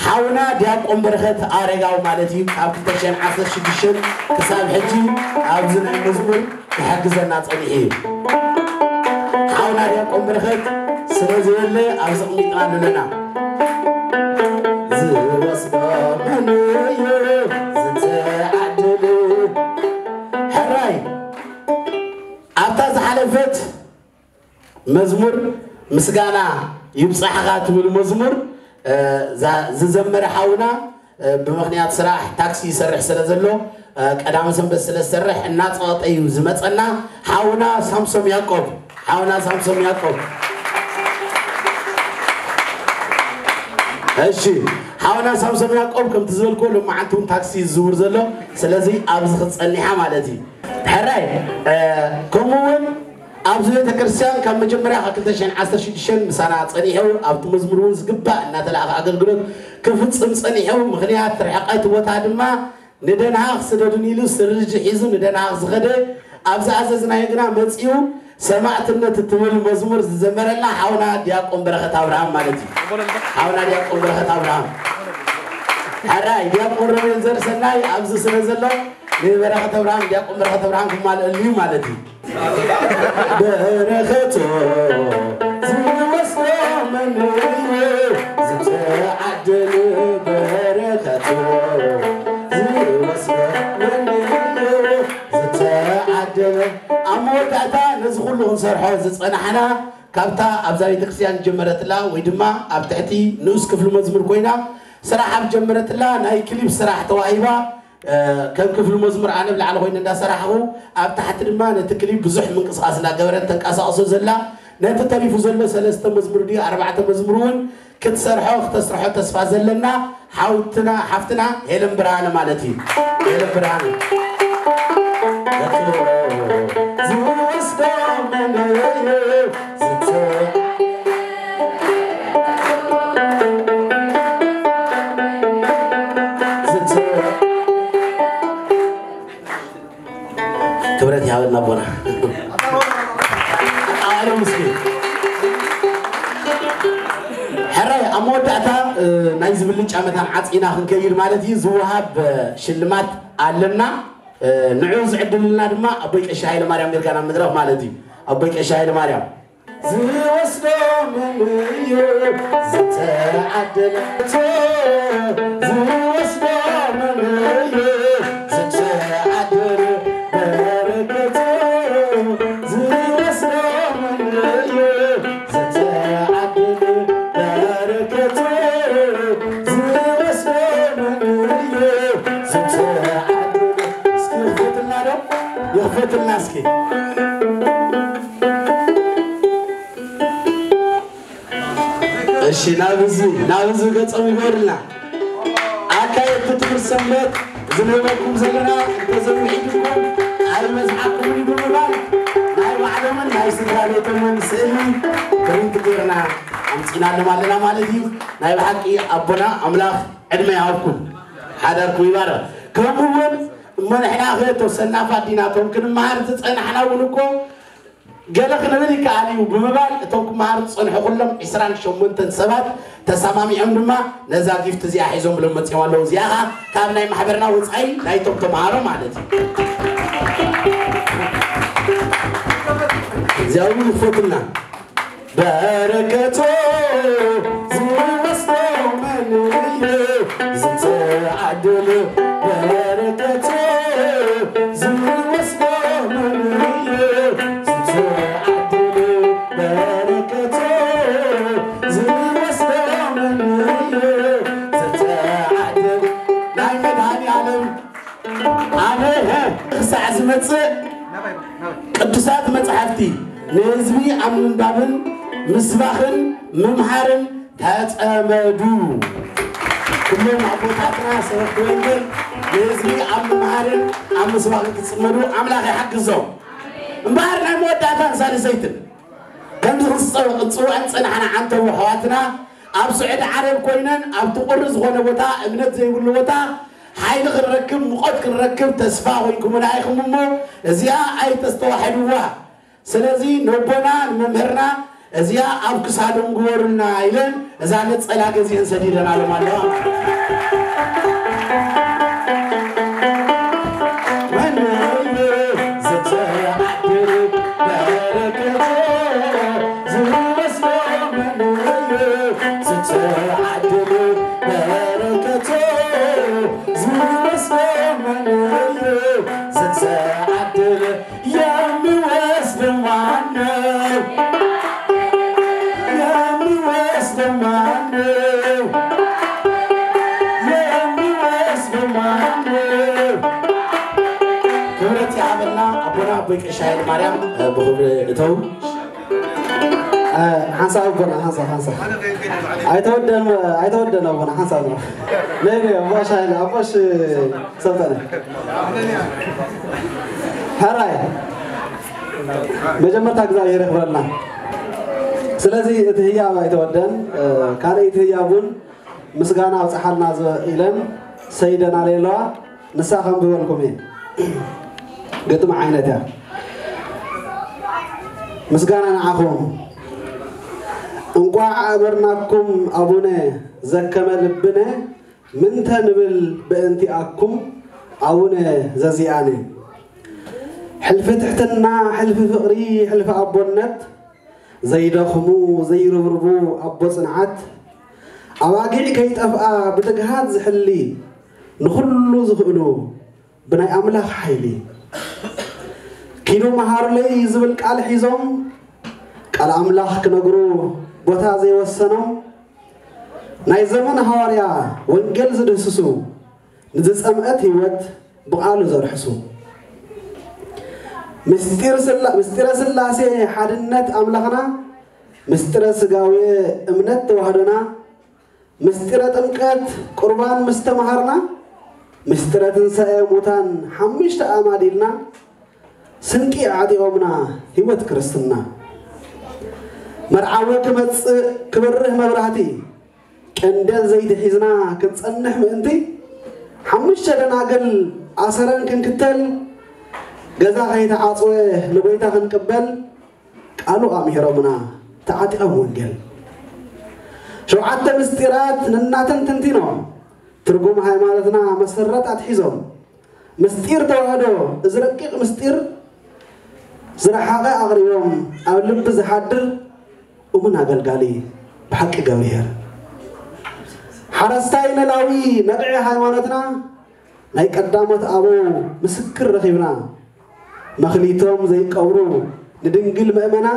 ሓውና ዲያቆን በረኸት ኣረጋዊ ማለት እዩ። ካብ ክልተ ሽሕን ዓሰርተ ሽዱሽተን ክሳብ ሕጂ ኣብዚ ናይ መዝሙር ክሕግዘና ጸኒሑ እዩ። ሓውና ዲያቆን በረኸት ስለ ዘየለ ኣብዚ ኣቕሚጥና ኣለና። ዝወስዶ መን እዩ ዝተዓደለ? ሕራይ ኣብታ ዝሓለፈት መዝሙር ምስጋና ይብጻሕኻ ትብል መዝሙር ዝዘመረ ሓውና ብምኽንያት ስራሕ ታክሲ ይሰርሕ ስለ ዘሎ ቀዳመ ሰንበት ስለ ዝሰርሕ እናፀቐጠ እዩ ዝመፀና። ሓውና ሳምሶም ያቆብ ሓውና ሳምሶም ያቆብ እሺ ሓውና ሳምሶም ያቆብ ከምቲ ዝበልኩ ልማዓንቲ እውን ታክሲ ዝዝውር ዘሎ ስለዚ ኣብዚ ክትፀኒሓ ማለት እዩ። ሕራይ ከምኡ እውን ኣብዚ ቤተ ክርስቲያን ካብ መጀመርያ ካብ ክልተ ሽሕን ዓሰርተ ሽዱሽተን ምሳና ጸኒሑ ኣብቲ መዝሙር እውን ዝግባእ እናተላእኸ ኣገልግሎት ክፍጽም ጸኒሑ። ምኽንያት ርሕቀት ቦታ ድማ ንደንሃኽ ስደዱን ኢሉ ስርጅ ሒዙ ንደንሃኽ ዝኸደ ኣብ ዝኣዘዝናዮ ግና መጺኡ ሰማዕትነት እትብል መዝሙር ዝዘመረልና ሓውና ዲያቆን በረኸት ኣብርሃም ማለት እዩ። ሓውና ዲያቆን በረኸት ኣብርሃም ሕራይ ዲያቆን ሮቤል ዘርሰናይ ኣብዚ ስለ ዘሎ ንበረኸት ኣብርሃም ዲያቆን በረኸት ኣብርሃም ክማልአሉ እዩ ማለት እዩ። በረኸቱ ዝወስዶ መን እዩ ዝተዓደለ በረኸቱ ዝወስዶ መን እዩ ዝተዓደለ ኣብ መወዳእታ ነዚ ኩሉ ክንሰርሖ ዝጸናሕና ካብታ ኣብዛ ቤተክርስትያን ጀመረትላ ወይ ድማ ኣብ ትሕቲ ንኡስ ክፍሊ መዝሙር ኮይና ስራሕ ኣብ ጀመረትላ ናይ ክሊፕ ስራሕ ተዋሂባ ከም ክፍሊ መዝሙር ኣነ ብላዕሊ ኮይነ እንዳሰራሕኹ ኣብ ታሕቲ ድማ ነቲ ክሊፕ ብዙሕ ምንቅስቃስ እንዳገበረት ተንቀሳቅሶ ዘላ ነቲ ተሪፉ ዘሎ ሰለስተ መዝሙር ድዩ ኣርባዕተ መዝሙር እውን ክትሰርሖ ክተስርሖ ተስፋ ዘለና ሓውትና ሓፍትና ሄለን ብርሃነ ማለት እዩ። ሄለን ብርሃነ ዝወስዶ መን እዩ? ክብረት ይሃበልና ኣቦና ኣሉ ምስኪን ሕራይ ኣብ መወዳእታ ናይ ዝብልጫ መታን ዓፂና ክንከይድ ማለት እዩ ዝወሃብ ሽልማት ኣለና ንዑ ዝዕድልና ድማ ኣቦይ ቀሺ ሃይለ ማርያም ጌርካ ናብ መድረኽ ማለት እዩ ኣቦይ ቀሺ ሃይለ ማርያም ዝወስዶ መን እዩ ዝተዓደለ ዝወስዶ መን እዩ ዝተዓደለ በረከቱ ዝወስዶ መን እዩ ዝተዓደለ በረከቱ ትልና እስኪ። እሺ፣ ናብ ህዝቢ፣ ናብ ህዝቢ ገጾም ይበሩልና። ኣካየድቲ ትምህርቲ ሰንበት፣ እዚ ንህበኩም ዘለና እንተዘይውሒድኩም ኣይመዝሓልኩምን እዩ ብምባል ናይ ባዕሎምን ናይ ስድራ ቤቶምን ስእሊ ፕሪንት ጌርና ኣምፂናሎም ኣለና ማለት እዩ። ናይ ብሓቂ ኣቦና ኣምላኽ ዕድመ ይሃብኩም፣ ሓዳርኩም ይባረኽ። ከምኡ እውን እሞ ንሕና ከ ተወሰና ፋዲናቶም ክንመሃር ዝፀናሕና እውን እኮ ገለ ክንብል ይከኣል እዩ ብምባል እቶም ክመሃሩ ዝፀንሑ ኩሎም ዕስራን ሸሞንተን ሰባት ተሰማሚዖም ድማ ነዛ ጊፍት እዚኣ ሒዞም ብሎም መፅኦም ኣለዉ። እዚኣ ከዓ ካብ ናይ ማሕበርና ወፃኢ ናይቶም ተምሃሮ ማለት እዩ። እዚኣ እውን ይክፈቱልና። በረከቱ ዝወስዶ መን እዩ? ዝተዓደለ በረከቱ ዝወስዶ መን እዩ? ዝተዓደለ በረከቱ ዝወስዶ መን እዩ? ዝተዓደለ ናይ መድኃኔዓለም ኣነ ክሳዕ ዝመጽእ ቅዱሳት መጻሕፍቲ ንህዝቢ ኣብ ምንባብን ምስባኽን ምምሃርን ተጸመዱ። ኩሎም ኣቦታትና ሰበኽቲ ወንጌል ንህዝቢ ኣብ ምምሃርን ኣብ ምስባኽን ክጽመዱ ኣምላኽ ይሓግዞም። እምበኣር ናይ መወዳእታን ሳልሰይትን ከምዚ ክንጽውዐን ጸናሕና ዓንተው ኣሕዋትና ኣብ ስዑዲ ዓረብ ኮይነን ኣብቲ ቁሪ ዝኾነ ቦታ እምነት ዘይብሉ ቦታ ሓይሊ ክንረክብ፣ ሙቐት ክንረክብ ተስፋ ኮይንኩምና ኢኹም እሞ፣ እዚኣ ኣይተስተዋሕድዋ። ስለዚ ነቦና ንመምህርና እዚኣ ኣብ ክሳዶም ግበሩልና ኢለን እዛ ነጸላ ገዚአን ሰዲደናሎም ኣለዋ። ወነየ ዝተዓደለ በረከት ዝወስዶ መን እዩ? ዝተዓደለ በረከት ዝወስዶ መን እዩ? ዝተዓደለ የሚወስድ ማነው? የሚወስድ ማነው? የሚወስድ ማነው? ክብረት ይሃበልና ኣቦና ኣቦይ ቀሺ ኃይለ ማርያም፣ እ፣ ብኽብሪ እተው። እ፣ ሓንሳብ ኣቦና፣ ሓንሳብ፣ ሓንሳብ። ኣይተወደን፣ ኣይተወደን ኣቦና፣ ሓንሳብ ነው። ነይ፣ ነይ፣ ኣቦሽ ኃይለ፣ ኣቦሽ ሰልጠነ። ሕራይ፣ መጀመርታ እግዚኣብሔር የኽብረልና። ስለዚ እቲ ህያብ ኣይተወደን፣ እ፣ ካልእ እቲ ህያብ እውን ምስጋና ኣብጽሓልና ዘ-፣ ኢለን ሰይደን ኣለዋ። ንሳ ከንብበልኩም እየ። ግጥሚ ዓይነት እያ። ምስጋና ንዓኹም። እንቋዕ ኣበርናኩም ኣቡነ ዘከመ ልብነ፣ ምንተ ንብል በእንቲኣኩም ኣቡነ ዘዚኣነ። ሕልፊ ትሕትና፣ ሕልፊ ፍቕሪ፣ ሕልፊ ኣቦነት፣ ዘይደኽሙ፣ ዘይርብርቡ ኣቦ ጽንዓት፣ ኣባጊዕ ከይጠፍኣ ብትግሃት ዝሕሊ፣ ንኹሉ ዝኽእሉ ብናይ ኣምላኽ ሓይሊ። ኪዱ መሃሩለይ ዝብል ቃል ሒዞም፣ ቃል ኣምላኽ ክነግሩ ቦታ ዘይወሰኖም፣ ናይ ዘመን ሃዋርያ ወንጌል ዝድህስሱ፣ ንዝጸምአት ህይወት ብቓሉ ዘርሕሱ። ምስጢር ስላ-፣ ምስጢረ ስላሴ ሓድነት ኣምላኽና፣ ምስጢረ ስጋዌ እምነት ተዋህዶና፣ ምስጢረ ጥምቀት ቁርባን ምስ ተምሃርና፣ ምስጢረ ትንሳኤ ሙታን ሓሙሽተ ኣማዲልና፣ ስንቂ ዓጢቖምና ህይወት ክርስትና። መርዓዊ ክመጽእ ክበርህ መብራህቲ፣ ቀንደል ዘይቲ ሒዝና ክንጸንሕ ምእንቲ፣ ሓሙሽተ ደናግል ኣሰረን ክንክተል፣ ገዛ ከይተዓጽወ ንጎይታ ክንቅበል፣ ቃሉ ኣምሂሮምና ተዓጢቖም ወንጌል። ሸውዓተ ምስጢራት ነናተን ትንቲኖም፣ ትርጉም ሃይማኖትና መሰረት ኣትሒዞም፣ ምስጢር ተዋህዶ፣ እዚ ረቂቕ ምስጢር ዝረሓቐ ኣቕሪቦም፣ ኣብ ልቢ ዝሓድር እሙን ኣገልጋሊ ብሓቂ ገብርሄር። ሓረስታይ ነላዊ ነብዒ ሃይማኖትና፣ ናይ ቀዳሞት ኣበው ምስክር ረኺብና፣ መኽሊቶም ዘይቀብሩ ንድንግል መእመና፣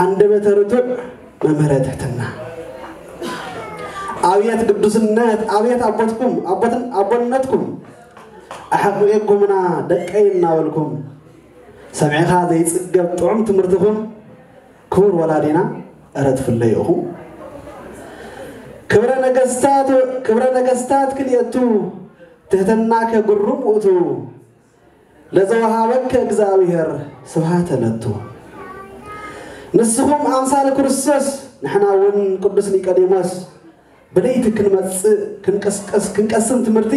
ኣንደበተ ርቱዕ መምህረ ትሕትና። ኣብየት ቅዱስነት፣ ኣብየት ኣቦትኩም፣ ኣቦትን-፣ ኣቦነትኩም፣ ኣሕቂቁምና ደቀይ እናበልኩም ሰሚዕኻ ዘይጽገብ ጥዑም ትምህርትኹም ክቡር ወላዲና እረ ትፍለዩ ኢኹም። ክብረ ነገስታት ክብረ ነገስታት ክልኤቱ ትህትናከ ግሩም ውእቱ ለዘወሃበከ እግዚኣብሔር ስብሐተ ለቱ። ንስኹም ኣምሳል ክርስቶስ ንሕና እውን ቅዱስ ኒቆዲሞስ ብለይቲ ክንመጽእ ክንቀስቀስ ክንቀስም ትምህርቲ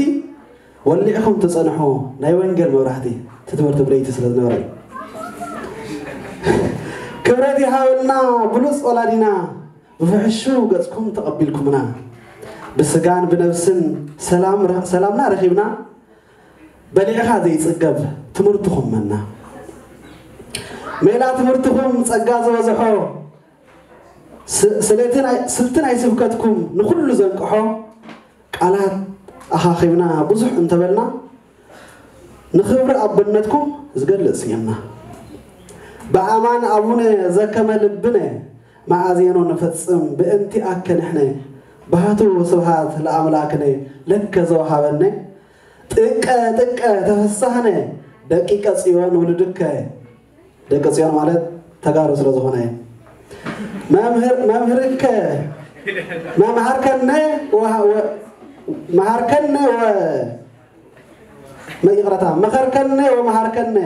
ወሊዕኹም ትጸንሑ ናይ ወንጌል መብራህቲ እቲ ትምህርቲ ብለይቲ ስለ ዝነበረ እዩ። ክብረት ይሃበልና ብሉጽ ወላዲና ብፍሕሹ ገጽኩም ተቐቢልኩምና ብስጋን ብነብስን ሰላም ሰላምና ረኺብና በሊዕኻ ዘይጽገብ ትምህርትኹም መና ሜላ ትምህርትኹም ጸጋ ዝበዝሖ ስ- ስለቲ ናይ- ስልቲ ናይ ስብከትኩም ንኹሉ ዘንቅሖ ቃላት ኣኻኺብና ብዙሕ እንተበልና ንኽብሪ ኣቦነትኩም ዝገልጽ ስኢንና። ብኣማን ኣቡነ ዘከመ ልብነ መኣዜኖ ንፈጽም ብእንቲ ኣከ ንሕነ ባህቱ ስብሃት ለኣምላክነ ለከ ዘወሃበነ ጥቀ ጥቀ ተፈሳህነ ደቂቀ ጽዮን ውልድከ ደቂ ጽዮን ማለት ተጋሩ ስለ ዝኾነ መምህር መምህርከ መምሃርከነ ወሃ- ወ- መሃርከነ ወ መይቅረታ መኸርከነ ወመሃርከነ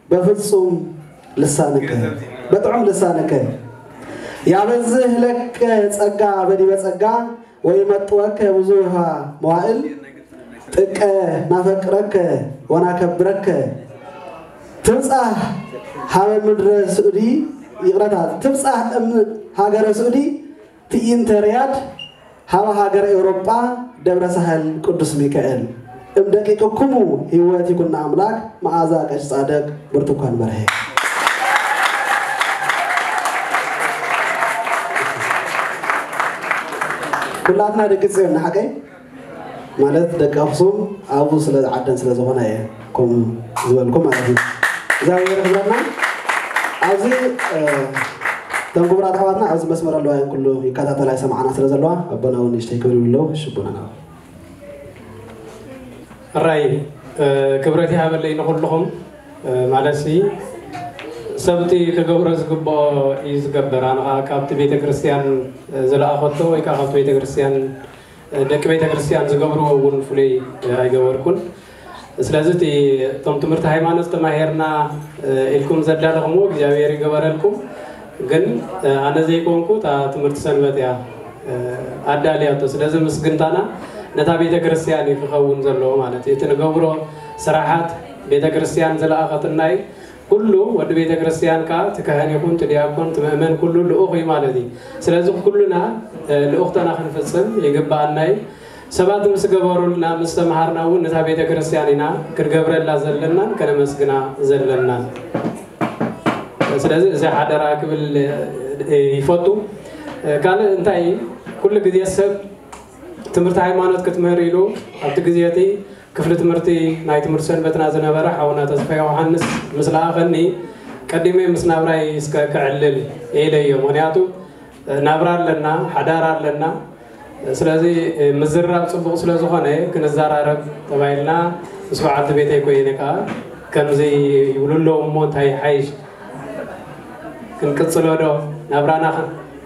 በፍጹም ልሳንከ በጥዑም ልሳንከ ያበዝህ ለከ ጸጋ በዲበ ጸጋ ወይመጥወከ ብዙሃ መዋእል ጥቀ ናፈቅረከ ወናከብረከ ትብጻሕ ሃበ ምድረ ስዑዲ ይቕረታ ትብጻሕ እም ሃገረ ስዑዲ ትዕይንተ ሪያድ ሃበ ሃገረ ኤውሮጳ ደብረ ሳህል ቅዱስ ሚካኤል እም ደቂቅኩሙ ህይወት ይኩና ኣምላክ መዓዛ ቀሽ ጻደቅ ብርቱኳን በርሀ ኩላትና ደቂ ጽዮን ንሓቀይ ማለት ደቂ ኣኽሱም ኣብኡ ስለ ዓደን ስለ ዝኾነ እየ ከምኡ ዝበልኩ ማለት እዩ እግዚኣብሔር ክብረና ኣብዚ እቶም ክቡራት ኣሕዋትና ኣብዚ መስመር ኣለዋ እየን ኩሉ ይከታተላ ይሰማዓና ስለ ዘለዋ ኣቦና እውን ንእሽተይ ክብል ይብለው ሽቡና ናብ ሕራይ ክብረት ይሃበለይ ንኹልኹም ማለት ሲ ሰብቲ ክገብሮ ዝግብኦ እዩ ዝገብር ኣነ ከዓ ካብቲ ቤተ ክርስቲያን ዝለኣኸቶ ወይ ከዓ ካብቲ ቤተ ክርስቲያን ደቂ ቤተ ክርስቲያን ዝገብርዎ እውን ፍሉይ ኣይገበርኩን ስለዚ እቲ እቶም ትምህርቲ ሃይማኖት ተማሄርና ኢልኩም ዘዳለኹምዎ እግዚኣብሔር ይገበረልኩም ግን ኣነ ዘይኮንኩ እታ ትምህርቲ ሰንበት እያ ኣዳልያቶ ስለዚ ምስግንታና ነታ ቤተ ክርስቲያን እዩ ክኸውን ዘለዎ ማለት እዩ እቲ ንገብሮ ስራሓት ቤተ ክርስቲያን ዝለኣኸትና እዩ ኩሉ ወዲ ቤተ ክርስቲያን ከዓ እቲ ካህን ይኹን እቲ ዲያቆን እቲ ምእመን ኩሉ ልኡኽ እዩ ማለት እዩ ስለዚ ኩሉና ልኡኽተና ክንፍፅም ይግበኣና እዩ ሰባት ምስ ገበሩልና ምስ ተምሃርና እውን ነታ ቤተ ክርስቲያን ኢና ክንገብረላ ዘለናን ከነመስግና ዘለናን ስለዚ እዚ ሓደራ ክብል ይፈቱ ካልእ እንታይ ኩሉ ግዜ ሰብ ትምህርቲ ሃይማኖት ክትምህር ኢሉ ኣብቲ ግዜ እቲ ክፍሊ ትምህርቲ ናይ ትምህርቲ ሰንበትና ዝነበረ ሓውና ተስፋ ዮሃንስ ምስ ለኣኸኒ ቀዲመ ምስ ናብራይ እስከ ክዕልል ኢለዮ ምክንያቱ ናብራ ኣለና ሓዳር ኣለና ስለዚ ምዝራብ ፅቡቕ ስለ ዝኾነ ክንዘራረብ ተባሂልና ምስ በዓልቲ ቤተይ ኮይነ ከዓ ከምዚ ይብሉ ኣለዉ እሞ እንታይ ይሓይሽ ክንቅፅሎ ዶ ናብራና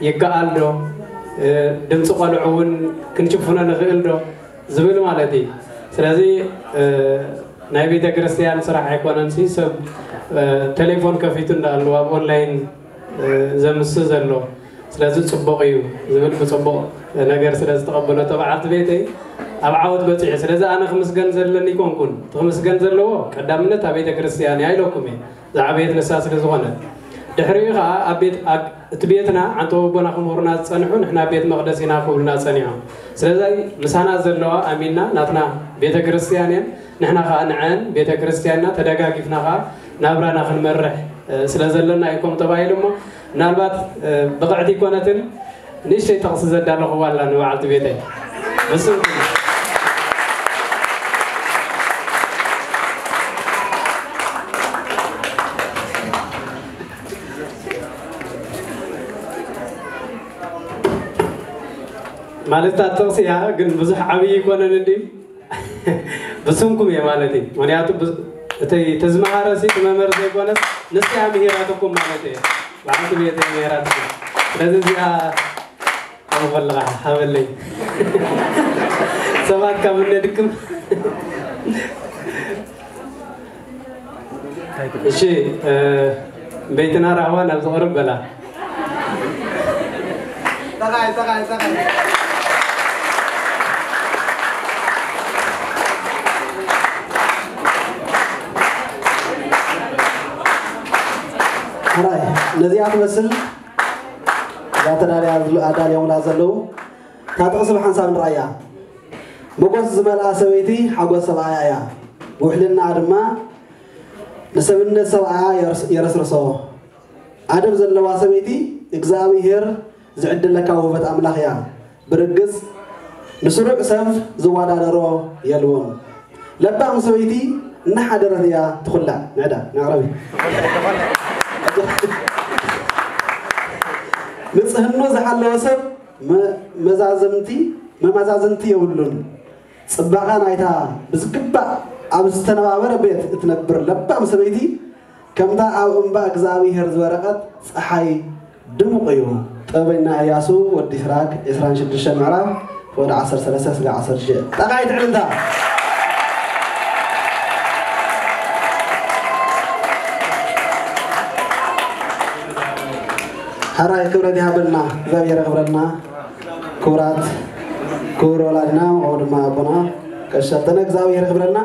ይከኣል ዶ ድምፂ ቆልዑ እውን ክንሽፍኖ ንኽእል ዶ ዝብል ማለት እዩ ስለዚ ናይ ቤተ ክርስቲያን ስራሕ ኣይኮነን ሰብ ቴሌፎን ከፊቱ እንዳኣለዉ ኣብ ኦንላይን ዘምስ ዘሎ ስለዚ ፅቡቕ እዩ ዝብል ብፅቡቕ ነገር ስለ ዝተቐበለቶ በዓልቲ ቤተይ ኣብ ዓወት በፂሑ ስለዚ ኣነ ክምስገን ዘለኒ ይኮንኩን እቲ ክምስገን ዘለዎ ቀዳምነት ኣብ ቤተ ክርስቲያን እያ ኢለኩም እየ ዝዓበየት ንሳ ስለ ዝኾነት ድሕሪኡ ከዓ ኣብ ቤት እቲ ቤትና ዓንተወቦና ክምህሩና ዝፀንሑ ንሕና ቤት መቅደስ ኢና ክብሉና ፀኒሖም ስለዚ ምሳና ዘለዋ ኣሚንና ናትና ቤተ ክርስቲያን እየን ንሕና ከዓ ንዐን ቤተ ክርስቲያንና ተደጋጊፍና ከዓ ናብራና ክንመርሕ ስለ ዘለና እዩ ከም ተባሂሉ እሞ ምናልባት ብቕዕቲ ይኮነትን ንእሽተይ ጥቕሲ ዘዳለኹዋ ኣላ ንበዓልቲ ቤተይ ብስም ማለት እታ ጥቕሲ እያ ግን ብዙሕ ዓብዪ ይኮነን እንዲ ብስምኩም እየ ማለት እዩ። ምክንያቱ ብ-፣ እቲ ተዝመሃረ ሲ እቲ መምህር ዘይኮነስ ንስያ ምሂራትኩም ማለት እየ። ብዓልቲ ቤት ምሂራትኩም። ስለዚ እዚኣ ከምኡ ከለኻ ሃበለይ። ሰባት ካብ እነድክም። እሺ፣ እ፣ ቤትና ራህዋ ናብ ዝቐርብ በላ። ጠቓይ፣ ጠቓይ፣ ጠቓይ። ሕራይ፣ ነዚኣ ትመስል እዛ ተዳልያ ኣዳልዮምላ ዘለዉ እታ ጥቕሲ ብሓንሳብ ንርኣያ። ሞጎስ ዝመልኣ ሰበይቲ ሓጎስ ሰብኣያ እያ። ውሕልናኣ ድማ ንሰብነት ሰብኣያ የርስ-፣ የረስርሶ። ኣደብ ዘለዋ ሰበይቲ እግዚኣብሄር ዝዕድለካ ውህበት ኣምላኽ እያ። ብርግጽ ንስሩዕ ሰብ ዝወዳደሮ የልቦን። ለባም ሰበይቲ እናሓደረት እያ ትኹላዕ። ንዕዳ፣ ንኣቕረቢ። ንጽህኑ ዝሓለወ ሰብ መ-፣ መዛዝምቲ፣ መመዛዝንቲ የብሉን። ጽባቐ ናይታ ብዝግባእ ኣብ ዝተነባበረ ቤት እትነብር ለባም ሰበይቲ፣ ከምታ ኣብ እምባ እግዚኣብሄር ዝበረቐት ጸሓይ ድሙቕ እዩ። ጥበበኛ እያሱ ወዲ ሲራክ፣ ዕስራን ሽዱሽተን ምዕራፍ፣ ወደ ዓሰርተ ሰለስተ ስጋ ዓሰርተ ሽዱሽተ። ጠቓይ ትዕልልታ። ሕራይ ክብረት ይሃበልና፣ እግዚኣብሔር የኽብረልና። ክቡራት፣ ክቡር ወላዲና፣ ከምኡ ድማ ኣቦና ቀሺ ሰልጠነ፣ እግዚኣብሔር የኽብረልና።